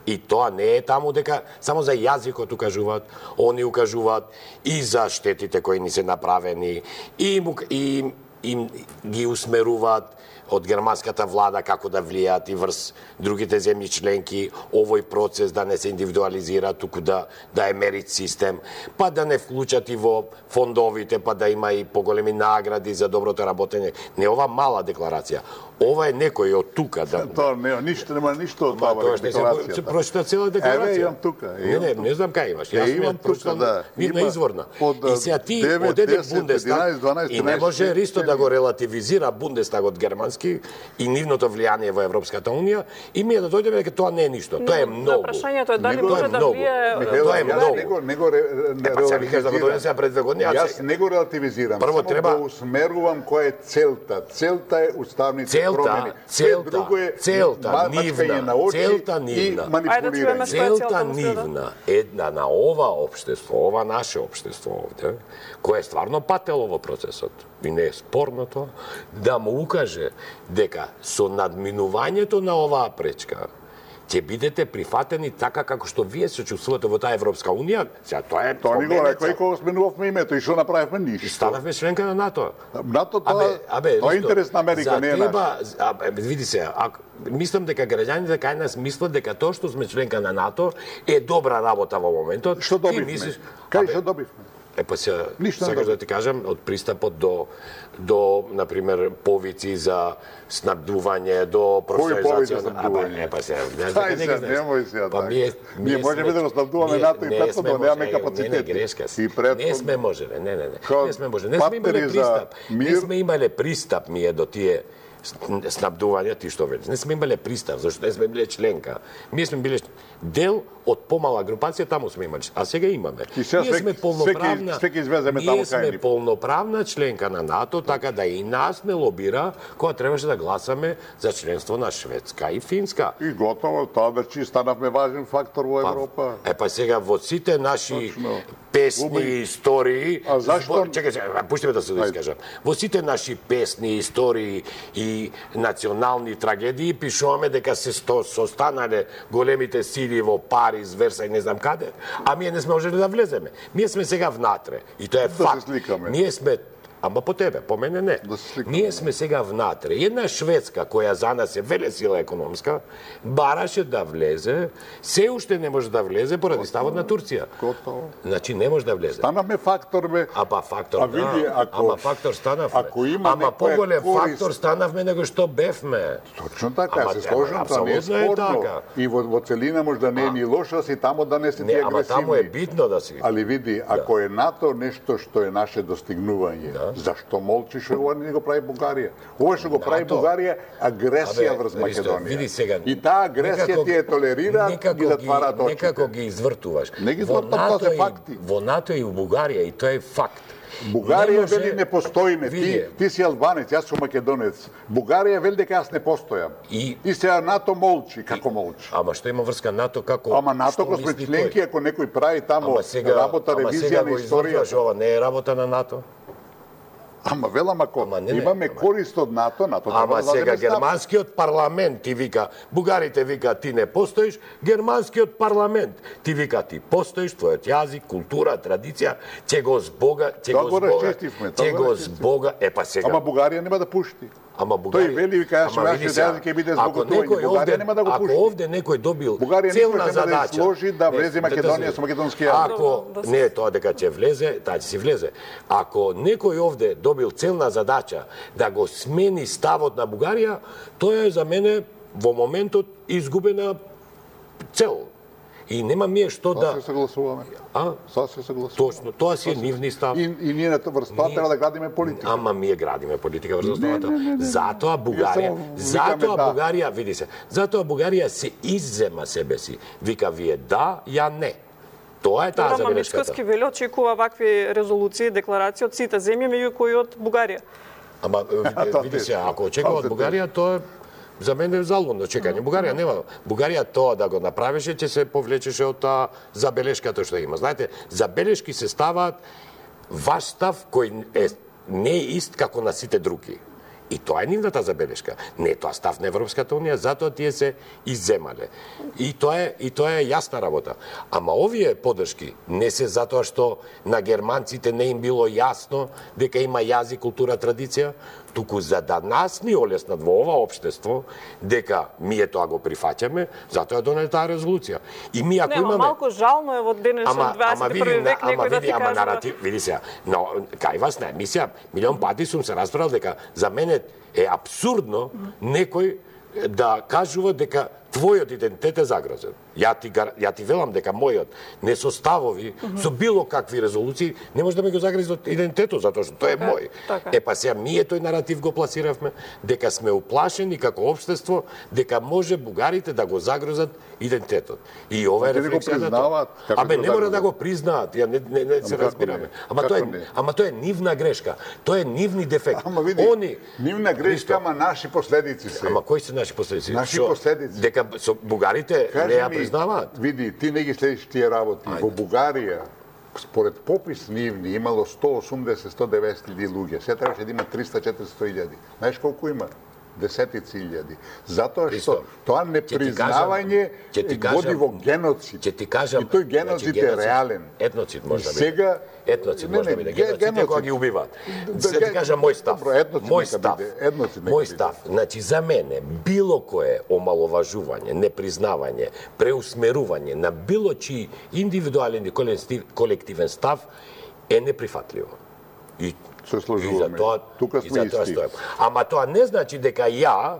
И тоа не е таму дека само за јазикот укажуваат, они укажуваат и за штетите кои ни се направени, и, и, и ги усмеруваат од германската влада како да влијаат и врз другите земји членки, овој процес да не се индивидуализира, туку да, да е мерит систем, па да не вклучат и во фондовите, па да има и поголеми награди за доброто работење. Не ова мала декларација. Ова е некој од тука да... Тоа не, ништо нема ништо од Ма, тоа тоа што се декларацијата. прочита цела декларација. Еве, имам тука. Не, не, не знам кај имаш. Јас Е, имам тука, прочитам да. видна Има изворна. од, И сега ти девет, одеде десет, Бундестаг единаесет, дванаесет, и не може тринаесет, Ристо да го релативизира Бундестагот германски и нивното влијание во Европската унија и ми е да дојдеме дека тоа не е ништо. Тоа е многу. Прашањето е дали Него е може да многу. влие Михаил, Тоа е јас многу. не го, не го ре- не Е, па сега викаш да го релативизирам. донесе пред две години, а Јас се- не го релативизирам, Прво само треба- го усмерувам која е целта. Целта е уставните Целта, промени. Све целта, друго е целта, ма- нивна, мачкање на очи целта и нивна. Ајде да чуеме манипулирање. што е целта, Целта господа? нивна, една на ова општество, ова наше општество овде, кое е стварно патело во процесот, и не е спорно тоа, да му укаже дека со надминувањето на оваа пречка ќе бидете прифатени така како што вие се чувствувате во таа Европска унија. Сега тоа е Тоа ни го рекоа и кога сменувавме името и што направивме ништо. Станавме членка на НАТО. НАТО тоа, абе, тоа е ништо. интерес на Америка, не е наш. Абе, види се, ако мислам дека граѓаните кај нас мислат дека тоа што сме членка на НАТО е добра работа во моментот. Што добивме? Мислиш, Кај што добивме? Е, па се, Ништо не сакаш добив. да ти кажам, од пристапот до, до, например, повици за снабдување, до професионализација. снабдување? Е, па се, не Тај не ги се, знаеш. немој сега Па така. ние, Ние можеме да го снабдуваме НАТО и претходно, немаме капацитет. Не, не, грешка си. И претходно. Не сме можеле, не, не, не. Као Не сме можеле. Не сме имале партнери за пристап. Не мир. сме имале пристап ние до тие снабдувања, ти што велиш. Не сме имале пристап, зашто не сме биле членка. Ние сме биле дел од помала групација, таму сме имали. А сега имаме. И сега ние свеки- сме полноправна. свеки- свеки извеземе таму Ние кај сме ни. полноправна членка на НАТО, така да и нас не лобира кога требаше да гласаме за членство на Шведска и Финска. И готово, тоа вече станавме важен фактор во Европа. Е, па сега во сите наши Точно. песни Уби. и истории... А зашто- збор- Чекај, чекај, пушти ме да се Ајде. искажам. Во сите наши песни, истории и национални трагедии пишуваме дека се сто, состанале големите сили во Париз, Верса и не знам каде, а ние не сме можели да влеземе. Ние сме сега внатре. И тоа е Да се факт. сликаме. Ние сме Ама по тебе, по мене не. Да се сликаме. Ние сме сега внатре. Една Шведска, која за нас е велесила економска, бараше да влезе, се уште не може да влезе поради ставот на Турција. Готово. Значи не може да влезе. Станавме фактор, бе. А па фактор, А види, да. ако- Ама фактор станавме. ако има Ама некоја поголем корист- фактор станавме него што бевме. Точно така, Ама, се ама, сложам, тоа не е апсолутно е спорно. така. И во, во целина може да не е ни лошо, си тамо да не се ти Не, ама агресивни. таму е битно да си. Али види, ако е НАТО нешто што е наше достигнување, зашто молчиш ова не го прави Бугарија? Ова што го прави НАТО. Бугарија агресија Абе, врз виж, Македонија. види сега, И таа агресија некако- ти е толерира, некако ги затвараат очите. Некако ги извртуваш. Не ги Во извртувам, тоа се НАТО и- факти. Во НАТО и у Бугарија, и тоа е факт. Бугарија Не може- вели не постоиме. Ти, Види. ти си албанец, јас сум македонец. Бугарија вели дека јас не постојам. И- И сега НАТО молчи, како молчи? Ама што има врска НАТО како Ама НАТО што ако сме мисли членки, тој? ако некој прави тамо Ама сега работа, ама ревизија сега на го извртуваш, историјата. ова не е работа на НАТО. Ама велам ако Ама не, не, имаме ама- корист од НАТО, НАТО треба Ама да сега даде став. германскиот парламент ти вика, бугарите вика ти не постоиш, германскиот парламент ти вика ти постоиш, твојот јазик, култура, традиција, ќе го збога, ќе Тоа го го збога, расчистивме, тоа ќе го го расчистивме. збога, е па сега. Ама Бугарија нема да пушти. Ама Тој вели, вика, јас ама ќе види јазик сега, ќе биде ако збоготување. некој Бугарија овде, нема да го ако пушти. овде некој добил Бугарија целна никош нема да ја задача, сложи да Не, влезе дете Македонија се- со македонски јазик. Ако Да се- не тоа дека ќе влезе, таа ќе си влезе. Ако некој овде добил целна задача да го смени ставот на Бугарија, тоа е за мене во моментот изгубена цел. И нема мие што Тоа да... се согласуваме. А? Тоа се согласуваме. Точно, тоа си е нивни став. И, и ние на врз тоа Ние- треба да градиме политика. Ама ние градиме политика врз основата. Затоа Бугарија, само затоа викаме да. Бугарија, види се, затоа Бугарија се иззема себе си. Вика вие да, ја не. Тоа е таа Ама забелешката. Мичковски вели очекува вакви резолуции, декларации од сите земји, меѓу кои од Бугарија. Ама види, Тоа види те- се, ако очекува од тоа се Бугарија, тоа е за мене е залудно чекање. Бугарија нема. Бугарија тоа да го направеше, ќе се повлечеше од таа забелешката што има. Знаете, забелешки се ставаат ваш став кој е не е ист како на сите други. И тоа е нивната забелешка. Не е тоа став на Европската унија, затоа тие се изземале. И тоа е и тоа е јасна работа. Ама овие поддршки не се затоа што на германците не им било јасно дека има јазик, култура, традиција, туку за да нас ни олеснат во ова општество дека ние тоа го прифаќаме, затоа е донесе таа резолуција. И ми ако Не, ама имаме малку жално е во денешен Ама, ама дваесет и види, први на- век ама некој да види, ти ама кажува. наратив, види сега, но кај вас на емисија, милион пати сум се расправил дека за мене е абсурдно некој да кажува дека твојот идентитет е загрозен. Ја ти, гар- ја ти велам дека мојот несоставови со било какви резолуции не може да ме го загрези идентитетот, затоа што тој е Така е, мој. така. Е па сега ние тој наратив го пласиравме дека сме уплашени како општество дека може бугарите да го загрозат идентитетот. И ова е Те не го рефлексија на признаваат, тоа. како Абе го не мора да загрозат. го признаат, ја не не, не се како разбираме. не? Ама Како тоа е не? ама тоа е нивна грешка. Тоа е нивни дефект. Ама види, Они нивна грешка, ама наши последици се. Ама кои се наши последици? Наши Шо? последици. Дека со бугарите Кажи не ја ми, признаваат. Види, ти не ги следиш тие работи. Во Бугарија, според попис нивни, имало сто осумдесет до сто деветдесет илјади луѓе. Се требаше да има триста до четиристо илјади. Знаеш колку има? десетици илјади. Затоа што Христо, тоа ќе ти непризнавање кажам- ќе ти кажам- води во геноцид. Ќе ти кажам, И тој геноцид значи, е геноцид- реален. етноцид може И да биде. сега Етноцид Не, може да не, биде. ге- Геноцид е геноцид. кога ги убиваат. Да, Се ти ге- кажам мој став. Добро, етноцид Мој нека став. биде, етноцид нека Мој биде. став. Значи за мене било кое омаловажување, непризнавање, преусмерување на било чиј индивидуален и колектив- колективен став е неприфатливо. И Се И сложуваме. за тоа, Тука и сме за тоа исти. стојам. Ама тоа не значи дека ја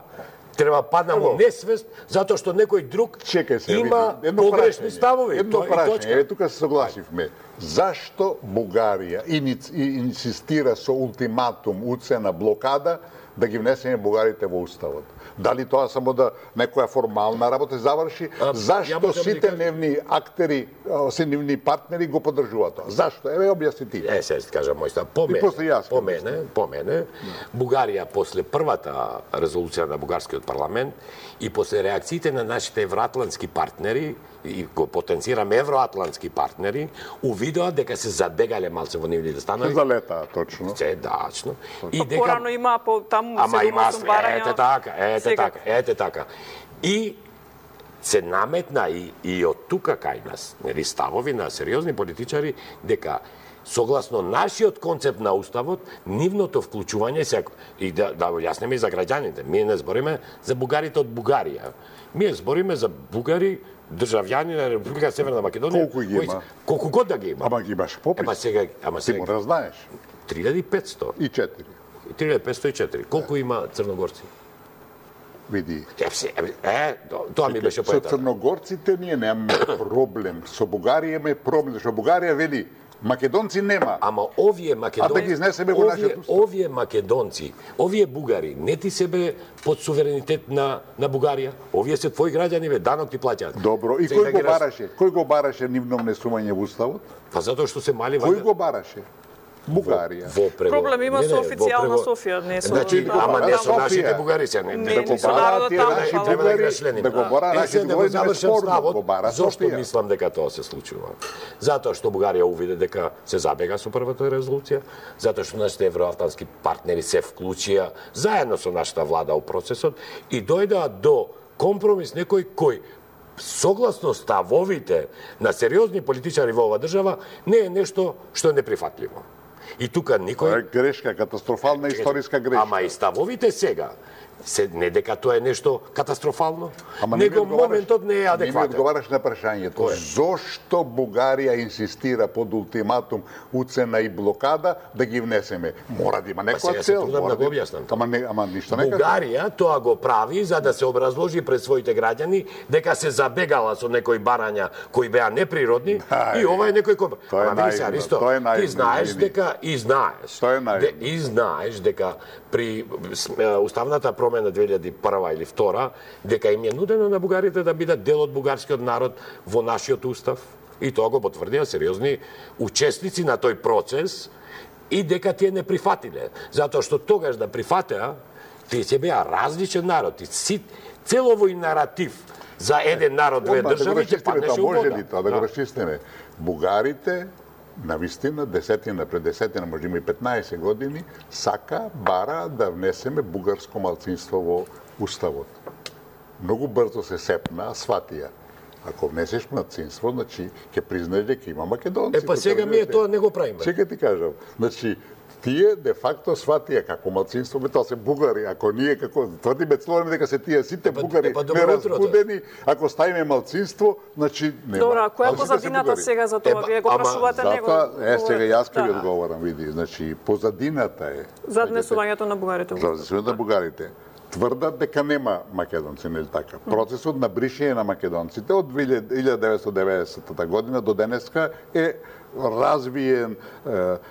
треба паднам во Ево. несвест затоа што некој друг Чекај се, има види, едно погрешни прашање. ставови. Едно Тоа и прашање, точка. е тука се согласивме. Зашто Бугарија иниц- и- инсистира со ултиматум, уцена, блокада да ги внесеме бугарите во уставот? Дали тоа само да некоја формална работа заврши? А, ја Зашто можам да сите кажам. нивни актери, а, се нивни партнери го поддржуваат тоа? Зашто? Еве објасни ти. Е, се ти кажам мој став. По И мене, после јас по ќе мене, по мене, Бугарија после првата резолуција на бугарскиот парламент и после реакциите на нашите евроатлантски партнери и го потенцирам евроатлантски партнери, увидоа дека се забегале малце во нивните станови. Се залетаа точно. Се дачно. И Па порано има по таму Ама има седум-осум барања. ете така, ете Секако. така, ете така. И се наметна и, и од тука кај нас, нели, ставови на сериозни политичари дека согласно нашиот концепт на уставот, нивното вклучување се и да да го јаснеме и за граѓаните. Ние не збориме за бугарите од Бугарија. Ние збориме за бугари државјани на Република Северна Македонија. Колку ги кои- има? Колку год да ги има. Ама ги имаш попис. Ема сега, ама Ти сега мора да знаеш. три илјади и петсто. И четири. три илјади петсто и четири. Колку има црногорци? Види. Е, се, е, тоа ми беше Со поетата. црногорците ние немаме проблем. Со Бугарија имаме проблем, зашто Бугарија вели македонци нема. Ама овие македонци, А да ги изнесеме во овие, нашиот устав. овие македонци, овие бугари, не ти себе под суверенитет на на Бугарија. Овие се твои граѓани, бе, данок ти плаќаат. Добро, и Сега кој ги го раз- бараше? Кој го бараше нивно внесување во уставот? Па затоа што се мали Кој вајде- го бараше? Бугарија. Во прего... Проблем има не, со не, официјална во прего- Софија, не со- Значи, да, ама не да, со Софија. нашите бугари се не. Не, Да не го со бара народот тие таму, наши фала Треба да ги бугари, расчлениме. да го бара Е, нашите сега да го бугари, завршам неспорно, ставот. го бара Зошто Софија. мислам дека тоа се случува? Затоа што Бугарија увиде дека се забега со првата резолуција, затоа што нашите евроатлантски партнери се вклучија заедно со нашата влада у процесот и дојдоа до компромис некој кој согласно ставовите на сериозни политичари во оваа држава не е нешто што е неприфатливо. И тука Тоа никој е грешка, катастрофална историска грешка. Ама и ставовите сега се не дека тоа е нешто катастрофално, Ама не ми него одговараш- моментот не е Не ми адекватен. одговараш на прашањето. Кој е? Зошто Бугарија инсистира под ултиматум, уцена и блокада да ги внесеме? Мора да има Па сега некоја се цел. трудам мора да го да- објаснам. Ама не, ама ништо не кажа. Бугарија тоа го прави за да се образложи пред своите граѓани дека се забегала со некои барања кои беа неприродни Ај, и ова е некој кој... тоа е Ама види се, наивно, Аристо, тоа е наивно, ти знаеш извини. дека и знаеш. Тоа е наивно. де- И знаеш дека при с- е, уставната промена две илјади и прва или втора дека им е нудено на бугарите да бидат дел од бугарскиот народ во нашиот устав и тоа го потврдија сериозни учесници на тој процес и дека тие не прифатиле. Затоа што тогаш да прифатеа, тие се беа различен народ. И си, целовој наратив за еден народ, две Одма да го држави, ќе расчистиме паднеше тоа, у може вода. ли тоа да го расчистиме? Бугарите на вистина, десетина пред десетина, може има и петнаесет години, сака, бара да внесеме бугарско малцинство во уставот. Многу брзо се сепна, сватија. Ако внесеш малцинство, значи ќе признаеш дека има македонци. Е, па сега ние тоа не го правиме. Сега ти кажам, значи тие де факто сватија како малцинство, бе тоа се бугари. Ако ние како тврдиме целосно дека се тие сите Епа- бугари епа добро утро, неразбудени, ако ставиме малцинство, значи нема. Добро, а која е Ал сите се позадината бугари. сега за тоа? Епа, Вие го ама прашувате него. Затоа, е, сега јас ќе ви Да. одговорам, види. Значи, позадината е... За днесувањето на бугарите. За днесувањето на бугарите. Тврдат дека нема македонци, нели така? Процесот на бришење на македонците од илјада деветстотини и деветдесетта година до денеска е развиен, е,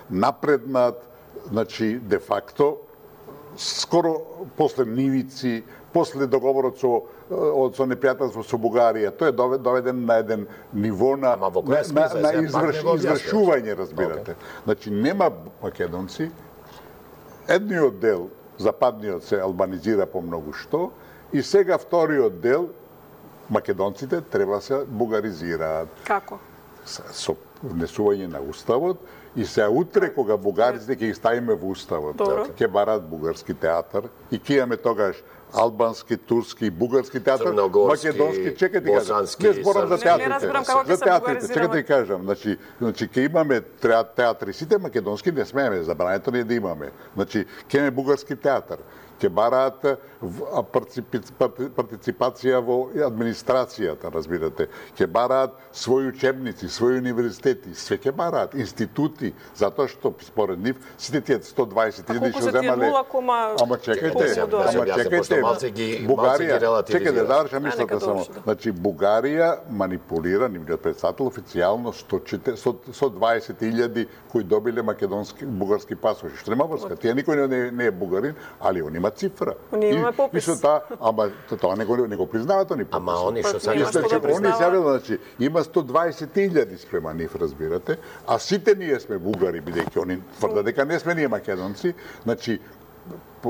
напреднат, значи, де факто, скоро после Нивици, после договорот со од со непријателство со Бугарија, тој е доведен на еден ниво на Ама во која на, на, смисла? на Сега пак изврш, не го објаснуваш. извршување, разбирате. Значи нема македонци. Едниот дел, западниот, се албанизира по многу што и сега вториот дел македонците треба се бугаризираат Како? со, со внесување на уставот и се утре кога бугарците ќе ги ставиме во уставот, ќе барат бугарски театар и ќе имаме тогаш албански, турски, бугарски театар, македонски, чекајте да кажам. Не зборам за театрите. За театрите, чекајте да кажам. Значи, значи ќе имаме театри, сите македонски не смееме, забрането не е да имаме. Значи, ќе имаме бугарски театар. Ќе бараат партиципација во администрацијата, разбирате. Ќе бараат своји учебници, своји универзитети, све ќе бараат, институти, затоа што според нив сите тие сто дваесет илјади што земале. Ама чекајте, ама чекајте. Бугарија, чекајте да завршам мислата само. Значи Бугарија манипулира нивниот председател официјално сто дваесет илјади кои добиле македонски бугарски пасоши. Што нема врска. Тие никој не, не е бугарин, али он има цифра. Ние имаме попис. И та, ама тоа не го не го признаваат они попис. Ама они што сега што да они изјавило, значи има сто дваесет илјади спрема нив, разбирате, а сите ние сме бугари бидејќи они тврдат дека не сме ние македонци, значи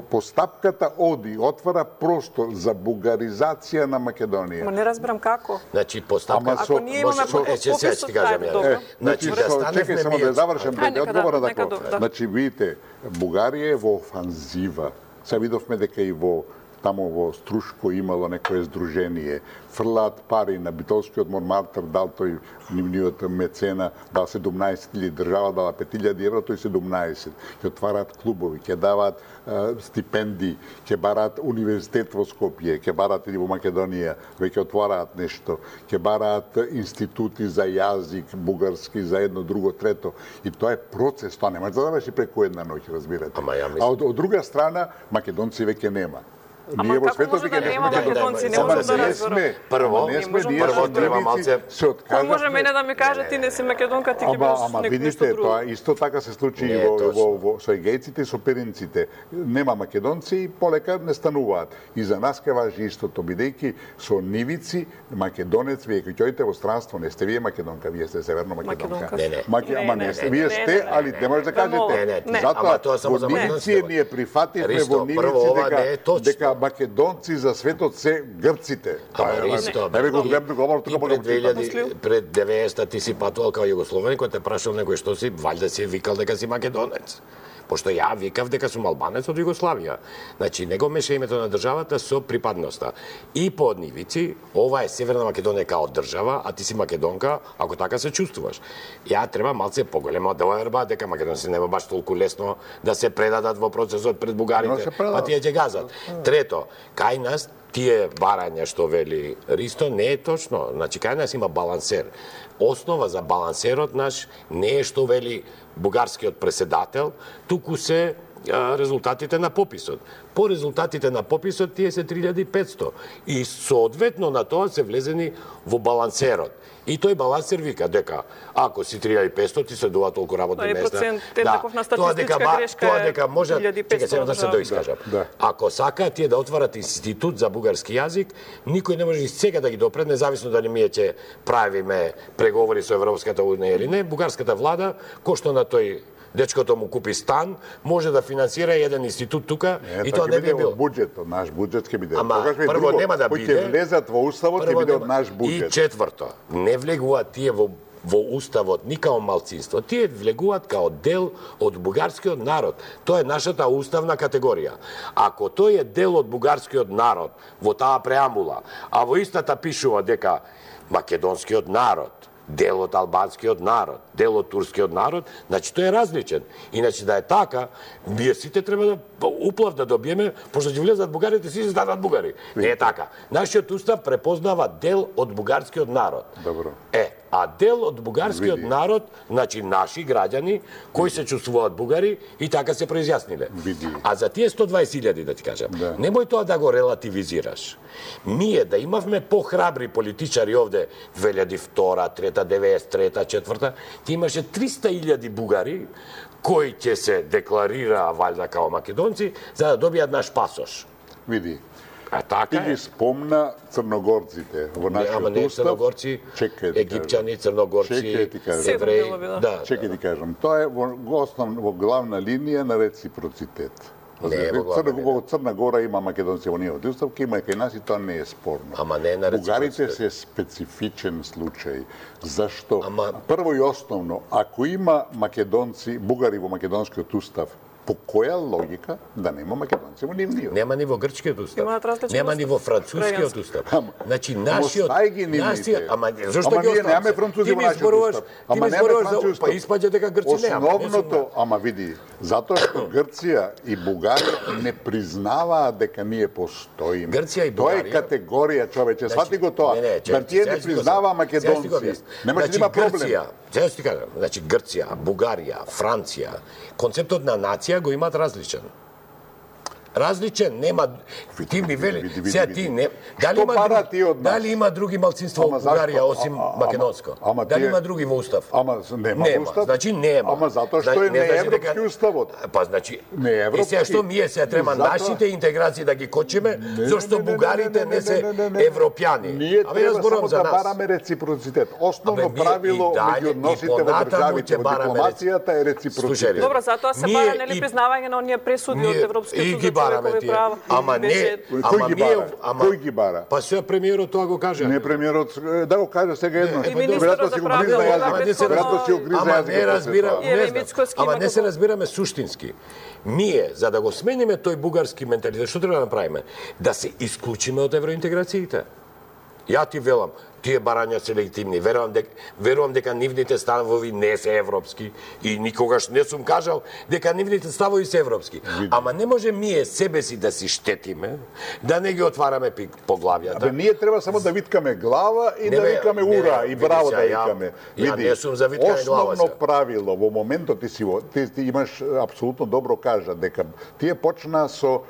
постапката оди, отвара простор за бугаризација на Македонија. Ма не разбирам како. Значи постапка Ако ние имаме попис, ќе ти кажам ја. Значи чекај само да завршам да одговора на тоа. Значи видите, Бугарија е во офанзива. Се видовме дека и во тамо во Струшко имало некое здружение, фрлаат пари на битолскиот Монмартр, дал тој нивниот мецена, дал седумнаесет илјади, држава дала пет илјади евро, тој седумнаесет. Ќе отвараат клубови, ќе даваат е, стипендии, ќе бараат универзитет во Скопје, ќе бараат и во Македонија, веќе отвараат нешто, ќе бараат институти за јазик, бугарски, за едно, друго, трето. И тоа е процес, тоа не може да заврши преку една ноќ, разбирате. Ама ја а од, од друга страна, македонци веќе нема. Ама како може да нема македонци, не можам да разберам. Прво, прво треба малце се откажа. Кој може мене да ми каже ти не си македонка, ти ќе Ама, бидеш ама некој видите, нешто друго. тоа исто така се случи и Не, во, точно. во, во, со егејците и со перинците. Нема македонци и полека не стануваат. И за нас ке важи истото, бидејќи со нивици македонец, вие кога ќе во странство, не сте вие македонка, вие сте северно македонка. Македонка. Не, не. Маке, ама не сте, вие сте, али не може да кажете. Не, не, Затоа ама тоа само за во македонците. нивици ние прифативме Ристо, во прво, нивици ова не е дека точно. дека македонци за светот се грците. Ама Ристо, не го гледам говор ти тука пред може да две илјади пред деветдесетта ти си патувал као југословен, кој те прашал некој што си, валјда си викал дека си македонец. Пошто ја викав дека сум албанец од Југославија. Значи, не го меша името на државата со припадноста. И по однивици, ова е Северна Македонија као држава, а ти си македонка, ако така се чувствуваш. Ја треба малце поголема доверба дека македонци нема баш толку лесно да се предадат во процесот пред бугарите, па тие ќе газат. Трето, кај нас тие барања што вели Ристо не е точно. Значи, кај нас има балансер. Основа за балансерот наш не е што вели бугарскиот преседател, туку се а, резултатите на пописот. По резултатите на пописот тие се три илјади и петсто и соодветно на тоа се влезени во балансерот. И тој балансер вика дека ако си три илјади и петсто ти се дува толку работни Тој места. процент еднаков на статистичка грешка тоа дека може чекај сега да се доискажам. Да. Ако сакаат тие да отварат институт за бугарски јазик, никој не може и сега да ги допре, независно дали ние ќе правиме преговори со Европската унија или не, бугарската влада, кој што на тој дечкото му купи стан, може да финансира еден институт тука Не, и тоа не би бил. Буџетот, наш буџет ќе биде. Ама Тогаш е прво друго, нема да кои биде. ќе влезат во уставот ќе Прво биде нема- од наш И буџет. четврто, не влегуваат тие во во уставот ни као малцинство, тие влегуваат као дел од бугарскиот народ. Тоа е нашата уставна категорија. Ако тој е дел од бугарскиот народ во таа преамбула, а во истата пишува дека македонскиот народ, дел од албанскиот народ, дел од турскиот народ, значи тој е различен. Иначе да е така, ние сите треба да уплав да добиеме, пошто ќе влезат бугарите, сите станат бугари. Не е така. Нашиот устав препознава дел од бугарскиот народ. Добро. Е, а дел од бугарскиот Види. народ, значи наши граѓани кои се чувствуваат бугари и така се произјасниле. Види. А за тие сто дваесет илјади да ти кажам, Да. немој тоа да го релативизираш. Ние да имавме похрабри политичари овде две илјади и втора, трета, деветдесет и трета, четврта, ти имаше триста илјади бугари кои ќе се декларираа валјда као македонци за да добијат наш пасош. Види. А Ти така ги е. спомна црногорците во Не, ама нашиот не устав. црногорци, Чекај ти египćани, кажам. црногорци, Чекај ти кажам. евреи, Седум делови, да. да. Чекај ти кажам, тоа е во, во основ во главна линија на реципроцитет. Не е во Црна, главна во Црна Гора има македонци во нивните уставки, има и кај нас и тоа не е спорно. Ама не е на Бугарите реципроцитет. се специфичен случај. Зашто? Ама- Прво и основно, ако има македонци, бугари во македонскиот устав, по која логика да нема македонци во нивниот? Нема ни во грчкиот устав. Имаат различен Нема устав. ни во францускиот устав. Значи нашиот Остави ги нивните. нашиот- ама зошто Ама ги ние оставам? немаме французи Ти во ми нашиот зборуваш, устав. ти Ама ми немаме зборуваш французи за устав. па испаѓа дека Грци нема. Основното, ама види, затоа што Грција и Бугарија не признаваат дека ние постоиме. Грција и Тоа е Бугарија- категорија, човече, свати го тоа. Не, не, Да чекай, тие сега не ќе ти го признава кажам. Сега ќе ти го македонци. објаснам. Немаше да Значи, има проблем. Грција, сега ќе ти кажам, значи Грција, Бугарија, Франција, концептот на нација го имаат различен. Различен, нема ти ми вели, види, види, сега види. ти не дали Што има бара други, ти од нас? дали има други малцинства Ама во Бугарија зашто? осим А- а- македонско? ама- ама Дали тие- има други во устав? Ама нема, Нема, во устав. значи нема. Ама затоа што Зна- е не значи европски дека- уставот. Па значи Не е европски. И сега што ние се треба И затоа- нашите интеграции да ги кочиме, Не, зашто не, не, не, бугарите не, не, не се не, не, не, не. европјани. Ние Абе, треба јас зборувам само за да нас. бараме реципроцитет. Основно Абе, ние правило и дале, меѓу и односите во понатаму државите, ќе во бараме дипломацијата е Слушај, реципроцитет. Добро, затоа се Ние бара нели и- признавање на оние пресуди Ние од Европскиот и суд ги за бараме човекови тие. права. Ама не, Беше- Кој ама ги ние, бара? ама Кој ги бара? Па сега премиерот тоа го кажа. Не премиерот, е, да го кажа сега едно. И министерот Веројатно за си го правда, гризна ова јазикот. Ама не се Веројатно си го гризна Ама јазикот не после разбира, тоа. И не еве знам. Мицкоски Ама има не се како- разбираме суштински. Ние, за да го смениме тој бугарски менталитет, што треба да направиме? Да се исклучиме од евроинтеграциите. Ја ти велам, тие барања се легитимни. Верувам дека верувам дека нивните ставови не се европски и никогаш не сум кажал дека нивните ставови се европски. Ама не може ние себе си да си штетиме, да не ги отвараме пи- поглавјата. Абе, ние треба само да виткаме глава и Не, да бе, викаме не, ура не, и види браво сега, да ја- викаме. ја не сум за виткање глава основно сега. правило во моментот ти си во- ти, ти имаш апсолутно добро кажа дека тие почна со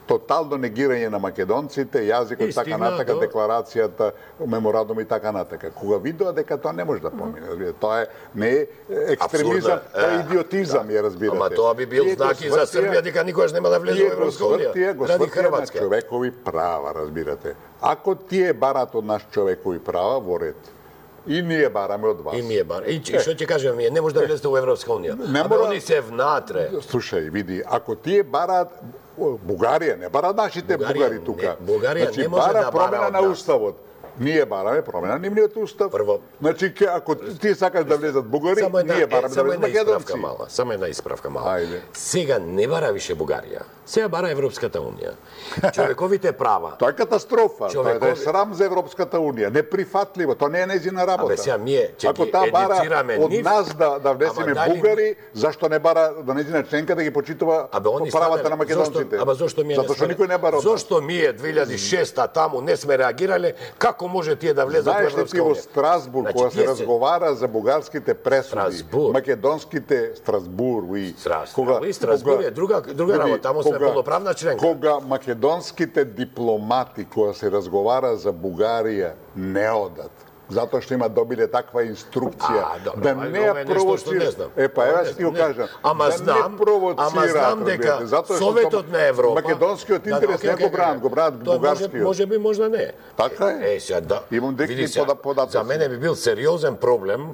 тотално негирање на македонците, јазикот, И така стигна натака, до- декларацијата, меморандум и така натака. Кога видоа дека тоа не може да помине, разбирате, тоа е не е екстремизам, Апсурдно е. тоа е Е, идиотизам, ја разбирате. Ама тоа би бил Тие го знак и за свртија- Србија дека никогаш нема да влезе Тие во го Европска унија. свртија, го Ради свртија на Хрватска. човекови права, разбирате. Ако тие барат од нас човекови права, во ред. И ние бараме од вас. И ние бар. И што ќе кажеме ние, не може да влезете во Европска унија. Не Абе мора- они се внатре. Слушај, види, ако тие бараат Бугарија, не бара нашите Бугарија бугари не- тука. Бугарија значи, не може бара да бара промена од на нас. уставот. Ние бараме промена на нивниот устав. Прво- Значи, ке- ако ти сакаш да влезат бугари, Само една, ние е, бараме да само влезат една македонци. исправка мала, само една исправка мала. Ајде. Сега не бара више Бугарија. Сега бара Европската унија. Човековите права. Тоа е катастрофа. Човекови- Тоа е срам за Европската унија. Неприфатливо. Тоа не е нејзина работа. Абе, сега ние ќе Ако ги таа бара едуцираме од нив, нас да да внесеме ама дали- бугари, зашто не бара да нејзина членка да ги почитува Абе они правата станале- на македонците? Зошто, абе зошто ми Затоа што никој не бара од нас. Зошто ние две илјади и шеста таму не сме реагирале, како може тие да влезат во Знаеш ли Европска ти во унија? Страсбург, Значи, кога се тие се- разговара за бугарските пресуди, Страсбург. македонските Страсбург, уи, Страсбург, уи, Страсбург е друга- друга види, работа, таму сме кога- полноправна членка. Кога македонските дипломати, кога се разговара за Бугарија, не одат. Затоа што има добиле таква инструкција А, добро, да ајде, не ова ја е нешто што не провоцира. знам. Е па Ова ева не ќе ти го знам, не. кажам. Ама да знам- не провоцираат, ама знам дека разбирате, затоа што Советот на Европа македонскиот Да, интерес окей, не окей, го бранат, го бранат тоа може, бугарскиот. може би, можда не. Така е. Е, сега да. Имам директни види сега, пода- податоци. За мене би бил сериозен проблем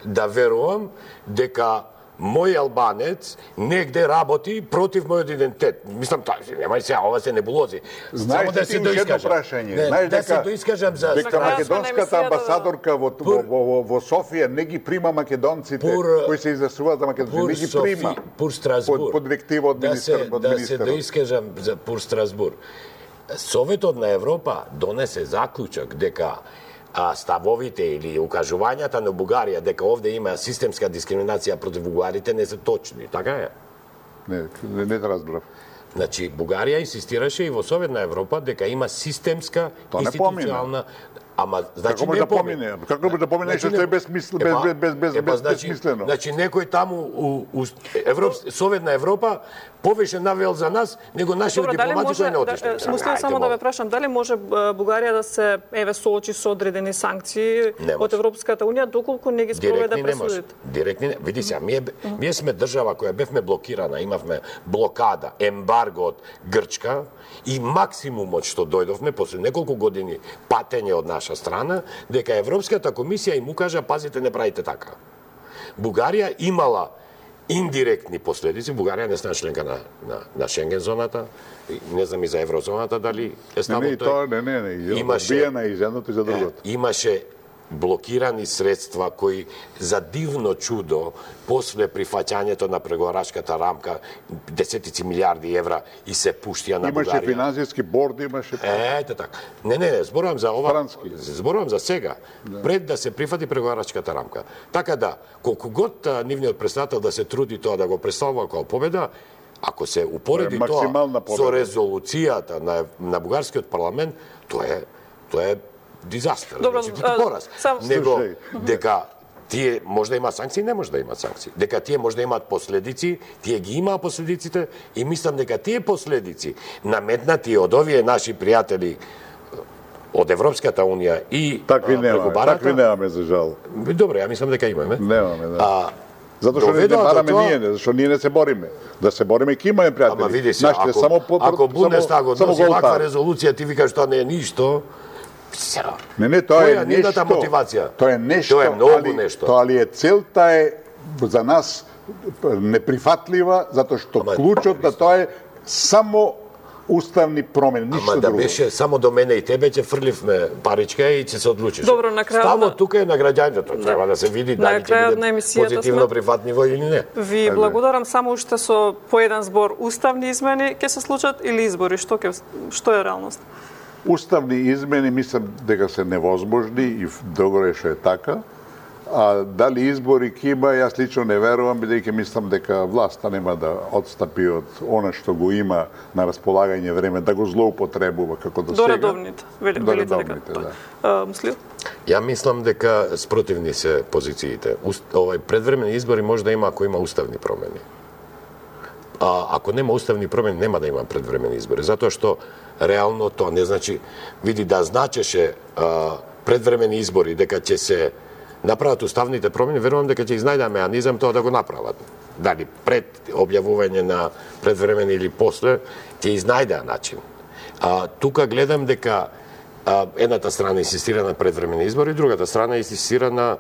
да верувам дека мој албанец негде работи против мојот идентитет. Мислам, тоа, немај сега, ова се небулози. Знаеш Само да ли се ти уште едно доискажам. прашање? Не, Знаеш да се дека доискажам за... дека крајот сме на македонската емисијата, да. амбасадорка во, во, во, во, во Софија не ги прима македонците Пур- кои се изјаснуваат за македонците, Пур не ги Софи, прима. Пур Страсбург. Под, под директива од да министер, се, од да се министерот. доискажам за Пур Страсбург. Советот на Европа донесе заклучок дека а, ставовите или укажувањата на Бугарија дека овде има системска дискриминација против бугарите не се точни. Така е. Не, не, не те разбрав. Значи, Бугарија инсистираше и во Совет на Европа дека има системска Тоа не институционална... Ама, значи, Како може не да помине? Како може да помине нешто што е безсмислено, без, Епа, без, без, без, епа, без, значи, безсмислено? Значи, некој таму у, у Европ... Совет на Европа повеќе навел за нас, него нашите Добро, дали дипломати може, кои не да, отишле. е, смислам Ајде, само да молам. ве прашам, дали може е, Бугарија да се еве соочи со одредени санкции Не од може. Европската унија доколку не ги спроведе Директни не може. пресудите? Директни не. Види се, ние, ние сме држава која бевме блокирана, имавме блокада, ембарго од Грчка и максимумот што дојдовме после неколку години патење од наша страна, дека Европската комисија им укажа, пазите, не правите така. Бугарија имала индиректни последици. Бугарија не стана членка на, на, на Шенген зоната, не знам и за еврозоната дали е ставо не, не, тој. тоа не, не, не, Имаше- одбиена и за едното и за другото. Имаше блокирани средства кои за дивно чудо после прифаќањето на преговарачката рамка десетици милиарди евра и се пуштија на Имаше Бугарија. финансиски борд, имаше... Ете така. Не, не, не, зборувам за ова. Франски. Зборувам за сега, пред да се прифати преговарачката рамка. Така да, колку год а, нивниот председател да се труди тоа да го представува како победа, ако се упореди Тоа е тоа максимална победа. со резолуцијата на на бугарскиот парламент, тоа е тоа е дизастер. Добро, значи, а, пораз. сам- Него Слушај. дека тие може да има санкции, не може да има санкции. Дека тие може да имаат последици, тие ги имаа последиците и мислам дека тие последици наметнати од овие наши пријатели од Европската унија и Такви а, немаме, преку барата. такви немаме за жал. Добре, ја мислам дека имаме. Немаме, да. А, Затоа што не, не доведоа до бараме тоа- ние, не, зашто ние не се бориме. Да се бориме, ќе имаме пријатели. Ама види се, Нашите ако, само по, ако Бундестаг само, само односи ваква голтар. резолуција, ти викаш тоа не е ништо, се, Не, не, тоа која е нивната нешто. мотивација? Тоа е нешто. Тоа е многу али, нешто. Тоа ли е целта е за нас неприфатлива, затоа што Ама, клучот на тоа е само уставни промени, ништо Ама да друго. беше само до мене и тебе, ќе фрливме паричка и ќе се одлучиш. Добро, на крајот Ставот на- тука е на граѓаните, треба да се види На дали ќе крајот на биде емисијата позитивно сме- прифатливо или не. Ви благодарам, само уште со по еден збор уставни измени ќе се случат или избори, што ќе што е реалност? Уставни измени мислам дека се невозможни и добро е што е така. А дали избори ќе има, јас лично не верувам, бидејќи мислам дека власта нема да отстапи од она што го има на располагање време, да го злоупотребува како до До сега. редовните, вели- До велите дека редовните, тоа. да. А, Муслим? Ја мислам дека спротивни се позициите. Уст, овај предвремени избори може да има ако има уставни промени. А ако нема уставни промени, нема да има предвремени избори, затоа што реално тоа не значи, види да значеше а, предвремени избори дека ќе се направат уставните промени, верувам дека ќе изнајдат меанизам тоа да го направат. Дали пред објавување на предвремени или после, ќе изнајдат начин. А, тука гледам дека а, едната страна инсистира на предвремени избори, другата страна инсистира на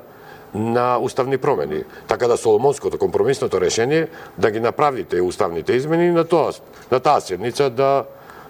на уставни промени. Така да Соломонското компромисното решение да ги направите уставните измени и на тоа на таа седница да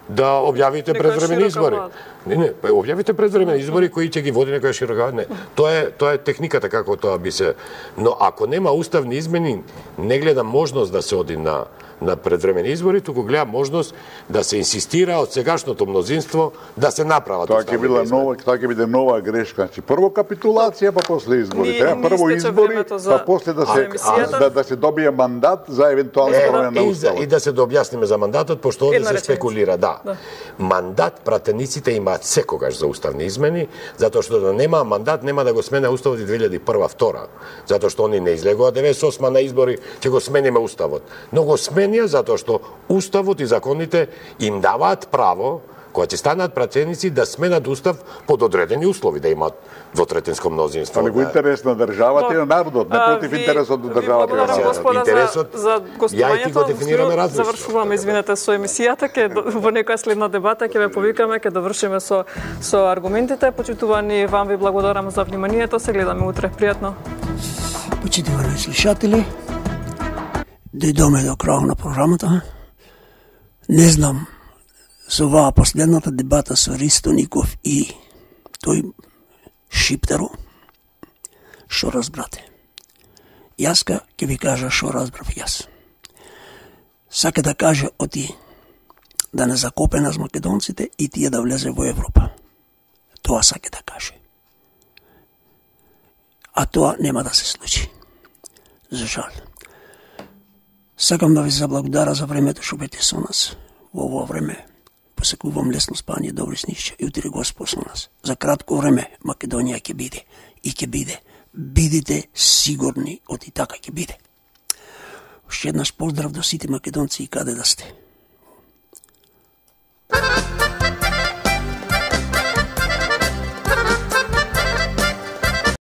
да објавите Некоја предвремени широка избори. влада. Не, не, па објавите предвремени избори кои ќе ги води некоја широка. Не, тоа е тоа е техниката како тоа би се. Но ако нема уставни измени, не гледам можност да се оди на на предвремени избори, туку гледам можност да се инсистира од сегашното мнозинство да се направат Тоа ќе уставните биде избори. нова, тоа ќе биде нова грешка. Значи прво капитулација, па после избори. Ни- Треба ни прво истече избори, времето за- па после да за се емисијата. да, да се добие мандат за евентуална Е, промена на и, за, и уставот. да се дообјасниме за мандатот, пошто овде Една се реченица. спекулира, да. Да. Мандат пратениците имаат секогаш за уставни измени, затоа што да нема мандат, нема да го смене уставот и две илјади и прва втора. Затоа што они не излегува деветдесет и осма на избори, ќе го смениме уставот. Но го сменија затоа што уставот и законите им даваат право, кога ќе станат пратеници, да сменат устав под одредени услови, да имаат двотретинско мнозинство. Али во да. интерес на државата и на народот, не А, против ви- интересот на ви државата. и на благодарам, Сега, народот. господа, интересот- за, за ја и ти го гостувањето. дефинираме различно. Завршуваме, извинете, со емисијата, ке во некоја следна дебата ќе ве повикаме, ќе довршиме со со аргументите. Почитувани, вам ви благодарам за вниманието. Се гледаме утре. Пријатно. Почитувани слушатели, дојдоме до крај на програмата. Не знам, со оваа последната дебата со Ристо Ников и тој Шиптеро, што разбрате? Јаска ќе ви кажа што разбрав јас. Сака да каже оти да не закопе нас македонците и тие да влезе во Европа. Тоа сака да каже. А тоа нема да се случи. За жал. Сакам да ви заблагодарам за времето што бете со нас. Во ово време посекувам лесно спање, добри снишча и утре Господ со нас. За кратко време Македонија ќе биде и ќе биде. Бидите сигурни, оти така ќе биде. Уште еднаш поздрав до сите македонци и каде да сте.